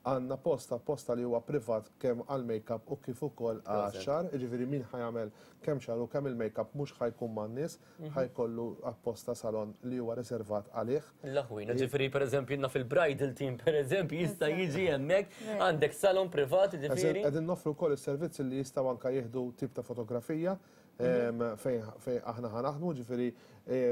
għandna post apposta li huwa privat kemm għall-makeup u kif ukoll għax-xagħar, jiġifieri min ħa jagħmel kemm xagħar u kemm il-makeup mhux ħa jkun man-nies, ħa jkollu apposta salon li huwa riservat għalih. L-aħwin, jiġifieri pereżempju naf il-bridal team pereżempju jista' jiġi hemmhekk, għandek salon privat jiġifieri. Qegħdin noffru wkoll is-servizz li jistgħu anka jieħdu tip ta' fotografija. fejn fejn aħna ħa naħdmu, ġifieri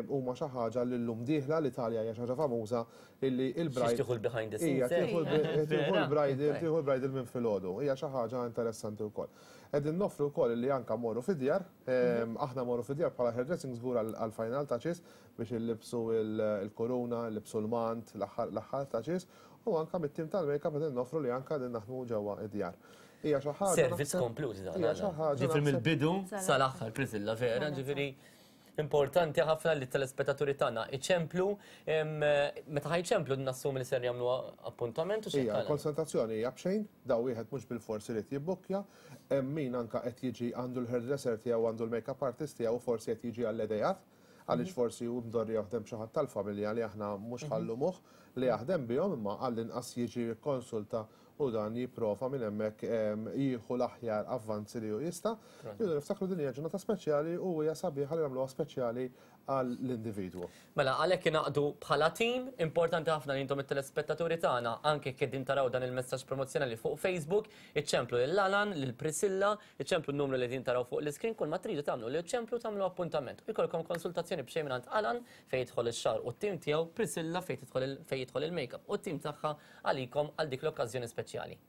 huma xi ħaġa li llum dieħla l-Italja hija xi ħaġa famuża illi il-bride. Tieħu l-behind the scenes. Hija tieħu l-bridal, tieħu l-bridal minn filgħodu. Hija xi ħaġa interessanti wkoll. Qegħdin noffru wkoll illi anke mmorru fid-djar, aħna mmorru fid-djar bħala hairdressing żgur għall-final touches biex illibsu l-kuruna, illibsu l-mant, l-aħħar touches, u anke mit-tim tal-makeup qegħdin noffru li anke qegħdin naħdmu ġewwa id-djar. Hija xi ħaġa. Servizz komplut dan. Hija xi ħaġa. Ġifieri mill-bidu sal-aħħar Prisilla vera, ġifieri importanti ħafna li telespettaturi tagħna iċemplu meta ħajċemplu nassumi li ser jagħmlu appuntament u xi. Hija konsultazzjoni hija b'xejn, daw wieħed mhux bilfors irid jibbukkja, hemm min anke qed jiġi għandu l-hairdresser tiegħu għandu l-makeup artist tiegħu forsi qed jiġi għall-idejat għaliex forsi hu mdorri jaħdem xi ħadd tal-familja li aħna mhux ħallumuh li jaħdem bihom imma għall-inqas jiġi jikkonsulta u dan jipprova minn hemmhekk jieħu l-aħjar avvanzi li hu jista'. Irridu niftakru din hija ġurnata speċjali u hija sabiħa li nagħmluha speċjali għall-individwu. Mela, għalhekk ingħaqdu bħala tim, importanti ħafna li intom it-telespettaturi tagħna, anke jekk qegħdin taraw dan il-messaġġ promozzjonali fuq Facebook, iċċemplu lil Alan, lil Priscilla, iċċemplu n-numru li qegħdin taraw fuq l-iskrin, kull ma tridu tagħmlu li ċċemplu tagħmlu appuntament u jkollkom konsultazzjoni b'xejn mingħand Alan fejn jidħol ix-xagħar u t-tim tiegħu, Priscilla fejn tidħol fejn jidħol il-makeup u t-tim tagħha għalikom għal dik l-okkażjoni speċjali.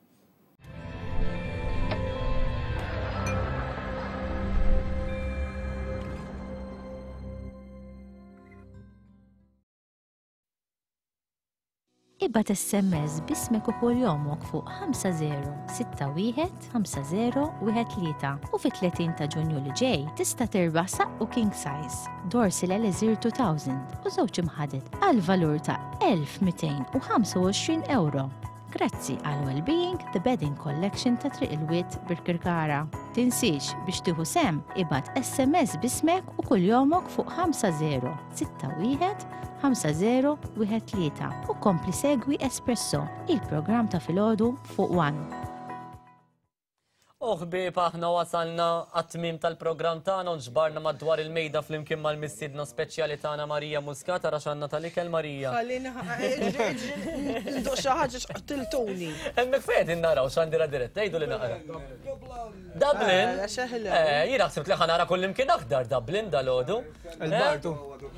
Ibgħat SMS b'ismek u kuljomok fuq 5061 5013 u fit-30 ta' Ġunju li ġej tista' tirbaħ saqqu king size, Dorsil Elixir 2000 u żewġ imħaded għal valur ta' 1225 ewro. Grazzi għal Wellbeing The Bedding Collection ta' Triq il-Wied Birkirkara. Tinsiex biex tieħu sehem ibgħat SMS b'ismek u kuljomok fuq 5061 5013 u kompli segwi Espresso, il-programm ta' filgħodu fuq One. U ħbieb aħna wasalna għat-tmiem tal-programm tagħna u nġbarna madwar il-mejda flimkien mal-mistiedna speċjali tagħna Marija Muscat ara x'għandna tal-ikel Marija. Ħallini nduq xi ħaġa x'qtiltuni. Hemmhekk fejn qegħdin naraw x'għandira diretta, għidu li naqra. Dublin? Eh, jiena ħsibt li ħanara kullimkien aħdar Dublin dalgħodu. Il-Bartu.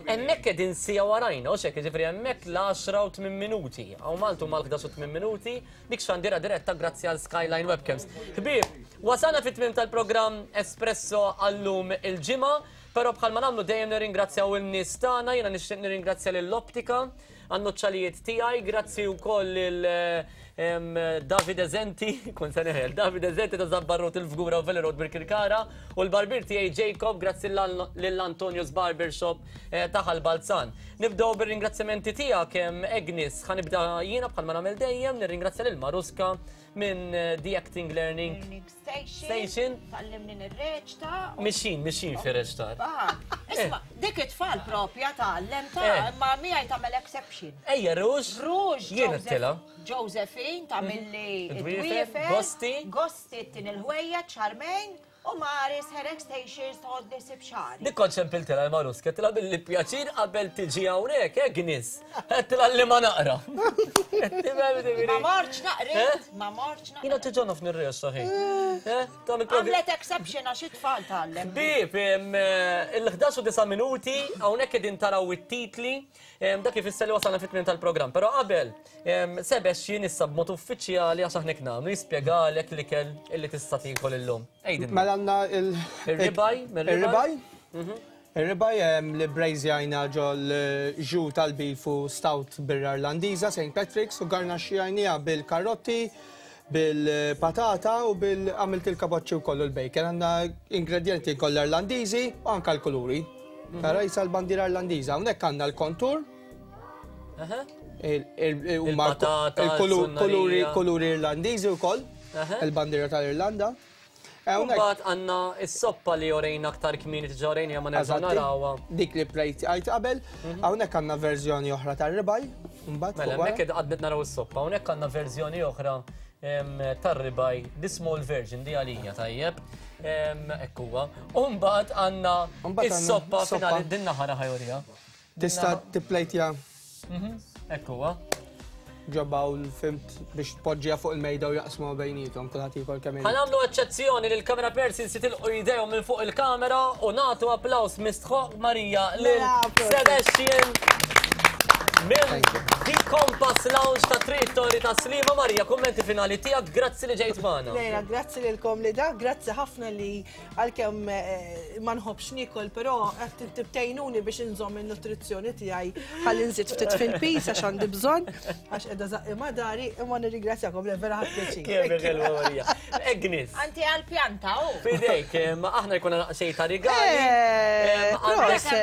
Hemmhekk qegħdin sija warajna, u xek, jiġifieri hemmhekk l-10 u 8 minuti. Hawn Malta huma l-11 u 8 minuti, dik xandira diretta grazzi għal Skyline Webcams. Ħbieb, wasalna fit-tmiem tal-programm Espresso għallum il-ġimgħa, però bħalma nagħmlu dejjem nirringrazzjaw in-nies tagħna, jiena nixtieq nirringrazzja lill-Optika għan-nuċċalijiet tiegħi, grazzi wkoll lil Davide Zenti, kun se neħel, Davide Zenti ta' Zabbarrot il-Fgura u Valley Road Birkirkara u l-barbir tiegħi Jacob, grazzi lil Antonius Barbershop eh, ta' Ħal Balzan. Nibdew bir-ringrazzjamenti tiegħek Agnes, ħa nibda jiena bħalma nagħmel dejjem, nirringrazzja lil Maruska minn eh, The Acting Learning Station. Tallimni nirreċta. Mixin, mixin fi reċtar. Ah, isma, eh. dik it-tfal propja tgħallem ta' eh. imma miegħi tagħmel exception. Ejja, Rouge. Rouge. Jien tila. Josephine tagħmilli id-dwiefer. Gosti. Gosti tin il-ħwejja ċarmejn. U Maris Hair Extensions tgħodni sib xagħri. Dik kont ċempiltilha l-Maruska, tilha billi pjaċir qabel tiġi hawnhekk, Agnes. Tilha li ma naqra. Ma mortx naqrit, ma mortx naqrit. Jiena tiġa naf nirrex saħi. Għamlet exception għax it-tfal tgħallem. Ħbieb, il-11 u 9 minuti, hawnhekk qegħdin taraw it-titli, dak ifisser li wasalna fit-tmiem tal-programm. Però qabel, Sebastian issa b'mod uffiċjali għax aħna hekk nagħmlu jispjegalek l-ikel illi tista' tiekol illum. Għidilna. Mela għandna il- Ir-ribaj, Ir-ribaj. Ir-ribaj li brejżjajna ġol ġu tal-beef u stout birra Irlandiża St. Patrick's u garnaxxjajniha bil-karrotti, bil-patata u bil għamilt il-kaboċċi wkoll u l-bacon. Għandna ingredjenti kollha Irlandiżi u anke l-kuluri. Tara jisa l-bandiera Irlandiża. Hawnhekk għandna l-kontur. Il-patata, il-kuluri kuluri Irlandiżi wkoll, il-bandiera tal-Irlanda. Mbagħad għandna s-soppa li orejna aktar kmieni diġà orejna ma nerġgħu narawha. Dik li plejt għajt qabel, mhm. hawnhekk għandna verżjoni oħra tar-ribaj. Mbagħad mela hemmhekk għadnet naraw is-soppa, hawnhekk għandna verżjoni oħra tar-ribaj, the small version di għalija tajjeb. Ekk huwa. U mbagħad għandna is-soppa finali din naħa ħajorija. Tista' tipplejtja. Mhm, hekk huwa. ġo bowl fhimt biex tpoġġiha fuq il-mejda u jaqsmuha bejniethom kulħadd jiekol kemm irid. Ħa nagħmlu eċċezzjoni li l-camera persons jitilqu jdejhom minn fuq il-kamera u nagħtu applaws mistħoqq Marija lil Sebastian minn The Compass Lounge ta' Triq Torri ta' Sliema. Marija, kummenti finali tiegħek, grazzi li ġejt magħna. Lejla, grazzi lilkom li da, grazzi ħafna li Għalkemm ma nħobbx niekol, però qed tibtejnuni biex inżomm in-nutrizzjoni tiegħi ħalli nżid ftit fil-piż għax għandi bżonn, għax qiegħda żaqqi ma' dari, imma nirringrazzjakom li vera ħadt pjaċir. Kemm ħelwa Marija. Agnes. Anti għall-pjanta hu. F'idejk, ma aħna jkollna naqxej ta' rigali.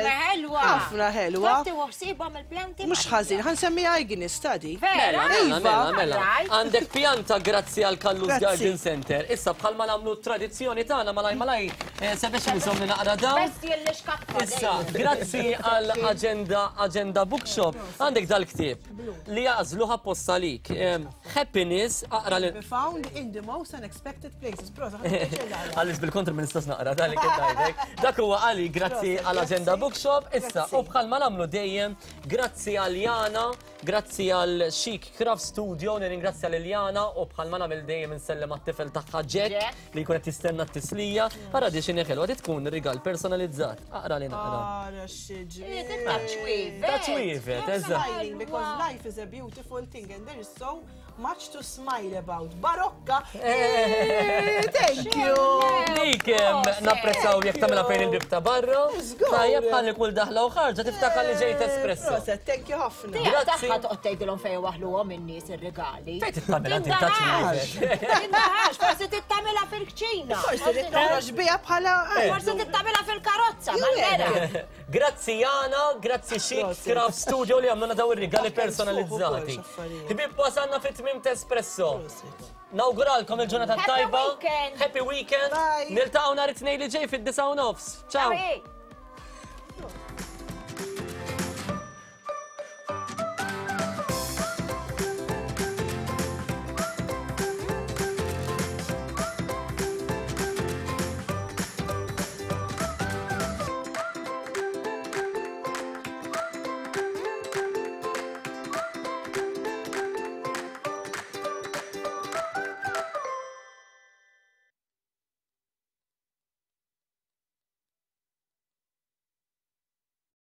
Ħelwa. Ħafna ħelwa. Taf tieħu ħsiebhom il-pjanti? Mhux ħażin, ħa nsemmiha Agnes ta' di. Mela, mela, mela, mela. Għandek pjanta grazzi għal Kallus Garden Center. Issa bħalma nagħmlu tradizzjoni tagħna malaj malaj eh, sabiex nżomm naqra dawn. Besti li xkaffa. Issa, grazzi għal Agenda Agenda Bookshop. Għandek dal-ktieb li jagħżluh apposta lik. Eh, Happiness aqra li Found in the most unexpected places. Prosa, Għaliex bil-kontra ma nistax naqra dan li kien ngħidlek. Dak huwa għali grazzi għal Agenda Bookshop. Issa, u bħalma nagħmlu dejjem, grazzi għal Jana Grazzi għal Chic Craft Studio, nirringrazzja lil Jana u bħalma nagħmel dejjem insellem għat-tifel tagħha Jack li jkun qed jistenna t-tislija. Ara di x'inhi ħelwa, di tkun rigal personalizzat. Aqra li naqra. Ara x'ġmiel. Ta' ċwievet. Ta' ċwievet, eżatt. Smiling because life is a beautiful thing and there is so Much to smile about. Barokka! Eh, thank you! Dik napprezzaw jekk tagħmilha fejn il-bib ta' barra. Tajjeb ħalli kull daħla u ħarġa tiftakar li ġejt espresso. Proset, thank you ħafna. Grazzi. Toqgħod tgħidilhom fejn waħluhom in-nies ir-rigali. Fejn tittamilha tintax. Tindaħax, forsi tittamilha fil-kċina. Forsi tittamilha biha bħala. Forsi tittamilha fil-karozza, mal-mera. Grazzi Jana, grazzi Chic Craft Studio li għamluna daw ir-rigali personalizzati. Ħbieb wasalna fit-tmiem t'Espresso. Nawguralkom il-ġurnata tajba. Happy weekend. Happy weekend. Niltaqgħu nhar it-Tnejn li ġej fid-9 nofs. Ciao.